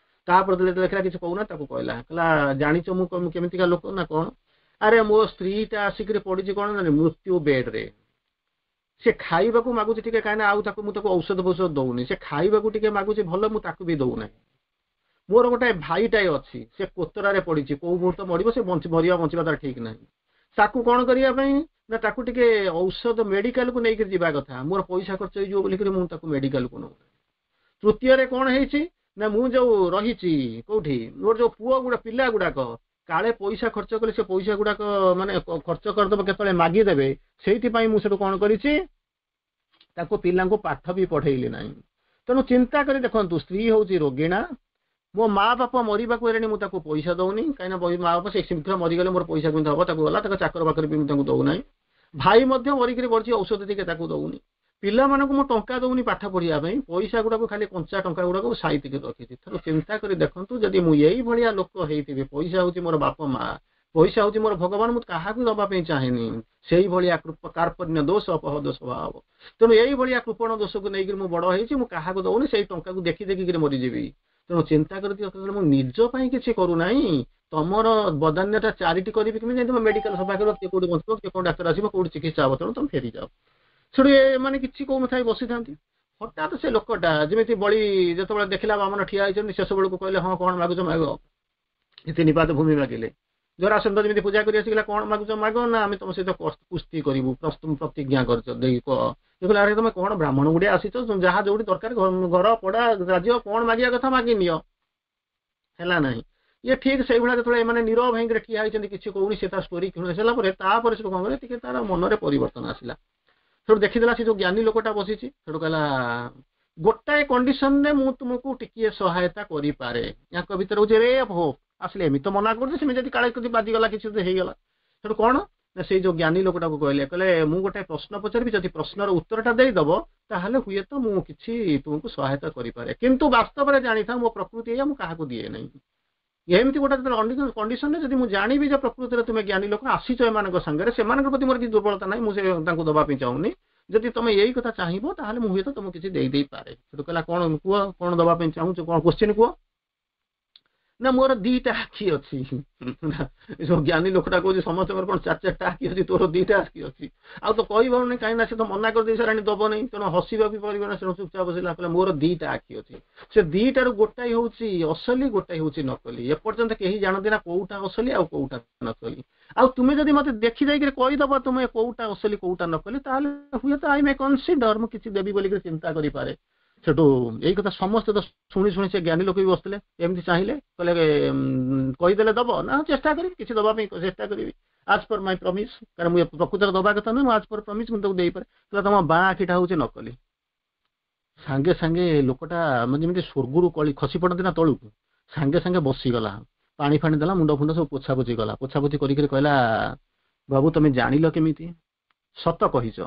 ତାପରେ ଯେତେବେଳେ ଦେଖିଲା କିଛି କହୁନା, ତାକୁ କହିଲା, କହିଲା, ଜାଣିଛ ମୁଁ କେମିତିକା ଲୋକ ନା କଣ? ଆରେ ମୋ ସ୍ତ୍ରୀଟା ଆସିକିରି ପଡିଛି କଣ ନା ମୃତ୍ୟୁ ବେଡରେ। ସେ ଖାଇବାକୁ ମାଗୁଛି ଟିକେ, କାହିଁକି ଆଉ ତାକୁ ମୁଁ ତାକୁ ଔଷଧ ଫୌଷଧ ଦଉନି। ସେ ଖାଇବାକୁ ଟିକେ ମାଗୁଛି ଭଲ, ମୁଁ ତାକୁ ବି ଦଉନାହିଁ। ମୋର ଗୋଟେ ଭାଇଟାଏ ଅଛି, ସେ କୋତରାରେ ପଡିଛି, କୋଉ ମୁହୂର୍ତ୍ତ ମରିବ, ସେ ବଞ୍ଚି ମରିବା ବଞ୍ଚିବା ତାର ଠିକ ନାହିଁ। ତାକୁ କଣ କରିବା ପାଇଁ ନା ତାକୁ ଟିକେ ଔଷଧ ମେଡିକାଲକୁ ନେଇକି ଯିବା କଥା, ମୋର ପଇସା ଖର୍ଚ୍ଚ ହେଇଯିବ ବୋଲିକିରି ମୁଁ ତାକୁ ମେଡିକାଲକୁ ନଉ। ତୃତୀୟରେ କଣ ହେଇଛି ନା ମୁଁ ଯୋଉ ରହିଛି କୋଉଠି, ମୋର ଯୋଉ ପୁଅ ଗୁଡା, ପିଲା ଗୁଡାକ କାଳେ ପଇସା ଖର୍ଚ୍ଚ କଲେ ସେ ପଇସା ଗୁଡାକ ମାନେ ଖର୍ଚ୍ଚ କରିଦେବ, କେତେବେଳେ ମାଗିଦେବେ, ସେଇଥିପାଇଁ ମୁଁ ସେଠୁ କଣ କରିଛି, ତାକୁ ପିଲାଙ୍କୁ ପାଠ ବି ପଢେଇଲି ନାହିଁ। ତେଣୁ ଚିନ୍ତା କରି ଦେଖନ୍ତୁ, ସ୍ତ୍ରୀ ହଉଛି ରୋଗିଣା, ମୋ ମା ବାପା ମରିବାକୁ ହେଲେଣି, ମୁଁ ତାକୁ ପଇସା ଦଉନି, କାହିଁକିନା ମା ବାପା ସେ ଶୀଘ୍ର ମରିଗଲେ ମୋର ପଇସା କେମିତି ହବ? ତାକୁ ଗଲା, ତାକୁ ଚାକର ବାକର ବି ମୁଁ ତାଙ୍କୁ ଦଉନାହିଁ। ଭାଇ ମଧ୍ୟ ମରିକିରି ପଡିଛି, ଔଷଧ ଟିକେ ତାକୁ ଦଉନି। ପିଲାମାନଙ୍କୁ ମୁଁ ଟଙ୍କା ଦଉନି ପାଠ ପଢିବା ପାଇଁ, ପଇସା ଗୁଡାକୁ ଖାଲି କଞ୍ଚା ଟଙ୍କା ଗୁଡାକୁ ସାଇତିକି ରଖିଛି। ତେଣୁ ଚିନ୍ତା କରି ଦେଖନ୍ତୁ, ଯଦି ମୁଁ ଏଇଭଳିଆ ଲୋକ ହେଇଥିବି, ପଇସା ହଉଛି ମୋର ବାପ ମା, ପଇସା ହଉଛି ମୋର ଭଗବାନ, ମୁଁ କାହାକୁ ଦବା ପାଇଁ ଚାହେଁନି। ସେଇଭଳିଆ କାର୍ପଣ୍ୟ ଦୋଷ ଅପହଦ ସ୍ୱଭାବ। ତେଣୁ ଏଇଭଳିଆ କୃପଣ ଦୋଷକୁ ନେଇକିରି ମୁଁ ବଡ ହେଇଛି। ମୁଁ କାହାକୁ ଦଉନି, ସେଇ ଟଙ୍କାକୁ ଦେଖି ଦେଖିକିରି ମରିଯିବି। ତେଣୁ ଚିନ୍ତା କରି, ମୁଁ ନିଜ ପାଇଁ କିଛି କରୁନାହିଁ, ତମର ବଦାନ୍ୟତା ଚାରିଟି କରିବି କେମିତି? ତମେ ମେଡିକାଲ ସଫା କରିବ, କିଏ କୋଉଠି ବଞ୍ଚିବ, କିଏ କୋଉ ଡାକ୍ତର ଆସିବ, କୋଉଠି ଚିକିତ୍ସା ହବ, ତେଣୁ ତମେ ଫେରିଯାଅ। ସେଠୁ ଏମାନେ କିଛି କହୁନଥାଇ ବସିଥାନ୍ତି। ହଠାତ୍ ସେ ଲୋକଟା ଯେମିତି ବଳି ଯେତେବେଳେ ଦେଖିଲା ବାମନ ଠିଆ ହେଇଛନ୍ତି, ଶେଷ ବେଳକୁ କହିଲେ, ହଁ, କଣ ମାଗୁଛ ମାଗ। ତିନି ପାଦ ଭୂମି ମାଗିଲେ। ଜରାସନ୍ଧ ଯେମିତି ପୂଜା କରି ଆସିଗଲା, କଣ ମାଗୁଛ ମାଗ। ନା, ଆମେ ତମ ସହିତ କୁସ୍ତି କରିବୁ, ପ୍ରତିଜ୍ଞା କରିଛ ଦେଇ କହ। କହିଲେ, ଆରେ ତମେ କଣ ବ୍ରାହ୍ମଣ ଗୁଡିଆ ଆସିଛ, ଯାହା ଯୋଉଠି ଦରକାର, ଘର ପଡା ରାଜ୍ୟ କଣ ମାଗିବା କଥା ମାଗି ନିଅ। ହେଲା ନାହିଁ। ଇଏ ଠିକ ସେଇଭଳିଆ ଯେତେବେଳେ ଏମାନେ ନିରବ ହେଇକିରି ଠିଆ ହେଇଛନ୍ତି, କିଛି କହୁନି, ସେ ତା ଷ୍ଟୋରି ଶୁଣି ସାରିଲା ପରେ ତାପରେ ସେଠୁ କଣ କଲେ, ଟିକେ ତାର ମନରେ ପରିବର୍ତ୍ତନ ଆସିଲା। ସେଠୁ ଦେଖିଦେଲା ସେ ଯୋଉ ଜ୍ଞାନୀ ଲୋକଟା ବସିଛି। ସେଠୁ କହିଲା, ଗୋଟାଏ କଣ୍ଡିସନରେ ମୁଁ ତୁମକୁ ଟିକିଏ ସହାୟତା କରିପାରେ। ୟାଙ୍କ ଭିତରେ ହଉଛି ରେ ହୋପ୍ ଆସିଲେ। ଏମିତି ତ ମନା କରୁଛି, ସେମିତି ଯଦି କାଳେ ଯଦି ବାଜିଗଲା, କିଛି ଯଦି ହେଇଗଲା। ସେଠୁ କଣ ନା ସେଇ ଯୋଉ ଜ୍ଞାନୀ ଲୋକଟାକୁ କହିଲେ, କହିଲେ, ମୁଁ ଗୋଟେ ପ୍ରଶ୍ନ ପଚାରିବି, ଯଦି ପ୍ରଶ୍ନର ଉତ୍ତରଟା ଦେଇଦବ ତାହେଲେ ହୁଏତ ମୁଁ କିଛି ତୁମକୁ ସହାୟତା କରିପାରେ। କିନ୍ତୁ ବାସ୍ତବରେ ଜାଣିଥାଅ, ମୋ ପ୍ରକୃତି ଏଇଆ, ମୁଁ କାହାକୁ ଦିଏ ନାହିଁ। ଏମିତି ଗୋଟେ କଣ୍ଡିସନରେ, ଯଦି ମୁଁ ଜାଣିବି ଯେ ପ୍ରକୃତିରେ ତୁମେ ଜ୍ଞାନୀ ଲୋକ, ଆସିଛ ଏମାନଙ୍କ ସାଙ୍ଗରେ, ସେମାନଙ୍କ ପ୍ରତି ମୋର କିଛି ଦୁର୍ବଳତା ନାହିଁ, ମୁଁ ସେ ତାଙ୍କୁ ଦବା ପାଇଁ ଚାହୁଁନି, ଯଦି ତମେ ଏଇ କଥା ଚାହିଁବ ତାହେଲେ ମୁଁ ହୁଏତ ତମକୁ କିଛି ଦେଇ ଦେଇପାରେ। ସେଠୁ କହିଲା, କଣ କୁହ, କଣ ଦବା ପାଇଁ ଚାହୁଁଛ, କଣ କୋଶ୍ଚିନ୍ କୁହ। ନା, ମୋର ଦିଟା ଆଖି ଅଛି। ଯୋଉ ଜ୍ଞାନୀ ଲୋକଟା କହୁଛି, ସମସ୍ତଙ୍କର କଣ ଚାରି ଚାରିଟା ଆଖି ଅଛି? ତୋର ଦିଟା ଆଖି ଅଛି। ଆଉ ତ କହିପାରୁନି, କାହିଁକି ନା ସେ ତ ମନା କରିଦେଇ ସାରିଲାଣି ଦବନି। ତେଣୁ ହସିବା ବି ପାରିବ ନା। ତେଣୁ ଚୁପଚାପ ବସିଲା। କହିଲା, ମୋର ଦିଟା ଆଖି ଅଛି, ସେ ଦିଟାରୁ ଗୋଟାଏ ହଉଛି ଅସଲି, ଗୋଟାଏ ହଉଛି ନକଲି। ଏପର୍ଯ୍ୟନ୍ତ କେହି ଜାଣନ୍ତି ନା କୋଉଟା ଅସଲି ଆଉ କୋଉଟା ନକଲି। ଆଉ ତୁମେ ଯଦି ମତେ ଦେଖି ଦେଇକିରି କହିଦବ ତୁମେ କୋଉଟା ଅସଲି କୋଉଟା ନକଲି, ତାହେଲେ ହୁଏତ I May consider, ମୁଁ କିଛି ଦେବି ବୋଲିକିରି ଚିନ୍ତା କରିପାରେ। ସେଠୁ ଏଇ କଥା ସମସ୍ତେ ତ ଶୁଣି ଶୁଣି ସେ ଜ୍ଞାନୀ ଲୋକ ବି ବସିଥିଲେ ଏମିତି ଚାହିଁଲେ କହିଲେ କହିଦେଲେ ଦବ ନା ଚେଷ୍ଟା କରିବି କିଛି ଦବା ପାଇଁ ଚେଷ୍ଟା କରିବି ଆଜ୍ ପର୍ ମାଇ ପ୍ରମିସ୍ କାରଣ ମୁଁ ପ୍ରକୃତରେ ଦବା କଥା ନୁହେଁ ମୁଁ ଆଜ୍ ପର୍ ପ୍ରମିସ୍ ମୁଁ ତାକୁ ଦେଇପାରେ କହିଲା ତମ ବାଁ ଆଖିଟା ହଉଛି ନକଲି ସାଙ୍ଗେ ସାଙ୍ଗେ ଲୋକଟା ମାନେ ଯେମିତି ସ୍ୱର୍ଗରୁ କଳି ଖସି ପଡନ୍ତି ନା ତଳକୁ ସାଙ୍ଗେ ସାଙ୍ଗେ ବସିଗଲା ପାଣି ଫାଣି ଦେଲା ମୁଣ୍ଡ ଫୁଣ୍ଡ ସବୁ ପୋଛାପୋଛି କଲା ପୋଛାପୋଛି କରିକିରି କହିଲା ବାବୁ ତମେ ଜାଣିଲ କେମିତି ସତ କହିଛ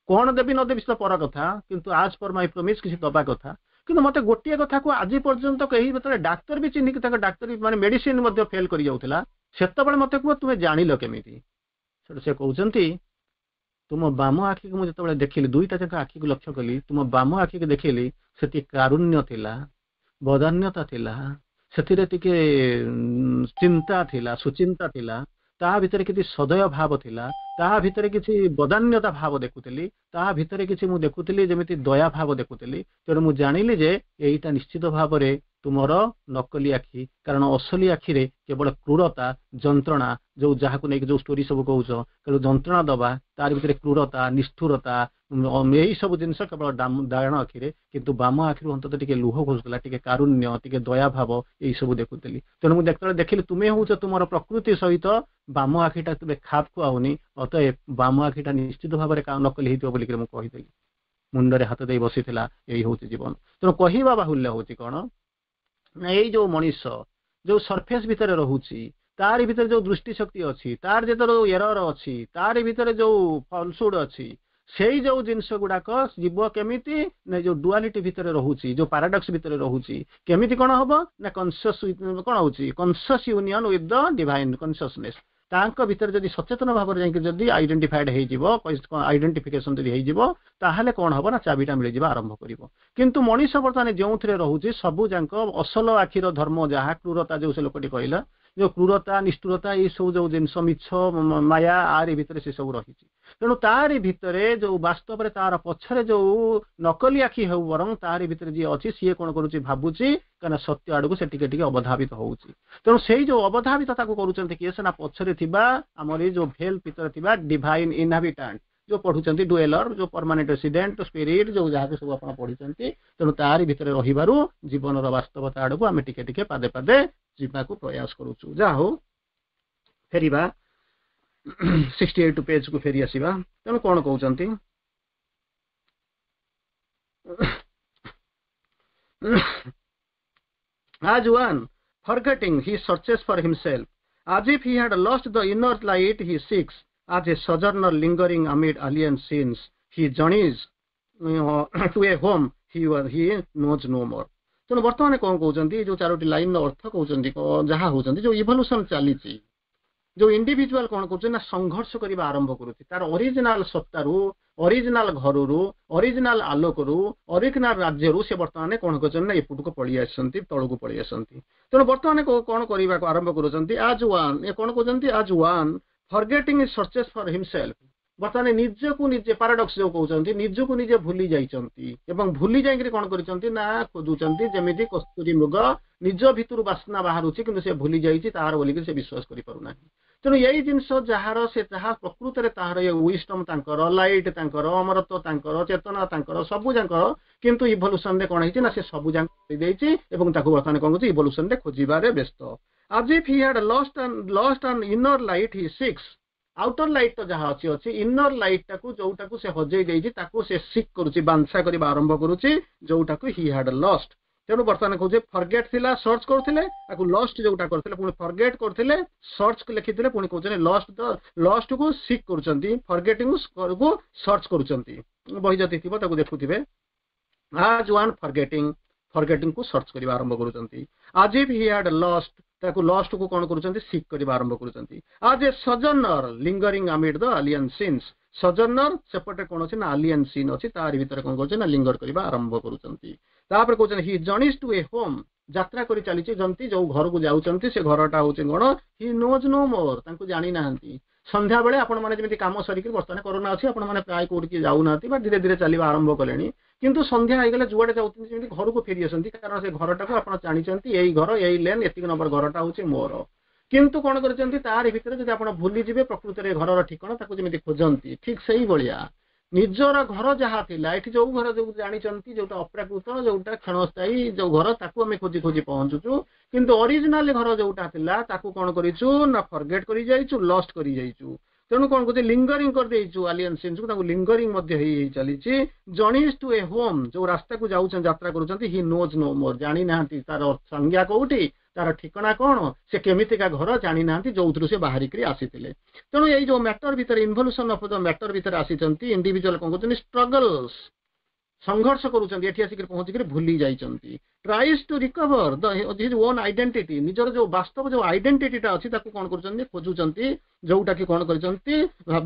କଣ ଦେବି ନ ଦେବି ସେ ପର କଥା କିନ୍ତୁ ଆଜ୍ ପର୍ ମାଇ ପ୍ରମିସ୍ କିଛି ଦବା କଥା କିନ୍ତୁ ମତେ ଗୋଟିଏ କଥାକୁ ଆଜି ପର୍ଯ୍ୟନ୍ତ କେହି ଯେତେବେଳେ ଡାକ୍ତର ବି ଚିହ୍ନିକି ତାଙ୍କ ଡାକ୍ତର ମାନେ ମେଡିସିନ ମଧ୍ୟ ଫେଲ କରି ଯାଉଥିଲା ସେତେବେଳେ ମତେ କୁହ ତୁମେ ଜାଣିଲ କେମିତି ସେଠୁ ସେ କହୁଛନ୍ତି ତୁମ ବାମ ଆଖିକୁ ମୁଁ ଯେତେବେଳେ ଦେଖିଲି ଦୁଇଟା ଯାକ ଆଖିକୁ ଲକ୍ଷ୍ୟ କଲି ତୁମ ବାମ ଆଖିକୁ ଦେଖିଲି ସେଠି କାରୁଣ୍ୟ ଥିଲା ବଦାନ୍ୟତା ଥିଲା ସେଥିରେ ଟିକେ ଚିନ୍ତା ଥିଲା ସୁଚିନ୍ତା ଥିଲା ତା ଭିତରେ କିଛି ସଦୟ ଭାବ ଥିଲା ତା ଭିତରେ କିଛି ବଦାନ୍ୟତା ଭାବ ଦେଖୁଥିଲି ତା ଭିତରେ କିଛି ମୁଁ ଦେଖୁଥିଲି ଯେମିତି ଦୟା ଭାବ ଦେଖୁଥିଲି ତେଣୁ ମୁଁ ଜାଣିଲି ଯେ ଏଇଟା ନିଶ୍ଚିତ ଭାବରେ ତୁମର ନକଲି ଆଖି କାରଣ ଅସଲି ଆଖିରେ କେବଳ କ୍ରୂରତା ଯନ୍ତ୍ରଣା ଯୋଉ ଯାହାକୁ ନେଇକି ଯୋଉ ଷ୍ଟୋରି ସବୁ କହୁଛ ତେଣୁ ଯନ୍ତ୍ରଣା ଦବା ତାର ଭିତରେ କ୍ରୂରତା ନିଷ୍ଠୁରତା ଏଇ ସବୁ ଜିନିଷ କେବଳ ଡାହାଣ ଆଖିରେ କିନ୍ତୁ ବାମ ଆଖିରୁ ଅନ୍ତତଃ ଟିକେ ଲୁହ ଖସୁଥିଲା ଟିକେ କାରୁଣ୍ୟ ଟିକେ ଦୟା ଭାବ ଏଇ ସବୁ ଦେଖୁଥିଲି ତେଣୁ ମୁଁ ଯେତେବେଳେ ଦେଖିଲି ତୁମେ ହଉଛ ତୁମର ପ୍ରକୃତି ସହିତ ବାମ ଆଖିଟା ତୁମେ ଖାପ ଖୁଆଉନି ଅତଏବ ବାମ ଆଖିଟା ନିଶ୍ଚିତ ଭାବରେ ନକଲି ହେଇଥିବ ବୋଲିକିରି ମୁଁ କହିଦେଲି ମୁଣ୍ଡରେ ହାତ ଦେଇ ବସିଥିଲା ଏଇ ହଉଛି ଜୀବନ ତେଣୁ କହିବା ବାହୁଲ୍ୟ ହଉଛି କଣ ନା ଏଇ ଯୋଉ ମଣିଷ ଯୋଉ ସର୍ଫେସ ଭିତରେ ରହୁଛି ତାରି ଭିତରେ ଯୋଉ ଦୃଷ୍ଟି ଶକ୍ତି ଅଛି ତାର ଯେତେବେଳେ ଯୋଉ ଏରର ଅଛି ତାରି ଭିତରେ ଯୋଉ ଫଲସୁଡ ଅଛି ସେଇ ଯୋଉ ଜିନିଷ ଗୁଡାକ ଯିବ କେମିତି ନା ଯୋଉ ଡୁଆଲିଟି ଭିତରେ ରହୁଛି ଯୋଉ ପାରାଡକ୍ସ ଭିତରେ ରହୁଛି କେମିତି କଣ ହବ ନା କନସିୟସ କଣ ହଉଛି conscious union with the divine consciousness ତାଙ୍କ ଭିତରେ ଯଦି ସଚେତନ ଭାବରେ ଯାଇକି ଯଦି ଆଇଡେଣ୍ଟିଫାଇଡ ହେଇଯିବ ଆଇଡେଣ୍ଟିଫିକେସନ ଯଦି ହେଇଯିବ ତାହେଲେ କଣ ହବ ନା ଚାବିଟା ମିଳିଯିବା ଆରମ୍ଭ କରିବ କିନ୍ତୁ ମଣିଷ ବର୍ତ୍ତମାନ ଯେଉଁଥିରେ ରହୁଛି ସବୁ ଯାକ ଅସଲ ଆଖିର ଧର୍ମ ଯାହା କ୍ରୂରତା ଯୋଉ ସେ ଲୋକଟି କହିଲା ଯୋଉ କ୍ରୂରତା ନିଷ୍ଠୁରତା ଏଇ ସବୁ ଯୋଉ ଜିନିଷ ମିଛ ମାୟା ଆରି ଭିତରେ ସେ ସବୁ ରହିଛି ତେଣୁ ତାରି ଭିତରେ ଯୋଉ ବାସ୍ତବରେ ତାର ପଛରେ ଯୋଉ ନକଲି ଆଖି ହେଉ ବରଂ ତାରି ଭିତରେ ଯିଏ ଅଛି ସିଏ କଣ କରୁଛି ଭାବୁଛି କାହିଁକିନା ସତ୍ୟ ଆଡକୁ ସେ ଟିକେ ଟିକେ ଅବଧାବିତ ହଉଛି ତେଣୁ ସେଇ ଯୋଉ ଅବଧାବିତ ତାକୁ କରୁଛନ୍ତି କିଏ ସେ ନା ପଛରେ ଥିବା ଆମର ଏଇ ଯୋଉ ଭେଲ ଭିତରେ ଥିବା ଡିଭାଇନ ଇନହାବିଟାଣ୍ଟ ଯୋଉ ପଢୁଛନ୍ତି ଡୁଏଲର ଯୋଉ ପରମାନେଣ୍ଟ ରେସିଡେଣ୍ଟ ସ୍ପିରିଟ ଯୋଉ ଯାହାକୁ ସବୁ ଆପଣ ପଢିଛନ୍ତି ତେଣୁ ତାରି ଭିତରେ ରହିବାରୁ ଜୀବନର ବାସ୍ତବତା ଆଡକୁ ଆମେ ଟିକେ ଟିକେ ପାଦେ ପାଦେ ଯିବାକୁ ପ୍ରୟାସ କରୁଛୁ ଯାହା ହଉ ଫେରିବା ସିକ୍ସଟି ଏଇଟ ପେଜକୁ ଫେରି ଆସିବା ତେଣୁ କଣ କହୁଛନ୍ତି As one forgetting he searches for himself, as if he had lost the inner light he seeks, as a sojourner lingering amid alien scenes, he journeys uh, to a home he, he knows no more. ତେଣୁ ବର୍ତ୍ତମାନ କଣ କହୁଛନ୍ତି ଯୋଉ ଚାରୋଟି ଲାଇନର ଅର୍ଥ କହୁଛନ୍ତି ଯାହା ହଉଛନ୍ତି ଯୋଉ ଇଭଲ୍ୟୁସନ ଚାଲିଛି ଯୋଉ ଇଣ୍ଡିଭିଜୁଆଲ କଣ କରୁଛି ନା ସଂଘର୍ଷ କରିବା ଆରମ୍ଭ କରୁଛି ତାର ଅରିଜିନାଲ ସତ୍ତାରୁ ଅରିଜିନାଲ ଘରରୁ ଅରିଜିନାଲ ଆଲୋକରୁ ଅରିଜିନାଲ ରାଜ୍ୟରୁ ସେ ବର୍ତ୍ତମାନ କଣ କରୁଛନ୍ତି ନା ଏପଟକୁ ପଳେଇ ଆସିଛନ୍ତି ତଳକୁ ପଳେଇ ଆସନ୍ତି ତେଣୁ ବର୍ତ୍ତମାନ କଣ କରିବାକୁ ଆରମ୍ଭ କରୁଛନ୍ତି ଆଜ୍ ୱାନ୍ ଏ କଣ କହୁଛନ୍ତି as one forgetting searches for himself ବର୍ତ୍ତମାନ ନିଜକୁ ନିଜେ ପାରାଡକ୍ସ ଯୋଉ କହୁଛନ୍ତି ନିଜକୁ ନିଜେ ଭୁଲି ଯାଇଛନ୍ତି ଏବଂ ଭୁଲି ଯାଇକିରି କଣ କରିଛନ୍ତି ନା ଖୋଜୁଛନ୍ତି ଯେମିତି କସ୍ତୁରୀ ମୃଗ ନିଜ ଭିତରୁ ବାସ୍ନା ବାହାରୁଛି କିନ୍ତୁ ସେ ଭୁଲି ଯାଇଛି ତାହାର ବୋଲିକି ସେ ବିଶ୍ୱାସ କରିପାରୁନାହିଁ ତେଣୁ ଏଇ ଜିନିଷ ଯାହାର ସେ ଯାହା ପ୍ରକୃତରେ ତାହାର ଏ ୱିଜଡମ ତାଙ୍କର ଲାଇଟ୍ ତାଙ୍କର ଅମରତ୍ୱ ତାଙ୍କର ଚେତନା ତାଙ୍କର ସବୁ ଯାଙ୍କର କିନ୍ତୁ ଇଭଲ୍ୟୁସନରେ କଣ ହେଇଛି ନା ସେ ସବୁ ଯାକ ଦେଇଛି ଏବଂ ତାକୁ ବର୍ତ୍ତମାନ କଣ କରୁଛି ଇଭଲ୍ୟୁସନରେ ଖୋଜିବାରେ ବ୍ୟସ୍ତ as if he had lost an lost an inner light he seeks outer light ତ ଯାହା ଅଛି ଅଛି ଇନର ଲାଇଟ୍ ଟାକୁ ଯୋଉଟାକୁ ସେ ହଜେଇ ଦେଇଛି ତାକୁ ସେ ସିକ୍ କରୁଛି ବାଞ୍ଛା କରିବା ଆରମ୍ଭ କରୁଛି ଯୋଉଟାକୁ ହି ହାଡ ଲଷ୍ଟ ତେଣୁ ବର୍ତ୍ତମାନ କହୁଛେ ଫରଗେଟ୍ ଥିଲା ସର୍ଚ୍ଚ କରୁଥିଲେ ତାକୁ ଲଷ୍ଟ ଯୋଉଟା କରିଥିଲେ ପୁଣି ଫରଗେଟ୍ କରୁଥିଲେ ସର୍ଚ୍ଚ ଲେଖିଥିଲେ ପୁଣି କହୁଛନ୍ତି ଲଷ୍ଟ ତ ଲଷ୍ଟ କୁ ସିକ୍ କରୁଛନ୍ତି ଫରଗେଟିଂ କୁ ସର୍ଚ୍ଚ କରୁଛନ୍ତି ବହି ଯଦି ଥିବ ତାକୁ ଦେଖୁଥିବେ ଆଜ୍ ୱାନ୍ ଫରଗେଟିଂ ଫରଗେଟିଂ କୁ ସର୍ଚ୍ଚ କରିବା ଆରମ୍ଭ କରୁଛନ୍ତି as if he had lost ତାକୁ ଲଷ୍ଟ କୁ କଣ କରୁଛନ୍ତି ସିକ୍ କରିବା ଆରମ୍ଭ କରୁଛନ୍ତି as a sojourner lingering amid the alien scenes ସଜନର ସେପଟେ କଣ ଅଛି ନା ଆଲିଆନ ସିନ୍ ଅଛି ତାରି ଭିତରେ କଣ କରୁଛନ୍ତି ନା ଲିଙ୍ଗର କରିବା ଆରମ୍ଭ କରୁଛନ୍ତି ତାପରେ କହୁଛନ୍ତି he journeys to a home ଯାତ୍ରା କରି ଚାଲିଛି ଯେମିତି ଯୋଉ ଘରକୁ ଯାଉଛନ୍ତି ସେ ଘରଟା ହଉଛି କଣ ହି ନୋଜ୍ ନୋ ମୋର ତାଙ୍କୁ ଜାଣିନାହାନ୍ତି ସନ୍ଧ୍ୟାବେଳେ ଆପଣମାନେ ଯେମିତି କାମ ସରିକି ବର୍ତ୍ତମାନ କରୋନା ଅଛି ଆପଣମାନେ ପ୍ରାୟ କୋଉଠିକି ଯାଉନାହାନ୍ତି ବା ଧୀରେ ଧୀରେ ଚାଲିବା ଆରମ୍ଭ କଲେଣି କିନ୍ତୁ ସନ୍ଧ୍ୟା ହେଇଗଲେ ଯୁଆଡେ ଯାଉଛନ୍ତି ଯେମିତି ଘରକୁ ଫେରି ଆସନ୍ତି କାରଣ ସେ ଘରଟାକୁ ଆପଣ ଜାଣିଛନ୍ତି ଏଇ ଘର ଏଇ ଲେନ୍ ଏତିକି ନମ୍ବର ଘରଟା ହଉଛି ମୋର କିନ୍ତୁ କଣ କରିଛନ୍ତି ତାରି ଭିତରେ ଯଦି ଆପଣ ଭୁଲିଯିବେ ପ୍ରକୃତରେ ଘରର ଠିକଣା ତାକୁ ଯେମିତି ଖୋଜନ୍ତି ଠିକ ସେଇଭଳିଆ ନିଜର ଘର ଯାହା ଥିଲା ଏଠି ଯୋଉ ଘର ଯୋଉ ଜାଣିଛନ୍ତି ଯୋଉଟା ଅପ୍ରାକୃତ ଯୋଉଟା କ୍ଷଣସ୍ଥାୟୀ ଯୋଉ ଘର ତାକୁ ଆମେ ଖୋଜି ଖୋଜି ପହଞ୍ଚୁଛୁ କିନ୍ତୁ ଅରିଜିନାଲ ଘର ଯୋଉଟା ଥିଲା ତାକୁ କଣ କରିଛୁ ନା ଫରଗେଟ୍ କରି ଯାଇଛୁ ଲଷ୍ଟ କରି ଯାଇଛୁ ତେଣୁ କଣ କରୁଛି ଲିଙ୍ଗରିଂ କରିଦେଇଛୁ ଆଲିଏନ୍ ସିନ୍ସକୁ ତାକୁ ଲିଙ୍ଗରିଂ ମଧ୍ୟ ହେଇ ହେଇ ଚାଲିଛି ଜର୍ନିସ୍ ଟୁ ଏ ହୋମ୍ ଯୋଉ ରାସ୍ତାକୁ ଯାଉଛନ୍ତି ଯାତ୍ରା କରୁଛନ୍ତି he knows no more ଜାଣିନାହାନ୍ତି ତାର ସଂଜ୍ଞା କୋଉଠି ତାର ଠିକଣା କଣ ସେ କେମିତିକା ଘର ଜାଣିନାହାନ୍ତି ଯୋଉଥିରୁ ସେ ବାହାରିକିରି ଆସିଥିଲେ ତେଣୁ ଏଇ ଯୋଉ ମ୍ୟାଟର ଭିତରେ ଇନଭଲ୍ୟୁସନ ଅଫ the matter ଭିତରେ ଆସିଛନ୍ତି ଇଣ୍ଡିଭିଜୁଆଲ କଣ କରୁଛନ୍ତି ଷ୍ଟ୍ରଗଲ୍ସ ସଂଘର୍ଷ କରୁଛନ୍ତି ଏଠି ଆସିକରି ପହଞ୍ଚିକରି ଭୁଲି ଯାଇଛନ୍ତି tries to recover the his own identity ନିଜର ଯୋଉ ବାସ୍ତବ ଯୋଉ ଆଇଡେଣ୍ଟିଟିଟା ଅଛି ତାକୁ କଣ କରୁଛନ୍ତି ଖୋଜୁଛନ୍ତି ଯୋଉଟା କି କଣ କରିଛନ୍ତି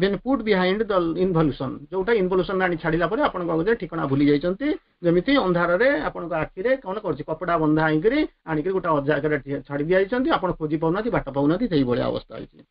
been put behind the involution ଯୋଉଟା ଇନଭଲ୍ୟୁସନ ଆଣି ଛାଡିଲା ପରେ ଆପଣ କଣ କରୁଛନ୍ତି ଠିକଣା ଭୁଲି ଯାଇଛନ୍ତି ଯେମିତି ଅନ୍ଧାରରେ ଆପଣଙ୍କ ଆଖିରେ କଣ କରୁଛି କପଡା ବନ୍ଧା ହେଇକିରି ଆଣିକିରି ଗୋଟେ ଜାଗାରେ ଛାଡି ଦିଆଯାଇଛନ୍ତି ଆପଣ ଖୋଜି ପାଉନାହାନ୍ତି ବାଟ ପାଉନାହାନ୍ତି ସେଇଭଳିଆ ଅବସ୍ଥା ହେଇଛି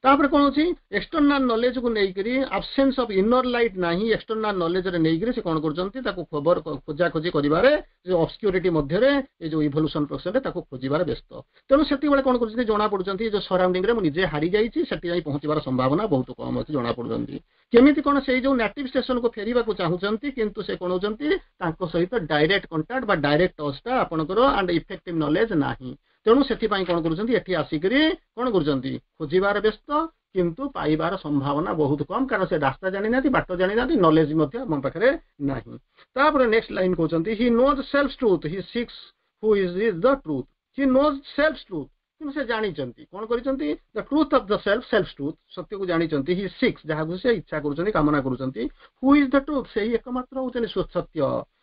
ତାପରେ କଣ ଅଛି ଏକ୍ସଟର୍ନାଲ ନଲେଜକୁ ନେଇକରି ଆବସେନ୍ସ ଅଫ ଇନର ଲାଇଟ୍ ନାହିଁ ଏକ୍ସଟର୍ନାଲ ନଲେଜରେ ନେଇକରି ସେ କଣ କରୁଛନ୍ତି ତାକୁ ଖବର ଖୋଜାଖୋଜି କରିବାରେ ଯୋଉ ଅବସ୍କ୍ୟୁରିଟି ମଧ୍ୟରେ ଏ ଯୋଉ ଇଭଲ୍ୟୁସନ ପ୍ରୋସେସରେ ତାକୁ ଖୋଜିବାରେ ବ୍ୟସ୍ତ ତେଣୁ ସେତିକିବେଳେ କଣ କରୁଛନ୍ତି ଜଣା ପଡୁଛନ୍ତି ଯୋଉ ସରାଉଣ୍ଡିଂରେ ମୁଁ ନିଜେ ହାରି ଯାଇଛି ସେଠି ଯାଇ ପହଞ୍ଚିବାର ସମ୍ଭାବନା ବହୁତ କମ ଅଛି ଜଣା ପଡୁଛନ୍ତି କେମିତି କଣ ସେଇ ଯୋଉ ନେଟିଭ ଷ୍ଟେସନକୁ ଫେରିବାକୁ ଚାହୁଁଛନ୍ତି କିନ୍ତୁ ସେ କଣ ହଉଛନ୍ତି ତାଙ୍କ ସହିତ ଡାଇରେକ୍ଟ କଣ୍ଟାକ୍ଟ ବା ଡାଇରେକ୍ଟ ଟଚଟା ଆପଣଙ୍କର ଆଣ୍ଡ ଇଫେକ୍ଟିଭ ନଲେଜ ନାହିଁ ତେଣୁ ସେଥିପାଇଁ କଣ କରୁଛନ୍ତି ଏଠି ଆସିକରି କଣ କରୁଛନ୍ତି ଖୋଜିବାରେ ବ୍ୟସ୍ତ କିନ୍ତୁ ପାଇବାର ସମ୍ଭାବନା ବହୁତ କମ କାରଣ ସେ ରାସ୍ତା ଜାଣିନାହାନ୍ତି ବାଟ ଜାଣିନାହାନ୍ତି ନଲେଜ ମଧ୍ୟ ଆମ ପାଖରେ ନାହିଁ ତାପରେ ନେକ୍ସଟ ଲାଇନ କହୁଛନ୍ତି he knows self truth he seeks who is is the truth he knows self truth କିନ୍ତୁ ସେ ଜାଣିଛନ୍ତି କଣ କରିଛନ୍ତି the truth of the self self truth ସତ୍ୟକୁ ଜାଣିଛନ୍ତି ହି ସିକ୍ସ ଯାହାକୁ ସେ ଇଚ୍ଛା କରୁଛନ୍ତି କାମନା କରୁଛନ୍ତି who is the truth ସେଇ ଏକମାତ୍ର ହଉଛନ୍ତି ସତ୍ୟ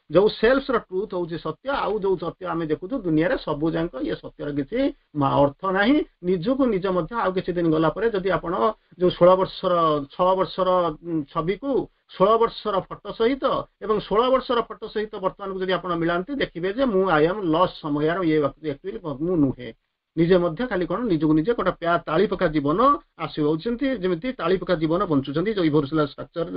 ଯୋଉ ସେଲ୍ଫ ର ଟ୍ରୁଥ ହଉଛି ସତ୍ୟ ଆଉ ଯୋଉ ସତ୍ୟ ଆମେ ଦେଖୁଛୁ ଦୁନିଆରେ ସବୁ ଯାକ ଇଏ ସତ୍ୟର କିଛି ଅର୍ଥ ନାହିଁ ନିଜକୁ ନିଜ ମଧ୍ୟ ଆଉ କିଛି ଦିନ ଗଲା ପରେ ଯଦି ଆପଣ ଯୋଉ ଷୋହଳ ବର୍ଷର ଛଅ ବର୍ଷର ଛବିକୁ ଷୋହଳ ବର୍ଷର ଫଟୋ ସହିତ ଏବଂ ଷୋହଳ ବର୍ଷର ଫଟୋ ସହିତ ବର୍ତ୍ତମାନକୁ ଯଦି ଆପଣ ମିଳାନ୍ତି ଦେଖିବେ ଯେ ମୁଁ I M lost ସମୟର ଇଏ ଆକ୍ଚୁଆଲି ମୁଁ ନୁହେଁ ନିଜେ ମଧ୍ୟ ଖାଲି କଣ ନିଜକୁ ନିଜେ ଗୋଟେ ପ୍ୟା ତାଳି ପକା ଜୀବନ ଆସି ହଉଛନ୍ତି ଯେମିତି ତାଳି ପକା ଜୀବନ ବଞ୍ଚୁଛନ୍ତି ଯୋଉ ଇଭଲ୍ୟୁସନାଲ ଷ୍ଟ୍ରକ୍ଚର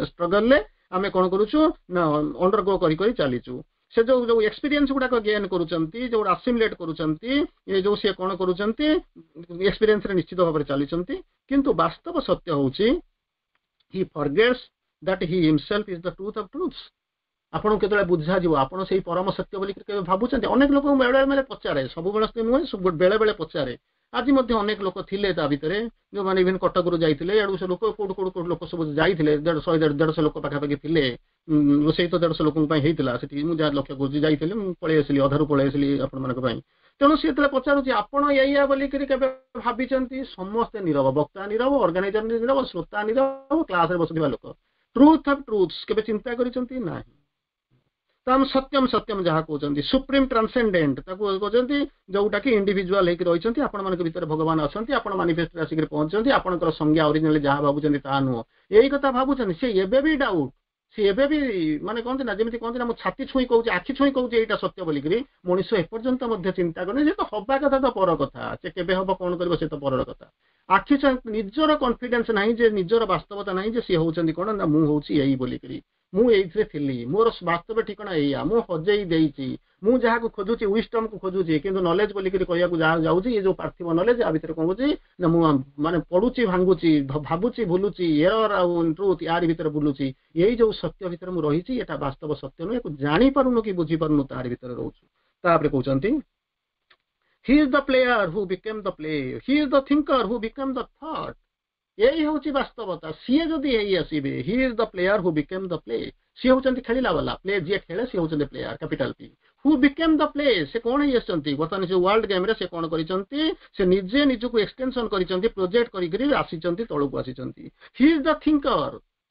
ଷ୍ଟ୍ରଗଲରେ ଆମେ କଣ କରୁଛୁ ନା ଅଣ୍ଡରଗୋ କରି କରି ଚାଲିଛୁ ସେ ଯୋଉ ଯୋଉ ଏକ୍ସପିରିଏନ୍ସ ଗୁଡାକ ଗେନ୍ କରୁଛନ୍ତି ଯୋଉ ଆସିମିଲେଟ୍ କରୁଛନ୍ତି ଏ ଯୋଉ ସିଏ କଣ କରୁଛନ୍ତି ଏକ୍ସପିରିଏନ୍ସରେ ନିଶ୍ଚିତ ଭାବରେ ଚାଲିଛନ୍ତି କିନ୍ତୁ ବାସ୍ତବ ସତ୍ୟ ହଉଛି he forgets that he himself is the truth of truths ଆପଣଙ୍କୁ କେତେବେଳେ ବୁଝାଯିବ ଆପଣ ସେଇ ପରମ ସତ୍ୟ ବୋଲି କେବେ ଭାବୁଛନ୍ତି ଅନେକ ଲୋକଙ୍କୁ ବେଳେ ବେଳେ ପଚାରେ ସବୁବେଳେ ନୁହେଁ ବେଳେ ବେଳେ ପଚାରେ ଆଜି ମଧ୍ୟ ଅନେକ ଲୋକ ଥିଲେ ତା ଭିତରେ ଯୋଉମାନେ ଇଭେନ୍ କଟକରୁ ଯାଇଥିଲେ ଏଆଡୁ ସେ ଲୋକ କୋଉଠୁ କୋଉଠୁ କୋଉଠୁ ଲୋକ ସବୁ ଯାଇଥିଲେ ଦେଢ଼ ଶହେ ଦେଢ଼ଶହ ଲୋକ ପାଖାପାଖି ଥିଲେ ରୋଷେଇ ତ ଦେଢ଼ଶହ ଲୋକଙ୍କ ପାଇଁ ହେଇଥିଲା ସେଠି ମୁଁ ଯାହା ଲକ୍ଷ୍ୟ କରୁଛି ଯାଇଥିଲି ମୁଁ ପଳେଇ ଆସିଲି ଅଧାରୁ ପଳେଇ ଆସିଲି ଆପଣମାନଙ୍କ ପାଇଁ ତେଣୁ ସିଏ ଯେତେବେଳେ ପଚାରୁଛି ଆପଣ ଏଇଆ ବୋଲିକିରି କେବେ ଭାବିଛନ୍ତି ସମସ୍ତେ ନିରବ ବକ୍ତା ନିରବ ଅର୍ଗାନାଇଜର ନିରବ ଶ୍ରୋତା ନିରବ କ୍ଲାସରେ ବସୁଥିବା ଲୋକ ଟ୍ରୁଥ ଅଫ ଟ୍ରୁଥ୍ କେବେ ଚିନ୍ତା କରିଛନ୍ତି ନାହିଁ ତ ଆମେ ସତ୍ୟମ ସତ୍ୟମ ଯାହା କହୁଛନ୍ତି ସୁପ୍ରିମ ଟ୍ରାନ୍ସେଣ୍ଡେଣ୍ଟ ତାକୁ କହୁଛନ୍ତି ଯୋଉଟା କି ଇଣ୍ଡିଭିଜୁଆଲ ହେଇକି ରହିଛନ୍ତି ଆପଣମାନଙ୍କ ଭିତରେ ଭଗବାନ ଅଛନ୍ତି ଆପଣ ମାନିଫେଷ୍ଟରେ ଆସିକରି ପହଞ୍ଚନ୍ତି ଆପଣଙ୍କର ସଂଜ୍ଞା ଅରିଜିନାଲି ଯାହା ଭାବୁଛନ୍ତି ତାହା ନୁହଁ ଏଇ କଥା ଭାବୁଛନ୍ତି ସେ ଏବେ ବି ଡାଉଟ୍ ସେ ଏବେ ବି ମାନେ କହନ୍ତି ନା ଯେମିତି କହନ୍ତି ନା ମୁଁ ଛାତି ଛୁଇଁ କହୁଛି ଆଖି ଛୁଇଁ କହୁଛି ଏଇଟା ସତ୍ୟ ବୋଲିକିରି ମଣିଷ ଏପର୍ଯ୍ୟନ୍ତ ମଧ୍ୟ ଚିନ୍ତା କରୁନି ସେ ତ ହବା କଥା ତ ପର କଥା ସେ କେବେ ହବ କଣ କରିବ ସେ ତ ପରର କଥା ଆଖି ନିଜର କନଫିଡେନ୍ସ ନାହିଁ ଯେ ନିଜର ବାସ୍ତବତା ନାହିଁ ଯେ ସିଏ ହଉଛନ୍ତି କଣ ନା ମୁଁ ହଉଛି ଏଇ ବୋଲିକିରି ମୁଁ ଏଇଥିରେ ଥିଲି ମୋର ବାସ୍ତବ ଠିକଣା ଏଇଆ ମୁଁ ହଜେଇ ଦେଇଛି ମୁଁ ଯାହାକୁ ଖୋଜୁଛି ୱିଷ୍ଟମକୁ ଖୋଜୁଛି କିନ୍ତୁ ନଲେଜ ବୋଲିକିରି କହିବାକୁ ଯାହା ଯାଉଛି ଏ ଯୋଉ ପାର୍ଥିବ ନଲେଜ ଆ ଭିତରେ କଣ କହୁଛି ନା ମୁଁ ମାନେ ପଡୁଛି ଭାଙ୍ଗୁଛି ଭାବୁଛି ଭୁଲୁଛି ଏରର ଆଉ ଟ୍ରୁଥ ୟାରି ଭିତରେ ବୁଲୁଛି ଏଇ ଯୋଉ ସତ୍ୟ ଭିତରେ ମୁଁ ରହିଛି ଏଟା ବାସ୍ତବ ସତ୍ୟ ନୁହେଁ ୟାକୁ ଜାଣିପାରୁନୁ କି ବୁଝିପାରୁନୁ ତାରି ଭିତରେ ରହୁଛୁ ତାପରେ କହୁଛନ୍ତି he is the player who became the play he is the thinker who became the thought ଏଇ ହଉଛି ବାସ୍ତବତା ସିଏ ଯଦି ହେଇ ଆସିବେ he is the player who became the play ସିଏ ହଉଛନ୍ତି ଖେଳିଲା ବାଲା ପ୍ଲେ ଯିଏ ଖେଳେ ସିଏ ହଉଛନ୍ତି player capital P who became the play ସେ କଣ ହେଇ ଆସିଛନ୍ତି ବର୍ତ୍ତମାନ ସେ ୱାର୍ଲଡ ଗେମ୍ରେ ସେ କଣ କରିଛନ୍ତି ସେ ନିଜେ ନିଜକୁ ଏକ୍ସଟେନସନ କରିଛନ୍ତି ପ୍ରୋଜେକ୍ଟ କରିକିରି ଆସିଛନ୍ତି ତଳକୁ ଆସିଛନ୍ତି he is the thinker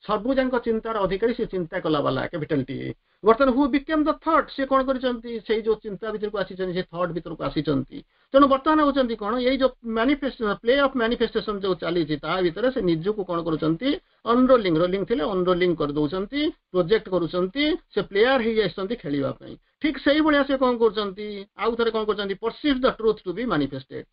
ସବୁ ଯାକ ଚିନ୍ତାର ଅଧିକାରୀ ସେ ଚିନ୍ତା କଲା ବାଲା କ୍ୟାପିଟାଲ ଟି ବର୍ତ୍ତମାନ ହୁ ବିକେମ୍ ଦ ଥଟ୍ ସେ କଣ କରିଛନ୍ତି ସେଇ ଯୋଉ ଚିନ୍ତା ଭିତରକୁ ଆସିଛନ୍ତି ସେ ଥଟ୍ ଭିତରକୁ ଆସିଛନ୍ତି ତେଣୁ ବର୍ତ୍ତମାନ ହଉଛନ୍ତି କଣ ଏଇ ଯୋଉ ମ୍ୟାନିଫେଷ୍ଟେସନ ପ୍ଲେ ଅଫ ମ୍ୟାନିଫେଷ୍ଟେସନ ଯୋଉ ଚାଲିଛି ତା ଭିତରେ ସେ ନିଜକୁ କଣ କରୁଛନ୍ତି ଅନରୋଲିଂ ରୋଲିଂ ଥିଲେ ଅନରୋଲିଂ କରିଦଉଛନ୍ତି ପ୍ରୋଜେକ୍ଟ କରୁଛନ୍ତି ସେ ପ୍ଲେୟାର ହେଇ ଆସିଛନ୍ତି ଖେଳିବା ପାଇଁ ଠିକ ସେଇଭଳିଆ ସେ କଣ କରୁଛନ୍ତି ଆଉ ଥରେ କଣ କରୁଛନ୍ତି perceive the truth to be manifested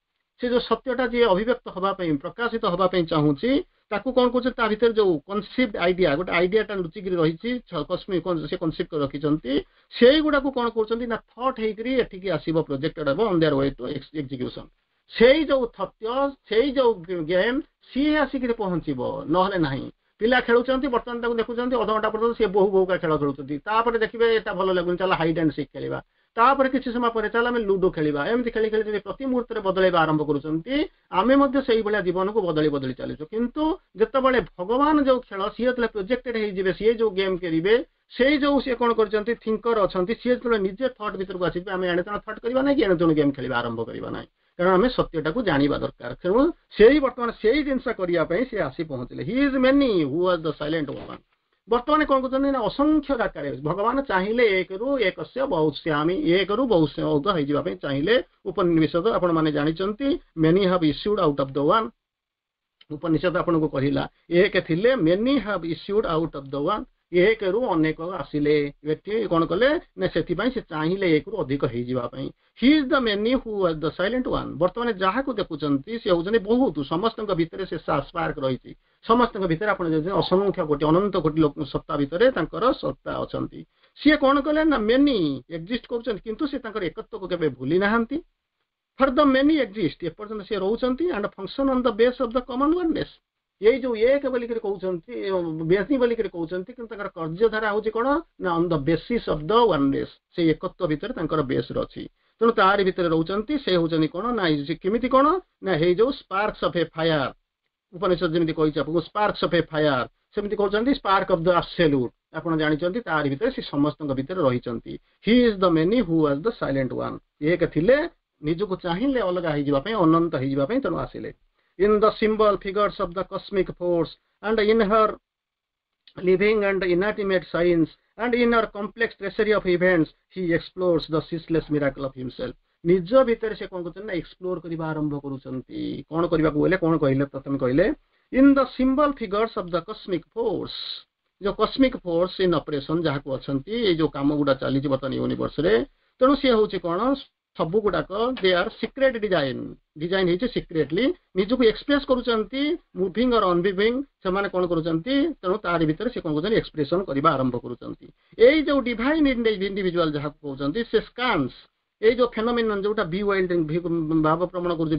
ସେ ଯୋଉ ସତ୍ୟଟା ଯିଏ ଅଭିବ୍ୟକ୍ତ ହବା ପାଇଁ ପ୍ରକାଶିତ ହବା ପାଇଁ ଚାହୁଁଛି ତାକୁ କଣ କରୁଛନ୍ତି ତା ଭିତରେ ଯୋଉ କନସିଭ୍ଡ ଆଇଡିଆ ଗୋଟେ ଆଇଡିଆଟା ଲୁଚିକିରି ରହିଛି ସେ କନସିଭ୍ କରି ରଖିଛନ୍ତି ସେଇଗୁଡାକୁ କଣ କରୁଛନ୍ତି ନା ଥଟ୍ ହେଇକିରି ଏଠିକି ଆସିବ ପ୍ରୋଜେକ୍ଟେଡ ହେବ on their way to execution ସେଇ ଯୋଉ ସତ୍ୟ ସେଇ ଯୋଉ ଗେମ୍ ସିଏ ଆସିକିରି ପହଞ୍ଚିବ ନହେଲେ ନାହିଁ ପିଲା ଖେଳୁଛନ୍ତି ବର୍ତ୍ତମାନ ତାକୁ ଦେଖୁଛନ୍ତି ଅଧଘଣ୍ଟା ପର୍ଯ୍ୟନ୍ତ ସିଏ ବୋହୁ ବୋହୁକା ଖେଳ ଖେଳୁଛନ୍ତି ତାପରେ ଦେଖିବେ ଏଟା ଭଲ ଲାଗୁନି ଚାଲ ହାଇଡ୍ ଆଣ୍ଡ ସିକ୍ ଖେଳିବା ତାପରେ କିଛି ସମୟ ପରେ ଚାଲ ଆମେ ଲୁଡୋ ଖେଳିବା ଏମିତି ଖେଳି ଖେଳି ଯଦି ପ୍ରତି ମୁହୂର୍ତ୍ତରେ ବଦଳେଇବା ଆରମ୍ଭ କରୁଛନ୍ତି ଆମେ ମଧ୍ୟ ସେଇଭଳିଆ ଜୀବନକୁ ବଦଳି ବଦଳି ଚାଲିଛୁ କିନ୍ତୁ ଯେତେବେଳେ ଭଗବାନ ଯୋଉ ଖେଳ ସିଏ ଯେତେବେଳେ ପ୍ରୋଜେକ୍ଟେଡ ହେଇଯିବେ ସିଏ ଯୋଉ ଗେମ୍ ଖେଳିବେ ସେଇ ଯୋଉ ସିଏ କଣ କରିଛନ୍ତି ଥିଙ୍କର ଅଛନ୍ତି ସିଏ ଯେତେବେଳେ ନିଜେ ଥଟ୍ ଭିତରକୁ ଆସିଯିବେ ଆମେ ଏଣେ ତେଣେ ଥଟ୍ କରିବା ନାହିଁ କି ଏଣେ ତେଣୁ ଗେମ୍ ଖେଳିବା ଆରମ୍ଭ କରିବା ନାହିଁ କାରଣ ଆମେ ସତ୍ୟଟାକୁ ଜାଣିବା ଦରକାର ତେଣୁ ସେଇ ବର୍ତ୍ତମାନ ସେଇ ଜିନିଷ କରିବା ପାଇଁ ସେ ଆସି ପହଞ୍ଚିଲେ He is many who was the silent one ବର୍ତ୍ତମାନ କଣ କରୁଛନ୍ତି ନା ଅସଂଖ୍ୟ ଆକାରରେ ଭଗବାନ ଚାହିଁଲେ ଏକରୁ ଏକସ୍ୟ ବହୁସ୍ୟାମି ଏକରୁ ବହୁତ ହେଇଯିବା ପାଇଁ ଚାହିଁଲେ ଉପନିଷଦ ଆପଣ ମାନେ ଜାଣିଛନ୍ତି many have issued out of the one ଉପନିଷଦ ଆପଣଙ୍କୁ କହିଲା ଏକ ଥିଲେ many have issued out of the one ଏକରୁ ଅନେକ ଆସିଲେ ଏଠି କଣ କଲେ ନା ସେଥିପାଇଁ ସେ ଚାହିଁଲେ ଏକରୁ ଅଧିକ ହେଇଯିବା ପାଇଁ He is the many who was the silent one ବର୍ତ୍ତମାନ ଯାହାକୁ ଦେଖୁଛନ୍ତି ସେ ହଉଛନ୍ତି ବହୁତ ସମସ୍ତଙ୍କ ଭିତରେ ସେ ସ୍ପାର୍କ ରହିଛି ସମସ୍ତଙ୍କ ଭିତରେ ଆପଣ ଯଦି ଅସଂଖ୍ୟ କୋଟି ଅନନ୍ତ କୋଟି ଲୋକ ସତ୍ତା ଭିତରେ ତାଙ୍କର ସତ୍ତା ଅଛନ୍ତି ସିଏ କଣ କଲେ ନା ମେନି ଏକ୍ଜିଷ୍ଟ କରୁଛନ୍ତି କିନ୍ତୁ ସେ ତାଙ୍କର ଏକତ୍ୱକୁ କେବେ ଭୁଲି ନାହାନ୍ତି For the many exist ଏପର୍ଯ୍ୟନ୍ତ ସେ ରହୁଛନ୍ତି and function on the base of the common oneness ଏଇ ଯୋଉ ଏକ ବୋଲିକିରି କହୁଛନ୍ତି ବେଶୀ ବୋଲିକିରି କହୁଛନ୍ତି କିନ୍ତୁ ତାଙ୍କର କାର୍ଯ୍ୟଧାରା ହଉଛି କଣ ନା on the basis of the oneness ସେଇ ଏକତ୍ୱ ଭିତରେ ତାଙ୍କର ବେସ୍ ଅଛି ତେଣୁ ତାରି ଭିତରେ ରହୁଛନ୍ତି ସେ ହଉଛନ୍ତି କଣ ନା କେମିତି କଣ ନା ହେଇ ଯୋଉ ସ୍ପାର୍କସ ଅଫ ଏ ଫାୟାର ଉପନିଷଦ ଯେମିତି କହିଛି ଆପଣଙ୍କୁ ସ୍ପାର୍କସ ଅଫ ଏ ଫାୟାର ସେମିତି କହୁଛନ୍ତି ସ୍ପାର୍କ ଅଫ the ଆବସେଲ୍ୟୁଟ ଆପଣ ଜାଣିଛନ୍ତି ତାରି ଭିତରେ ସେ ସମସ୍ତଙ୍କ ଭିତରେ ରହିଛନ୍ତି He is the many who was the silent one ଏକ ଥିଲେ ନିଜକୁ ଚାହିଁଲେ ଅଲଗା ହେଇଯିବା ପାଇଁ ଅନନ୍ତ ହେଇଯିବା ପାଇଁ ତେଣୁ ଆସିଲେ in the symbol figures of the cosmic force and in her living and inanimate signs and in her complex tracery of events he explores the ceaseless miracle of himself ନିଜ ଭିତରେ ସେ କଣ କରୁଛନ୍ତି ନା ଏକ୍ସପ୍ଲୋର କରିବା ଆରମ୍ଭ କରୁଛନ୍ତି କଣ କରିବାକୁ ବୋଇଲେ କଣ କହିଲେ ପ୍ରଥମେ କହିଲେ in the symbol figures of the cosmic force ଯୋଉ କସ୍ମିକ ଫୋର୍ସ ଇନ୍ ଅପରେସନ ଯାହାକୁ ଅଛନ୍ତି ଏଇ ଯୋଉ କାମ ଗୁଡା ଚାଲିଛି ବର୍ତ୍ତମାନ ୟୁନିଭର୍ସରେ ତେଣୁ ସିଏ ହଉଛି କଣ ସବୁ ଗୁଡାକ they are secret design design ହେଇଛି ସିକ୍ରେଟଲି ନିଜକୁ ଏକ୍ସପ୍ରେସ କରୁଛନ୍ତି ମୁଭିଂ ଅର ଅନମୁଭିଂ ସେମାନେ କଣ କରୁଛନ୍ତି ତେଣୁ ତାରି ଭିତରେ ସେ କଣ କରୁଛନ୍ତି ଏକ୍ସପ୍ରେସନ କରିବା ଆରମ୍ଭ କରୁଛନ୍ତି ଏଇ ଯୋଉ ଡିଭାଇନ ଇଣ୍ଡିଭିଜୁଆଲ ଯାହାକୁ କହୁଛନ୍ତି ସେ ସ୍କାନ୍ସ ଏଇ ଯୋଉ ଫେନୋମିନନ୍ ଯୋଉଟା ବିୱାଇଲ୍ଡିଂ ଭାବ ଭ୍ରମଣ କରୁଛି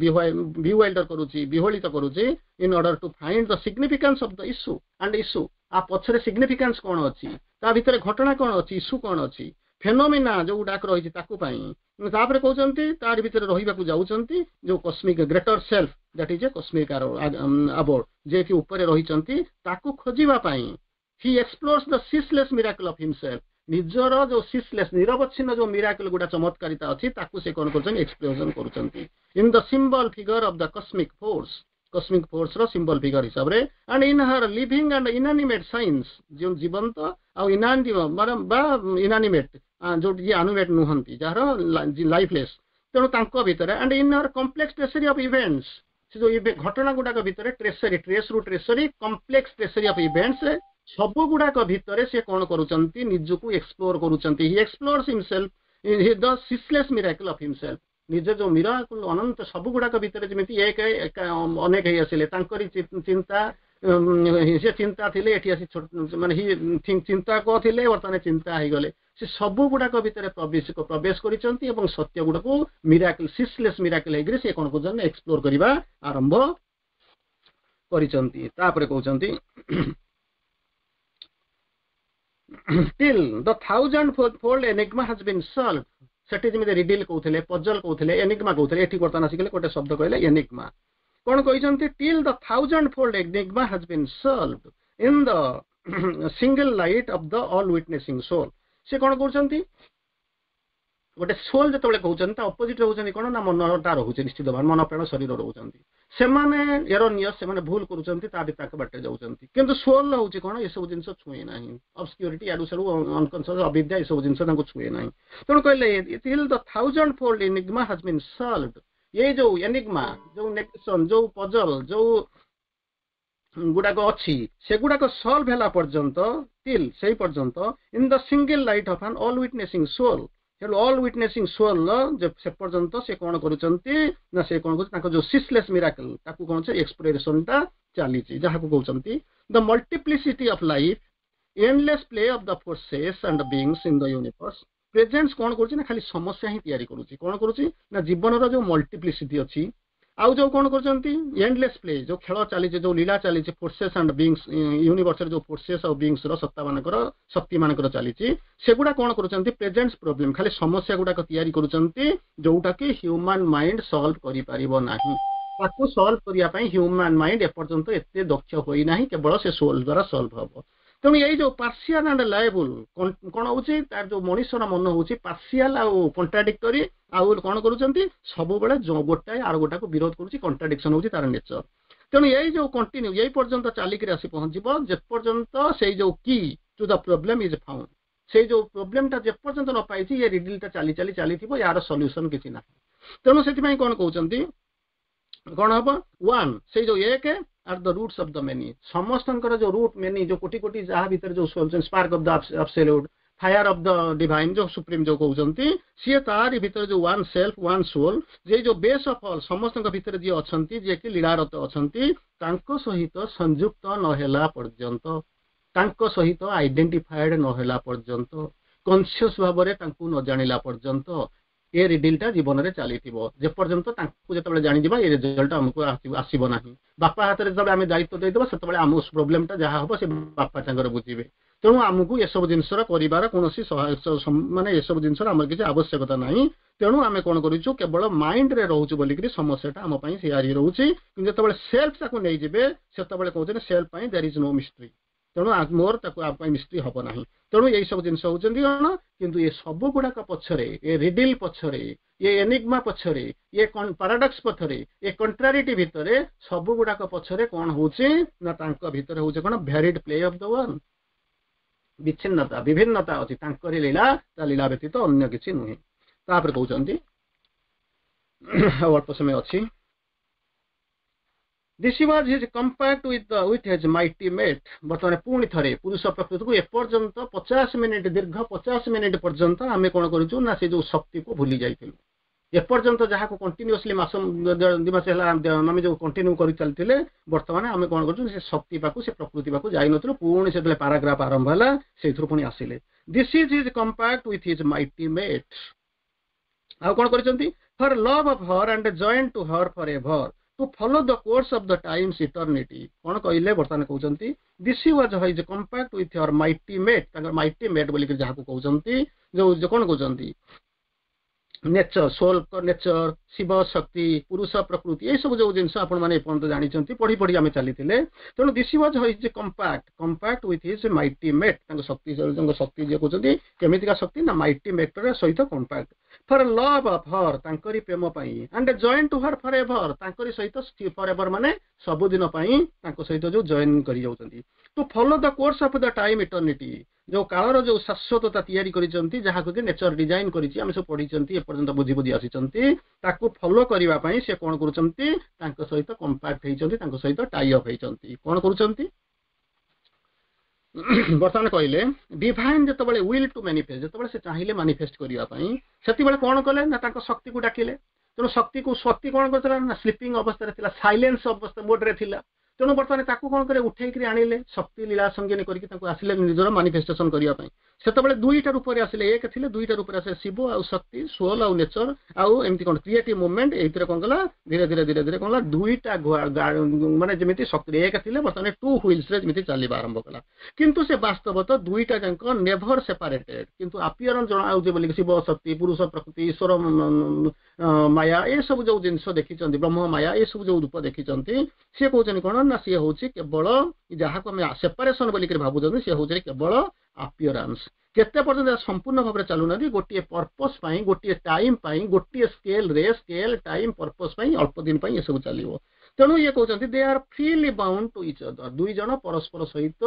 ବିୱାଇଲ୍ଡର କରୁଛି ବିହଳିତ କରୁଛି in order to find the significance of the issue and issue ଆ ପଛରେ ସିଗ୍ନିଫିକାନ୍ସ କଣ ଅଛି ତା ଭିତରେ ଘଟଣା କଣ ଅଛି ଇସ୍ୟୁ କଣ ଅଛି ଫେନୋମିନା ଯୋଉ ଗୁଡାକ ରହିଛି ତାକୁ ପାଇଁ ତାପରେ କହୁଛନ୍ତି ତାରି ଭିତରେ ରହିବାକୁ ଯାଉଛନ୍ତି ଯୋଉ cosmic greater self that is a cosmic abode ଯିଏକି ଉପରେ ରହିଛନ୍ତି ତାକୁ ଖୋଜିବା ପାଇଁ He explores the ceaseless miracle of himself ନିଜର ଯୋଉ ସିସଲେସ୍ ନିରବଚ୍ଛିନ୍ନ ଯୋଉ ମିରାକଲ ଗୁଡା ଚମତ୍କାରିତା ଅଛି ତାକୁ ସେ କଣ କରୁଛନ୍ତି ଏକ୍ସପ୍ଲୋରେସନ କରୁଛନ୍ତି in the symbol figure of the cosmic force cosmic force ର ସିମ୍ବଲ ଫିଗର ହିସାବରେ and in her living and inanimate signs ଯେଉଁ ଜୀବନ୍ତ ଆଉ ଇନାନିମେଟ୍ ବା ଇନାନିମେଟ୍ ଯୋଉଠି ଯିଏ ଆନିମେଟ୍ ନୁହନ୍ତି ଯାହାର ଲାଇଫଲେସ୍ ତେଣୁ ତାଙ୍କ ଭିତରେ and in her complex tracery of events ସେ ଯୋଉ ଘଟଣା ଗୁଡାକ ଭିତରେ ଟ୍ରେସରୀ ଟ୍ରେସ୍ ରୁ tracery complex tracery of events ସବୁ ଗୁଡାକ ଭିତରେ ସେ କଣ କରୁଛନ୍ତି ନିଜକୁ ଏକ୍ସପ୍ଲୋର କରୁଛନ୍ତି He explores himself the ceaseless miracle of himself ନିଜ ଯୋଉ ମିରାକଲ ଅନନ୍ତ ସବୁ ଗୁଡାକ ଭିତରେ ଯେମିତି ଏକ ଅନେକ ହେଇ ଆସିଲେ ତାଙ୍କରି ଚିନ୍ତା ସେ ଚିନ୍ତା ଥିଲେ ଏଠି ଆସି ମାନେ ଚିନ୍ତାକ ଥିଲେ ବର୍ତ୍ତମାନ ଚିନ୍ତା ହେଇଗଲେ ସେ ସବୁ ଗୁଡାକ ଭିତରେ ପ୍ରବେଶ ପ୍ରବେଶ କରିଛନ୍ତି ଏବଂ ସତ୍ୟ ଗୁଡାକୁ ମିରାକଲ ସିସଲେସ୍ ମିରାକଲ ହେଇକରି ସେ କଣ କରୁଛନ୍ତି ଏକ୍ସପ୍ଲୋର କରିବା ଆରମ୍ଭ କରିଛନ୍ତି ତାପରେ କହୁଛନ୍ତି till the thousand fold enigma has been solved ସେଠି ଯେମିତି ରିଡିଲ କହୁଥିଲେ ପଜଲ କହୁଥିଲେ ଏନିଗ୍ମା କହୁଥିଲେ ଏଠି ବର୍ତ୍ତମାନ ଆସିଗଲେ ଗୋଟେ ଶବ୍ଦ କହିଲେ ଏନିଗ୍ମା କଣ କହିଛନ୍ତି till the thousand fold enigma has been solved in the single light of the all witnessing soul ସେ କଣ କରୁଛନ୍ତି ଗୋଟେ ସୋଲ ଯେତେବେଳେ କହୁଛନ୍ତି ତା ଅପୋଜିଟ ରହୁଛନ୍ତି କଣ ନା ମନଟା ରହୁଛି ନିଶ୍ଚିତ ଭାବେ ମନ ପ୍ରାଣ ଶରୀର ରହୁଛନ୍ତି ସେମାନେ ଏରୋନିୟସ ସେମାନେ ଭୁଲ କରୁଛନ୍ତି ତା ବି ତାଙ୍କ ବାଟରେ ଯାଉଛନ୍ତି କିନ୍ତୁ ସୋଲ ହଉଛି କଣ ଏସବୁ ଜିନିଷ ଛୁଏଁ ନାହିଁ ଅବସ୍କ୍ୟୁରିଟି ଆଡୁ ସାଡୁ ଅନକନସିୟସ ଅବିଦ୍ୟା ଏସବୁ ଜିନିଷ ତାଙ୍କୁ ଛୁଏଁ ନାହିଁ ତେଣୁ କହିଲେ till the thousand fold enigma has been solved ଏଇ ଯୋଉ ଏନିଗ୍ମା ଯୋଉ ନେଗେସନ ଯୋଉ ପଜଲ ଯୋଉ ଗୁଡାକ ଅଛି ସେଗୁଡାକ ସଲ୍ଭ ହେଲା ପର୍ଯ୍ୟନ୍ତ ଟିଲ୍ ସେଇ ପର୍ଯ୍ୟନ୍ତ in the single light of an all witnessing soul ତେଣୁ ଅଲ୍ ୱିଟନେସିଂ ସୋଲ ସେ ପର୍ଯ୍ୟନ୍ତ ସେ କଣ କରୁଛନ୍ତି ନା ସେ କଣ କରୁଛନ୍ତି ତାଙ୍କ ଯୋଉ ସିସଲେସ୍ ମିରାକଲ ତାକୁ କଣ ଏକ୍ସପ୍ଲୋରେସନଟା ଚାଲିଛି ଯାହାକୁ କହୁଛନ୍ତି the multiplicity of life endless play of the forces and beings in the universe presents କଣ କରୁଛି ନା ଖାଲି ସମସ୍ୟା ହିଁ ତିଆରି କରୁଛି କଣ କରୁଛି ନା ଜୀବନର ଯୋଉ ମଲ୍ଟିପ୍ଲିସିଟି ଅଛି ଆଉ ଯୋଉ କଣ କରୁଛନ୍ତି ଏଣ୍ଡଲେସ୍ ପ୍ଲେ ଯୋଉ ଖେଳ ଚାଲିଛି ଯୋଉ ଲୀଳା ଚାଲିଛି ଫୋର୍ସେସ୍ ଆଣ୍ଡ ବିଙ୍ଗସ୍ ୟୁନିଭର୍ସରେ ଯୋଉ ଫୋର୍ସେସ୍ ଆଉ ବିଙ୍ଗସ୍ ର ସତ୍ତା ମାନଙ୍କର ଶକ୍ତି ମାନଙ୍କର ଚାଲିଛି ସେଗୁଡା କଣ କରୁଛନ୍ତି ପ୍ରେଜେଣ୍ଟ ପ୍ରୋବ୍ଲେମ ଖାଲି ସମସ୍ୟା ଗୁଡାକ ତିଆରି କରୁଛନ୍ତି ଯୋଉଟା କି ହ୍ୟୁମାନ ମାଇଣ୍ଡ ସଲ୍ଭ କରିପାରିବ ନାହିଁ ତାକୁ ସଲ୍ଭ କରିବା ପାଇଁ ହ୍ୟୁମାନ ମାଇଣ୍ଡ ଏପର୍ଯ୍ୟନ୍ତ ଏତେ ଦକ୍ଷ ହୋଇନାହିଁ କେବଳ ସେ ସୋଲ ଦ୍ୱାରା ସଲ୍ଭ ହବ ତେଣୁ ଏଇ ଯୋଉ ପାର୍ସିଆଲ ଆଣ୍ଡ ଲାଏବୁଲ କଣ ହଉଛି ତାର ଯୋଉ ମଣିଷର ମନ ହଉଛି ପାର୍ସିଆଲ ଆଉ କଣ୍ଟ୍ରାଡିକ୍ଟୋରି ଆଉ କଣ କରୁଛନ୍ତି ସବୁବେଳେ ଗୋଟାଏ ଆର ଗୋଟାକୁ ବିରୋଧ କରୁଛି କଣ୍ଟ୍ରାଡିକ୍ସନ ହଉଛି ତାର ନେଚର ତେଣୁ ଏଇ ଯୋଉ କଣ୍ଟିନ୍ୟୁ ଏଇ ପର୍ଯ୍ୟନ୍ତ ଚାଲିକିରି ଆସି ପହଞ୍ଚିବ ଯେପର୍ଯ୍ୟନ୍ତ ସେଇ ଯୋଉ key to the problem is found ସେଇ ଯୋଉ ପ୍ରୋବ୍ଲେମଟା ଯେପର୍ଯ୍ୟନ୍ତ ନ ପାଇଛି ଏ ରିଡିଲଟା ଚାଲି ଚାଲି ଚାଲିଥିବ ୟାର ସଲ୍ୟୁସନ କିଛି ନାହିଁ ତେଣୁ ସେଥିପାଇଁ କଣ କହୁଛନ୍ତି କଣ ହବ ୱାନ୍ ସେଇ ଯୋଉ ଏକ are the roots of the many ସମସ୍ତଙ୍କର ଯୋଉ ରୁଟ୍ ମେନି ଯୋଉ କୋଟି କୋଟି ଯାହା ଭିତରେ ଯୋଉ spark of the absolute fire of the divine ଯୋଉ ସୁପ୍ରିମ ଯୋଉ କହୁଛନ୍ତି ସିଏ ତାରି ଭିତରେ ଯୋଉ ୱାନ୍ ସେଲ୍ଫ ୱାନ୍ ସୋଲ୍ ଯେ ଯୋଉ ବେସ୍ ଅଫ୍ ଅଲ୍ ସମସ୍ତଙ୍କ ଭିତରେ ଯିଏ ଅଛନ୍ତି ଯିଏକି ଲୀଳାରତ ଅଛନ୍ତି ତାଙ୍କ ସହିତ ସଂଯୁକ୍ତ ନହେଲା ପର୍ଯ୍ୟନ୍ତ ତାଙ୍କ ସହିତ ଆଇଡେଣ୍ଟିଫାଏଡ ନହେଲା ପର୍ଯ୍ୟନ୍ତ କନସିୟସ ଭାବରେ ତାଙ୍କୁ ନ ଜାଣିଲା ପର୍ଯ୍ୟନ୍ତ ଏ ରିଡିଲଟା ଜୀବନରେ ଚାଲିଥିବ ଯେପର୍ଯ୍ୟନ୍ତ ତାଙ୍କୁ ଯେତେବେଳେ ଜାଣିଯିବା ଏ ରେଜଲ୍ଟ ଆମକୁ ଆସିବ ନାହିଁ ବାପା ହାତରେ ଯେତେବେଳେ ଆମେ ଦାୟିତ୍ୱ ଦେଇଦେବା ସେତେବେଳେ ଆମ ପ୍ରୋବ୍ଲେମଟା ଯାହା ହବ ସେ ବାପା ତାଙ୍କର ବୁଝିବେ ତେଣୁ ଆମକୁ ଏସବୁ ଜିନିଷର କରିବାର କୌଣସି ମାନେ ଏସବୁ ଜିନିଷର ଆମର କିଛି ଆବଶ୍ୟକତା ନାହିଁ ତେଣୁ ଆମେ କଣ କରୁଛୁ କେବଳ ମାଇଣ୍ଡରେ ରହୁଛୁ ବୋଲିକିରି ସମସ୍ୟାଟା ଆମ ପାଇଁ ତିଆରି ରହୁଛି କିନ୍ତୁ ଯେତେବେଳେ ସେଲ୍ଫ ତାକୁ ନେଇଯିବେ ସେତେବେଳେ କହୁଛନ୍ତି ସେଲ୍ଫ ପାଇଁ there is no mystery ତେଣୁ ମୋର ତାକୁ ଆମ ପାଇଁ ମିଷ୍ଟ୍ରି ହବ ନାହିଁ ତେଣୁ ଏଇ ସବୁ ଜିନିଷ ହଉଛନ୍ତି କଣ କିନ୍ତୁ ଏ ସବୁ ଗୁଡାକ ପଛରେ ଏ ରିଡିଲ ପଛରେ ଏ ଏନିଗ୍ମା ପଛରେ ଏ ପାରାଡକ୍ସ ପଛରେ ଏ କଣ୍ଟ୍ରାରିଟି ଭିତରେ ସବୁ ଗୁଡାକ ପଛରେ କଣ ହଉଛି ନା ତାଙ୍କ ଭିତରେ ହଉଛି କଣ varied play of the one ବିଚ୍ଛିନ୍ନତା ବିଭିନ୍ନତା ଅଛି ତାଙ୍କରି ଲୀଳା ତା ଲୀଳା ବ୍ୟତୀତ ଅନ୍ୟ କିଛି ନୁହେଁ ତାପରେ କହୁଛନ୍ତି ଆଉ ଅଳ୍ପ ସମୟ ଅଛି This was his compact with with his mighty mate ବର୍ତ୍ତମାନ ପୁଣି ଥରେ ପୁରୁଷ ପ୍ରକୃତିକୁ ଏପର୍ଯ୍ୟନ୍ତ ପଚାଶ ମିନିଟ ଦୀର୍ଘ ପଚାଶ ମିନିଟ ପର୍ଯ୍ୟନ୍ତ ଆମେ କଣ କରୁଛୁ ନା ସେ ଯୋଉ ଶକ୍ତିକୁ ଭୁଲି ଯାଇଥିଲୁ ଏପର୍ଯ୍ୟନ୍ତ ଯାହାକୁ କଣ୍ଟିନ୍ୟୁଅସଲି ମାସ ଦି ମାସ ହେଲା ଆମେ ଯୋଉ କଣ୍ଟିନ୍ୟୁ କରି ଚାଲିଥିଲେ ବର୍ତ୍ତମାନ ଆମେ କଣ କରୁଛୁ ସେ ଶକ୍ତି ପାଖକୁ ସେ ପ୍ରକୃତି ପାଖକୁ ଯାଇନଥିଲୁ ପୁଣି ସେତେବେଳେ ପାରାଗ୍ରାଫ ଆରମ୍ଭ ହେଲା ସେଇଥିରୁ ପୁଣି ଆସିଲେ This is his compact with his mighty mate ଆଉ କଣ କରିଛନ୍ତି for love of her and joined to her for ever to follow the course of the time's eternity କଣ କହିଲେ ବର୍ତ୍ତମାନ କହୁଛନ୍ତି This was his compact with her mighty mate ତାଙ୍କର ମାଇଟି ମେଟ୍ ବୋଲିକି ଯାହାକୁ କହୁଛନ୍ତି ଯୋଉ କଣ କହୁଛନ୍ତି ନେଚର ସୋଲ ନେଚର ଶିବ ଶକ୍ତି ପୁରୁଷ ପ୍ରକୃତି ଏସବୁ ଯୋଉ ଜିନିଷ ଆପଣମାନେ ଏପର୍ଯ୍ୟନ୍ତ ଜାଣିଛନ୍ତି ପଢି ପଢି ଆମେ ଚାଲିଥିଲେ ତେଣୁ this was his compact compact with his mighty mate ତାଙ୍କ ଶକ୍ତି ତାଙ୍କ ଶକ୍ତି ଯିଏ କହୁଛନ୍ତି କେମିତିକା ଶକ୍ତି ନା ମାଇଟି ମେଟ୍ର ସହିତ compact for love of her ତାଙ୍କରି ପ୍ରେମ ପାଇଁ and joined to her for ever ତାଙ୍କରି ସହିତ ଫର ଏଭର ମାନେ ସବୁଦିନ ପାଇଁ ତାଙ୍କ ସହିତ ଯୋଉ ଜଏନ୍ କରି ଯାଉଛନ୍ତି to follow the course of the time eternity ଯୋଉ କାଳର ଯୋଉ ଶାଶ୍ୱତତା ତିଆରି କରିଛନ୍ତି ଯାହାକୁ କି ନେଚର ଡିଜାଇନ କରିଛି ଆମେ ସବୁ ପଢିଛନ୍ତି ଏପର୍ଯ୍ୟନ୍ତ ବୁଝି ବୁଝି ଆସିଛନ୍ତି ତାକୁ ଫଲୋ କରିବା ପାଇଁ ସେ କଣ କରୁଛନ୍ତି ତାଙ୍କ ସହିତ କମ୍ପାକ୍ଟ ହେଇଛନ୍ତି ତାଙ୍କ ସହିତ ଟାଇ ଅପ୍ ହେଇଛନ୍ତି କଣ କରୁଛନ୍ତି ବର୍ତ୍ତମାନ କହିଲେ ଡିଭାଇନ ଯେତେବେଳେ will two manifest ଯେତେବେଳେ ସେ ଚାହିଁଲେ ମାନିଫେଷ୍ଟ କରିବା ପାଇଁ ସେତେବେଳେ କଣ କଲେ ନା ତାଙ୍କ ଶକ୍ତିକୁ ଡାକିଲେ ତେଣୁ ଶକ୍ତିକୁ ଶକ୍ତି କଣ କରୁଥିଲା ନା ସ୍ଲିପିଂ ଅବସ୍ଥାରେ ଥିଲା ସାଇଲେନ୍ସ ଅବସ୍ଥା ମୋଡରେ ଥିଲା ତେଣୁ ବର୍ତ୍ତମାନ ତାକୁ କଣ କଲେ ଉଠେଇକିରି ଆଣିଲେ ଶକ୍ତି ଲୀଳା ସଙ୍ଗିନୀ କରିକି ତାଙ୍କୁ ଆସିଲେ ନିଜର ମାନିଫେଷ୍ଟେସନ କରିବା ପାଇଁ ସେତେବେଳେ ଦୁଇଟା ରୂପରେ ଆସିଲେ ଏକ ଥିଲେ ଦୁଇଟା ରୂପରେ ଆସିଲେ ଶିବ ଆଉ ଶକ୍ତି ସୋଲ ଆଉ ନେଚର ଆଉ ଏମିତି କଣ କ୍ରିଏଟିଭ ମୁଭମେଣ୍ଟ ଏଇଥିରେ କଣ କଲା ଧୀରେ ଧୀରେ ଧୀରେ ଧୀରେ କଣ କଲା ଦୁଇଟା ମାନେ ଯେମିତି ଶକ୍ତି ଏକ ଥିଲେ ବର୍ତ୍ତମାନ ଟୁ ହ୍ୱିଲ୍ସରେ ଯେମିତି ଚାଲିବା ଆରମ୍ଭ କଲା କିନ୍ତୁ ସେ ବାସ୍ତବତ ଦୁଇଟା ଯାକ ନେଭର ସେପାରେଟେଡ କିନ୍ତୁ ଆପିୟରାନ୍ସ ଜଣା ଯାଉଛି ବୋଲି ଶିବ ଶକ୍ତି ପୁରୁଷ ପ୍ରକୃତି ଈଶ୍ୱର ମାୟା ଏସବୁ ଯୋଉ ଜିନିଷ ଦେଖିଛନ୍ତି ବ୍ରହ୍ମ ମାୟା ଏସବୁ ଯୋଉ ରୂପ ଦେଖିଛନ୍ତି ସିଏ କହୁଛନ୍ତି କଣ ନା ସିଏ ହଉଛି କେବଳ ଯାହାକୁ ଆମେ ସେପାରେସନ ବୋଲିକରି ଭାବୁଛନ୍ତି ସିଏ ହଉଛି କେବଳ ଆପିୟରାନ୍ସ କେତେ ପର୍ଯ୍ୟନ୍ତ ସମ୍ପୂର୍ଣ୍ଣ ଭାବରେ ଚାଲୁନାହାନ୍ତି ଗୋଟିଏ ପର୍ପସ ପାଇଁ ଗୋଟିଏ ଟାଇମ ପାଇଁ ଗୋଟିଏ ସ୍କେଲରେ ସ୍କେଲ ଟାଇମ ପର୍ପସ ପାଇଁ ଅଳ୍ପ ଦିନ ପାଇଁ ଏସବୁ ଚାଲିବ ତେଣୁ ଇଏ କହୁଛନ୍ତି they are freely bound to each other ଦୁଇ ଜଣ ପରସ୍ପର ସହିତ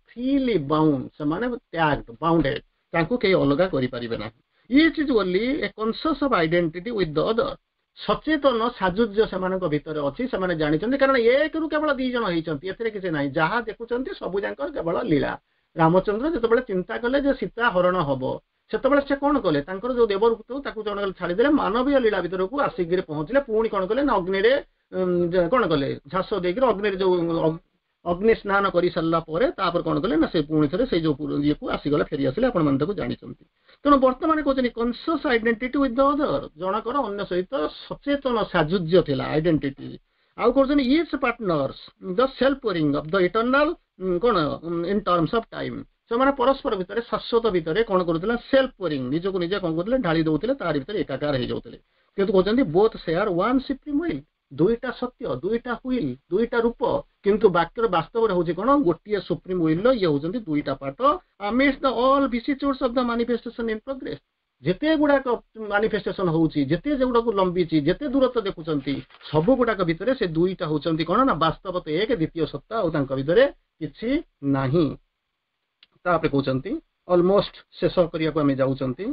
ଫ୍ରିଲି ବାଉଣ୍ଡ ସେମାନେ ଟ୍ୟାଗ୍ଡ ବାଉଣ୍ଡେଡ ତାଙ୍କୁ କେହି ଅଲଗା କରିପାରିବେ ନାହିଁ Each is only a conscious of identity with the other ସଚେତନ ସାଯୁଜ୍ୟ ସେମାନଙ୍କ ଭିତରେ ଅଛି ସେମାନେ ଜାଣିଛନ୍ତି କାରଣ ଏକରୁ କେବଳ ଦି ଜଣ ହେଇଛନ୍ତି ଏଥିରେ କିଛି ନାହିଁ ଯାହା ଦେଖୁଛନ୍ତି ସବୁ ଯାକ କେବଳ ଲୀଳା ରାମଚନ୍ଦ୍ର ଯେତେବେଳେ ଚିନ୍ତା କଲେ ଯେ ସୀତା ହରଣ ହବ ସେତେବେଳେ ସେ କଣ କଲେ ତାଙ୍କର ଯୋଉ ଦେବରୂପ ତାକୁ ଜଣେ ଛାଡ଼ିଦେଲେ ମାନବୀୟ ଲୀଳା ଭିତରକୁ ଆସିକିରି ପହଞ୍ଚିଲେ ପୁଣି କଣ କଲେ ନା ଅଗ୍ନିରେ କଣ କଲେ ଝାସ ଦେଇକିରି ଅଗ୍ନିରେ ଯୋଉ ଅଗ୍ନି ସ୍ନାନ କରି ସାରିଲା ପରେ ତାପରେ କଣ କଲେ ନା ସେ ପୁଣି ଥରେ ସେଇ ଯୋଉ ଇଏକୁ ଆସିଗଲେ ଫେରି ଆସିଲେ ଆପଣମାନେ ତାକୁ ଜାଣିଛନ୍ତି ତେଣୁ ବର୍ତ୍ତମାନ କହୁଛନ୍ତି conscious identity with the other ଜଣକର ଅନ୍ୟ ସହିତ ସଚେତନ ସାଯୁଜ୍ୟ ଥିଲା ଆଇଡେଣ୍ଟିଟି ଆଉ କହୁଛନ୍ତି each partners the self pouring of the eternal କଣ ଇନ୍ ଟର୍ମସ ଅଫ ଟାଇମ୍ ସେମାନେ ପରସ୍ପର ଭିତରେ ଶାଶ୍ୱତ ଭିତରେ କଣ କରୁଥିଲେ ସେଲ୍ଫ ପୋରିଂ ନିଜକୁ ନିଜେ କଣ କରୁଥିଲେ ଢାଳି ଦଉଥିଲେ ତାରି ଭିତରେ ଏକାକାର ହେଇଯାଉଥିଲେ କିନ୍ତୁ କହୁଛନ୍ତି both share one supreme will ଦୁଇଟା ସତ୍ୟ ଦୁଇଟା will ଦୁଇଟା ରୂପ କିନ୍ତୁ ବାକ୍ୟର ବାସ୍ତବରେ ହଉଛି କଣ ଗୋଟିଏ ସୁପ୍ରିମ will ଇଏ ହଉଛନ୍ତି ଦୁଇଟା part amidst the all vicissitudes of the manifestation in progress ଯେତେ ଗୁଡାକ ମାନିଫେଷ୍ଟେସନ ହଉଛି ଯେତେ ଯେଗୁଡାକୁ ଲମ୍ବିଛି ଯେତେ ଦୂରତ୍ୱ ଦେଖୁଛନ୍ତି ସବୁ ଗୁଡାକ ଭିତରେ ସେ ଦୁଇଟା ହଉଛନ୍ତି କଣ ନା ବାସ୍ତବତ ଏକ ଦ୍ୱିତୀୟ ସତ୍ତା ଆଉ ତାଙ୍କ ଭିତରେ କିଛି ନାହିଁ ତାପରେ କହୁଛନ୍ତି ଅଲମୋଷ୍ଟ ଶେଷ କରିବାକୁ ଆମେ ଯାଉଛନ୍ତି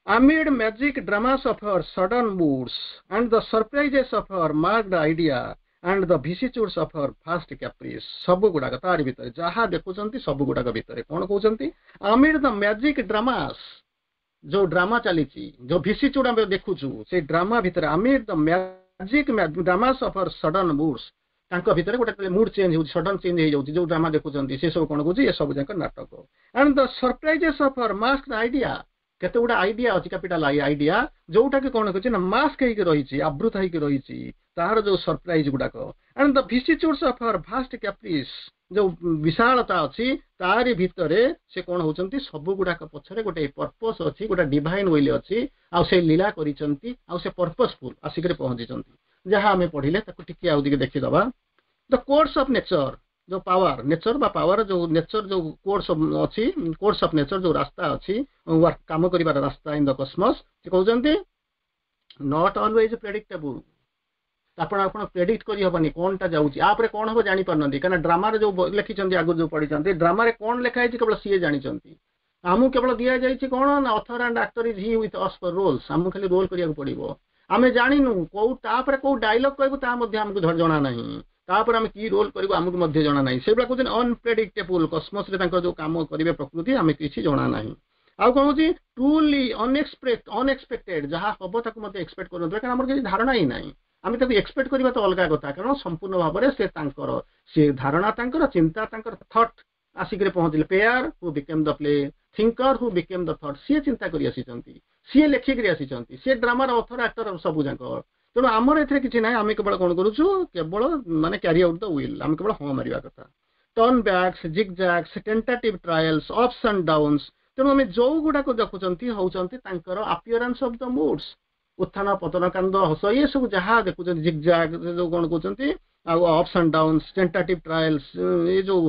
amid magic dramas of her sudden moods and the surprises of her masked idea and the vicissitudes of her vast caprice ସବୁ ଗୁଡାକ ତାରି ଭିତରେ ଯାହା ଦେଖୁଛନ୍ତି ସବୁ ଗୁଡାକ ଭିତରେ କଣ କହୁଛନ୍ତି amid the magic dramas ଯୋଉ ଡ୍ରାମା ଚାଲିଛି ଯୋଉ ଭିସିଚ୍ୟୁଡ ଆମେ ଦେଖୁଛୁ ସେଇ ଡ୍ରାମା ଭିତରେ amid the magic dramas of her sudden moods ତାଙ୍କ ଭିତରେ ଗୋଟେ ମୁଡ୍ ଚେଞ୍ଜ ହେଉଛି ସଡନ୍ ଚେଞ୍ଜ ହେଇଯାଉଛି ଯୋଉ ଡ୍ରାମା ଦେଖୁଛନ୍ତି ସେ ସବୁ କଣ କହୁଛି ଏ ସବୁ ଯାକ ନାଟକ and the surprises of her masked idea କେତେ ଗୁଡେ ଆଇଡିଆ ଅଛି କ୍ୟାପିଟାଲ I idea ଯୋଉଟା କି କଣ କରୁଛି ନା ମାସ୍କ ହେଇକି ରହିଛି ଆବୃତ ହେଇକି ରହିଛି ତାହାର ଯୋଉ ସରପ୍ରାଇଜ ଗୁଡାକ and the vicissitudes of her vast caprice ଯୋଉ ବିଶାଳତା ଅଛି ତାରି ଭିତରେ ସେ କଣ ହଉଛନ୍ତି ସବୁ ଗୁଡାକ ପଛରେ ଗୋଟେ ପର୍ପସ ଅଛି ଗୋଟେ ଡିଭାଇନ will ଅଛି ଆଉ ସେ ଲୀଳା କରିଛନ୍ତି ଆଉ ସେ ପର୍ପସଫୁଲ ଆସିକରି ପହଞ୍ଚିଛନ୍ତି ଯାହା ଆମେ ପଢିଲେ ତାକୁ ଟିକେ ଆଉ ଟିକେ ଦେଖିଦବା ଦ କୋର୍ସ ଅଫ ନେଚର ଯୋଉ ପାୱାର ନେଚର ବା ପାୱାର ଯୋଉ ନେଚର ଯୋଉ କୋର୍ସ ଅଛି କୋର୍ସ ଅଫ ନେଚର ଯୋଉ ରାସ୍ତା ଅଛି କାମ କରିବାର ରାସ୍ତା ଇନ୍ the Cosmos ସେ କହୁଛନ୍ତି not always ପ୍ରେଡିକ୍ଟେବୁଲ ଆପଣ ଆପଣ ପ୍ରେଡିକ୍ଟ କରିହବନି କଣଟା ଯାଉଛି ୟାପରେ କଣ ହବ ଜାଣିପାରୁନାହାନ୍ତି କାରଣ ଡ୍ରାମାରେ ଯୋଉ ଲେଖିଛନ୍ତି ଆଗରୁ ଯୋଉ ପଢିଛନ୍ତି ଡ୍ରାମାରେ କଣ ଲେଖା ହେଇଛି କେବଳ ସିଏ ଜାଣିଛନ୍ତି ଆମକୁ କେବଳ ଦିଆଯାଇଛି କଣ ନା author and actor is he with us for roles ଆମକୁ ଖାଲି ରୋଲ କରିବାକୁ ପଡିବ ଆମେ ଜାଣିନୁ କୋଉ ତାପରେ କୋଉ ଡାଇଲଗ କହିବୁ ତାହା ମଧ୍ୟ ଆମକୁ ଜଣା ନାହିଁ ତାପରେ ଆମେ କି ରୋଲ କରିବୁ ଆମକୁ ମଧ୍ୟ ଜଣା ନାହିଁ ସେଇଭଳିଆ କହୁଛନ୍ତି ଅନପ୍ରେଡିକ୍ଟେବୁଲ କସ୍ମସରେ ତାଙ୍କର ଯୋଉ କାମ କରିବେ ପ୍ରକୃତି ଆମେ କିଛି ଜଣା ନାହିଁ ଆଉ କଣ ହଉଛି ଟ୍ରୁଲି ଅନଏକ୍ସପେକ୍ଟ ଅନଏକ୍ସପେକ୍ଟେଡ ଯାହା ହବ ତାକୁ ମଧ୍ୟ ଏକ୍ସପେକ୍ଟ କରୁନଥିବେ କାରଣ ଆମର କିଛି ଧାରଣା ହିଁ ନାହିଁ ଆମେ ତାକୁ ଏକ୍ସପେକ୍ଟ କରିବା ତ ଅଲଗା କଥା କାରଣ ସମ୍ପୂର୍ଣ୍ଣ ଭାବରେ ସେ ତାଙ୍କର ସେ ଧାରଣା ତାଙ୍କର ଚିନ୍ତା ତାଙ୍କର ଥଟ୍ ଆସିକରି ପହଞ୍ଚିଲେ player who became the play thinker who became the thought ସିଏ ଚିନ୍ତା କରି ଆସିଛନ୍ତି ସିଏ ଲେଖିକରି ଆସିଛନ୍ତି ସିଏ ଡ୍ରାମାର ଅଥର ଆକ୍ଟର ସବୁ ଯାକ ତେଣୁ ଆମର ଏଥିରେ କିଛି ନାହିଁ ଆମେ କେବଳ କଣ କରୁଛୁ କେବଳ ମାନେ କ୍ୟାରି ଆଉଟ୍ the will ଆମେ କେବଳ ହଁ ମାରିବା କଥା turn backs zigzags tentative trials ups and downs ତେଣୁ ଆମେ ଯୋଉ ଗୁଡାକ ଦେଖୁଛନ୍ତି ହଉଛନ୍ତି ତାଙ୍କର ଆପିୟରାନ୍ସ ଅଫ the ମୁଡ୍ସ ଉତ୍ଥାନ ପତନ କାନ୍ଦ ହସ ଇଏ ସବୁ ଯାହା ଦେଖୁଛନ୍ତି ଜିଗଜାଗ ଯୋଉ କଣ କହୁଛନ୍ତି ଆଉ ups and downs tentative trials ଏ ଯୋଉ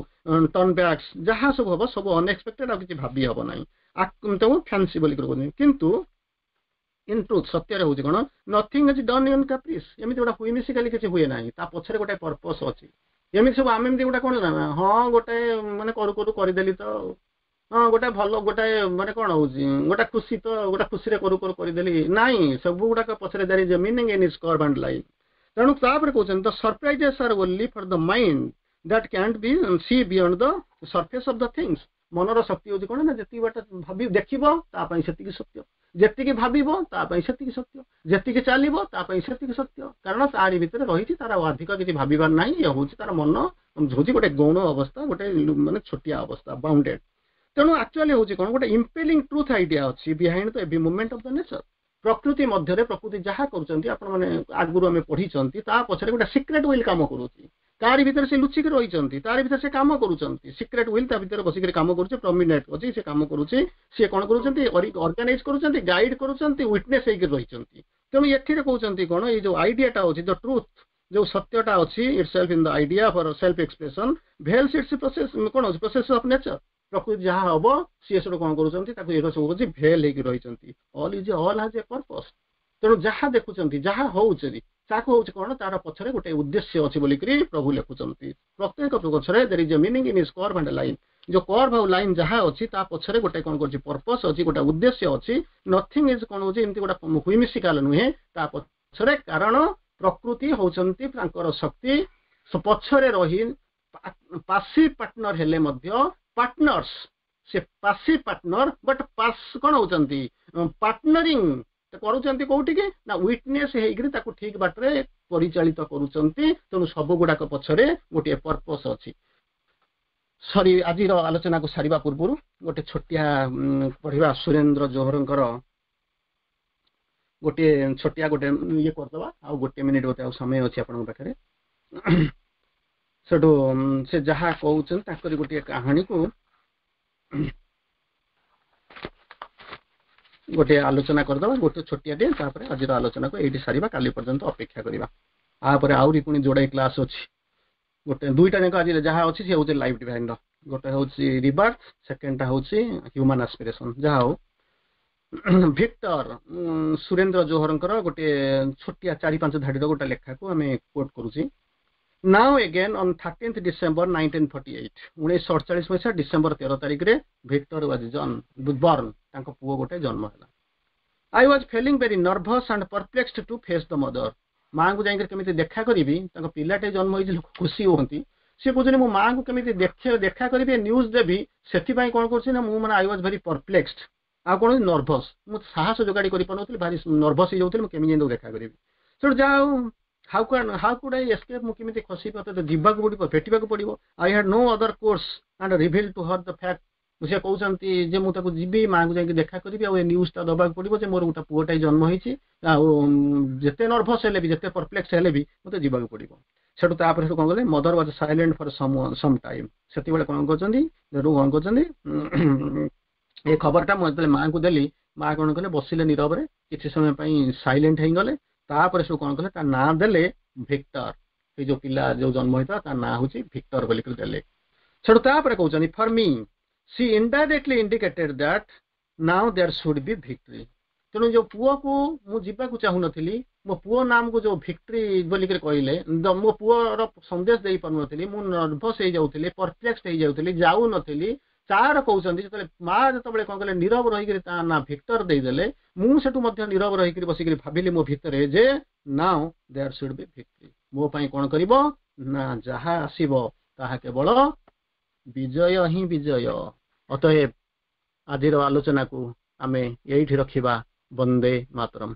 ଟର୍ନ ବ୍ୟାକ୍ସ ଯାହା ସବୁ ହବ ସବୁ ଅନଏକ୍ସପେକ୍ଟେଡ ଆଉ କିଛି ଭାବି ହବ ନାହିଁ ତାକୁ ଫ୍ୟାନ୍ସି ବୋଲି କହୁଛନ୍ତି କିନ୍ତୁ ଇନ୍ ଟ୍ରୁଥ ସତ୍ୟରେ ହଉଛି କଣ nothing is done in caprice ଏମିତି ଗୋଟେ ହୁଇମିସିକାଲି କିଛି ହୁଏ ନାହିଁ ତା ପଛରେ ଗୋଟେ ପର୍ପସ ଅଛି ଏମିତି ସବୁ ଆମେ ଏମିତି ଗୋଟେ କଣ ନା ହଁ ଗୋଟେ ମାନେ କରୁ କରୁ କରିଦେଲି ତ ହଁ ଗୋଟେ ଭଲ ଗୋଟେ ମାନେ କଣ ହଉଛି ଗୋଟେ ଖୁସି ତ ଗୋଟେ ଖୁସିରେ କରୁ କରୁ କରିଦେଲି ନାଇଁ ସବୁ ଗୁଡାକ ପଛରେ there is a meaning in its curve and line ତେଣୁ ତାପରେ କହୁଛନ୍ତି ଦ ସରପ୍ରାଇଜେସ୍ ଆର୍ only for the mind that cantt B C beyond the surface of the things ମନର ଶକ୍ତି ହଉଛି କଣ ନା ଯେତିକି ବାଟ ଭାବି ଦେଖିବ ତା ପାଇଁ ସେତିକି ସତ୍ୟ ଯେତିକି ଭାବିବ ତା ପାଇଁ ସେତିକି ସତ୍ୟ ଯେତିକି ଚାଲିବ ତା ପାଇଁ ସେତିକି ସତ୍ୟ କାରଣ ତାରି ଭିତରେ ରହିଛି ତାର ଆଉ ଅଧିକ କିଛି ଭାବିବାର ନାହିଁ ଇଏ ହଉଛି ତାର ମନ ହଉଛି ଗୋଟେ ଗୌଣ ଅବସ୍ଥା ଗୋଟେ ମାନେ ଛୋଟିଆ ଅବସ୍ଥା ବାଉଣ୍ଡେଡ ତେଣୁ ଆକ୍ଚୁଆଲି ହଉଛି କଣ ଗୋଟେ ଇମ୍ପେଲିଂ ଟ୍ରୁଥ ଆଇଡିଆ ଅଛି behind the every movement of the nature ପ୍ରକୃତି ମଧ୍ୟରେ ପ୍ରକୃତି ଯାହା କରୁଛନ୍ତି ଆପଣମାନେ ଆଗରୁ ଆମେ ପଢିଛନ୍ତି ତା ପଛରେ ଗୋଟେ ସିକ୍ରେଟ will କାମ କରୁଛି ତାରି ଭିତରେ ସେ ଲୁଚିକି ରହିଛନ୍ତି ତାରି ଭିତରେ ସେ କାମ କରୁଛନ୍ତି ସିକ୍ରେଟ will ତା ଭିତରେ ବସିକରି କାମ କରୁଛି ପ୍ରମିନେଣ୍ଟ ଅଛି ସେ କାମ କରୁଛି ସିଏ କଣ କରୁଛନ୍ତି ଅର୍ଗାନାଇଜ କରୁଛନ୍ତି ଗାଇଡ କରୁଛନ୍ତି ୱିଟନେସ ହେଇକି ରହିଛନ୍ତି ତେଣୁ ଏଥିରେ କହୁଛନ୍ତି କଣ ଏଇ ଯୋଉ ଆଇଡିଆଟା ଅଛି ଦ ଟ୍ରୁଥ ଯୋଉ ସତ୍ୟଟା ଅଛି itself in the idea for self expression veils its process କଣ ଅଛି ପ୍ରୋସେସ ଅଫ ନେଚର ପ୍ରକୃତି ଯାହା ହବ ସିଏ ସେଠୁ କଣ କରୁଛନ୍ତି ତାକୁ ଏ ସବୁ ହଉଛି ଭେଲ ହେଇକି ରହିଛନ୍ତି all is all has a purpose ତେଣୁ ଯାହା ଦେଖୁଛନ୍ତି ଯାହା ହଉଛି ତାକୁ ହଉଛି କଣ ତାର ପଛରେ ଗୋଟେ ଉଦ୍ଦେଶ୍ୟ ଅଛି ବୋଲିକରି ପ୍ରଭୁ ଲେଖୁଛନ୍ତି ପ୍ରତ୍ୟେକ ପଛରେ there is a meaning in its curve and line ଯୋଉ କର୍ଭ ଆଉ ଲାଇନ୍ ଯାହା ଅଛି ତା ପଛରେ ଗୋଟେ କଣ କରୁଛି ପର୍ପସ ଅଛି ଗୋଟେ ଉଦ୍ଦେଶ୍ୟ ଅଛି ନଥିଙ୍ଗ is କଣ ହଉଛି ଏମିତି ଗୋଟେ ହୁଇମିସିକାଲ ନୁହେଁ ତା ପଛରେ କାରଣ ପ୍ରକୃତି ହଉଛନ୍ତି ତାଙ୍କର ଶକ୍ତି ପଛରେ ରହି ପାସିଭ ପାର୍ଟନର ହେଲେ ମଧ୍ୟ ପାର୍ଟନର୍ସ ସେ ପାସିଭ ପାର୍ଟନର ବଟ୍ ପାସ୍ କଣ ହଉଛନ୍ତି ପାର୍ଟନରିଂ କରୁଛନ୍ତି କୋଉଠିକି ନା ୱିଟନେସ ହେଇକିରି ତାକୁ ଠିକ ବାଟରେ ପରିଚାଳିତ କରୁଛନ୍ତି। ତେଣୁ ସବୁ ଗୁଡାକ ପଛରେ ଗୋଟିଏ ପର୍ପସ ଅଛି। ସରି, ଆଜିର ଆଲୋଚନାକୁ ସାରିବା ପୂର୍ବରୁ ଗୋଟେ ଛୋଟିଆ ପଢିବା, ସୁରେନ୍ଦ୍ର ଜୋହରଙ୍କର ଗୋଟିଏ ଛୋଟିଆ ଗୋଟେ ଇଏ କରିଦେବା। ଆଉ ଗୋଟିଏ ମିନିଟ୍ ବୋଧେ ଆଉ ସମୟ ଅଛି ଆପଣଙ୍କ ପାଖରେ। ସେଠୁ ସେ ଯାହା କହୁଛନ୍ତି, ତାଙ୍କରି ଗୋଟିଏ କାହାଣୀକୁ ଗୋଟିଏ ଆଲୋଚନା କରିଦେବା, ଗୋଟେ ଛୋଟିଆଟିଏ। ତାପରେ ଆଜିର ଆଲୋଚନାକୁ ଏଇଠି ସାରିବା, କାଲି ପର୍ଯ୍ୟନ୍ତ ଅପେକ୍ଷା କରିବା। ତାପରେ ଆହୁରି ପୁଣି ଯୋଡ଼ାଏ କ୍ଲାସ୍ ଅଛି, ଗୋଟେ ଦୁଇଟା ଯାକ। ଆଜି ଯାହା ଅଛି ସେ ହେଉଛି ଲାଇଫ୍ ଡିଭାଇନର, ଗୋଟେ ହେଉଛି ରିବାର୍ଥ, ସେକେଣ୍ଡଟା ହେଉଛି ହ୍ୟୁମାନ ଆସ୍ପିରେସନ। ଯାହା ହଉ, ଭିକ୍ଟର, ସୁରେନ୍ଦ୍ର ଜୋହରଙ୍କର ଗୋଟିଏ ଛୋଟିଆ ଚାରି ପାଞ୍ଚ ଧାଡ଼ିର ଗୋଟେ ଲେଖାକୁ ଆମେ କୋଟ୍ କରୁଛି। Now again, on thirteenth December nineteen forty eight, ଉଣେଇଶହ ଅଠଚାଳିଶ ମସିହା ଡିସେମ୍ବର ତେର ତାରିଖରେ ଭିକ୍ଟର ୱାଜ ଜନ୍ ବର୍ନ, ତାଙ୍କ ପୁଅ ଗୋଟେ ଜନ୍ମ ହେଲା। I was feeling very nervous and perplexed to face the mother. ମାଆଙ୍କୁ ଯାଇକରି କେମିତି ଦେଖା କରିବି? ତାଙ୍କ ପିଲାଟେ ଜନ୍ମ ହେଇଛି, ଲୋକ ଖୁସି ହୁଅନ୍ତି। ସେ କହୁଛନ୍ତି, ମୁଁ ମାଆଙ୍କୁ କେମିତି ଦେଖ ଦେଖା କରିବି, ନ୍ୟୁଜ୍ ଦେବି? ସେଥିପାଇଁ କ'ଣ କରୁଛି ନା ମୁଁ ମାନେ I was very perplexed ଆଉ କ'ଣ ନର୍ଭସ୍। ମୁଁ ସାହସ ଯୋଗାଡ଼ି କରିପାରୁନଥିଲି, ଭାରି ନର୍ଭସ୍ ହେଇଯାଉଥିଲି, ମୁଁ କେମିତି ଯାଇ ଦେଖା କରିବି? ସେଠୁ ଯାହା ହଉ, how can how could I escape? ମୁଁ କେମିତି ଖସିବି? ମତେ ଯିବାକୁ ପଡ଼ିବ, ଭେଟିବାକୁ ପଡ଼ିବ। I had no other course and reveal to her the fact. ସେ କହୁଛନ୍ତି ଯେ ମୁଁ ତାକୁ ଯିବି, ମାଆଙ୍କୁ ଯାଇକି ଦେଖା କରିବି ଆଉ ଏ ନ୍ୟୁଜ୍ଟା ଦେବାକୁ ପଡ଼ିବ ଯେ ମୋର ଗୋଟେ ପୁଅଟାଏ ଜନ୍ମ ହେଇଛି। ଆଉ ଯେତେ ନର୍ଭସ୍ ହେଲେ ବି, ଯେତେ ପରପ୍ଲେକ୍ସ ହେଲେ ବି ମୋତେ ଯିବାକୁ ପଡ଼ିବ। ସେଠୁ ତାପରେ ସେଠୁ କ'ଣ କଲେ? Mother was silent for some some time. ସେତେବେଳେ କ'ଣ କରୁଛନ୍ତି? ସେଠୁ କ'ଣ କରୁଛନ୍ତି? ଏ ଖବରଟା ମୁଁ ଯେତେବେଳେ ମାଆଙ୍କୁ ଦେଲି, ମା କ'ଣ କଲେ? ବସିଲେ ନୀରବରେ, କିଛି ସମୟ ପାଇଁ ସାଇଲେଣ୍ଟ ହେଇଗଲେ। ତାପରେ ସବୁ କ'ଣ କଲେ? ତା ନାଁ ଦେଲେ ଭିକ୍ଟର। ସେଇ ଯୋଉ ପିଲା ଯୋଉ ଜନ୍ମ ହେଇଥିଲା, ତା ନାଁ ହଉଛି ଭିକ୍ଟର ବୋଲିକରି ଦେଲେ। ସେଠୁ ତାପରେ କହୁଛନ୍ତି, for me she indirectly indicated that now there should be victory. ତେଣୁ ଯୋଉ ପୁଅକୁ ମୁଁ ଯିବାକୁ ଚାହୁଁନଥିଲି, ମୋ ପୁଅ ନାମକୁ ଯୋଉ ଭିକ୍ଟ୍ରି ବୋଲିକରି କହିଲେ, ମୋ ପୁଅର ସନ୍ଦେଶ ଦେଇପାରୁନଥିଲି, ମୁଁ ନର୍ଭସ୍ ହେଇଯାଉଥିଲି, ପରପ୍ଲେକ୍ସ ହେଇଯାଉଥିଲି, ଯାଉନଥିଲି। ତାର କହୁଛନ୍ତି, ଯେତେବେଳେ ମା ଯେତେବେଳେ କଣ କଲେ, ନୀରବ ରହିକରି ତା ନାଁ ଭିକ୍ଟର ଦେଇଦେଲେ, ମୁଁ ସେଠୁ ମଧ୍ୟ ନୀରବ ରହିକରି ବସିକରି ଭାବିଲି ମୋ ଭିତରେ ଯେ now there should be victory. ମୋ ପାଇଁ କଣ କରିବ ନା ଯାହା ଆସିବ ତାହା କେବଳ ବିଜୟ ହିଁ ବିଜୟ। ଅତଏବ ଆଜିର ଆଲୋଚନାକୁ ଆମେ ଏଇଠି ରଖିବା। ବନ୍ଦେ ମାତରମ୍।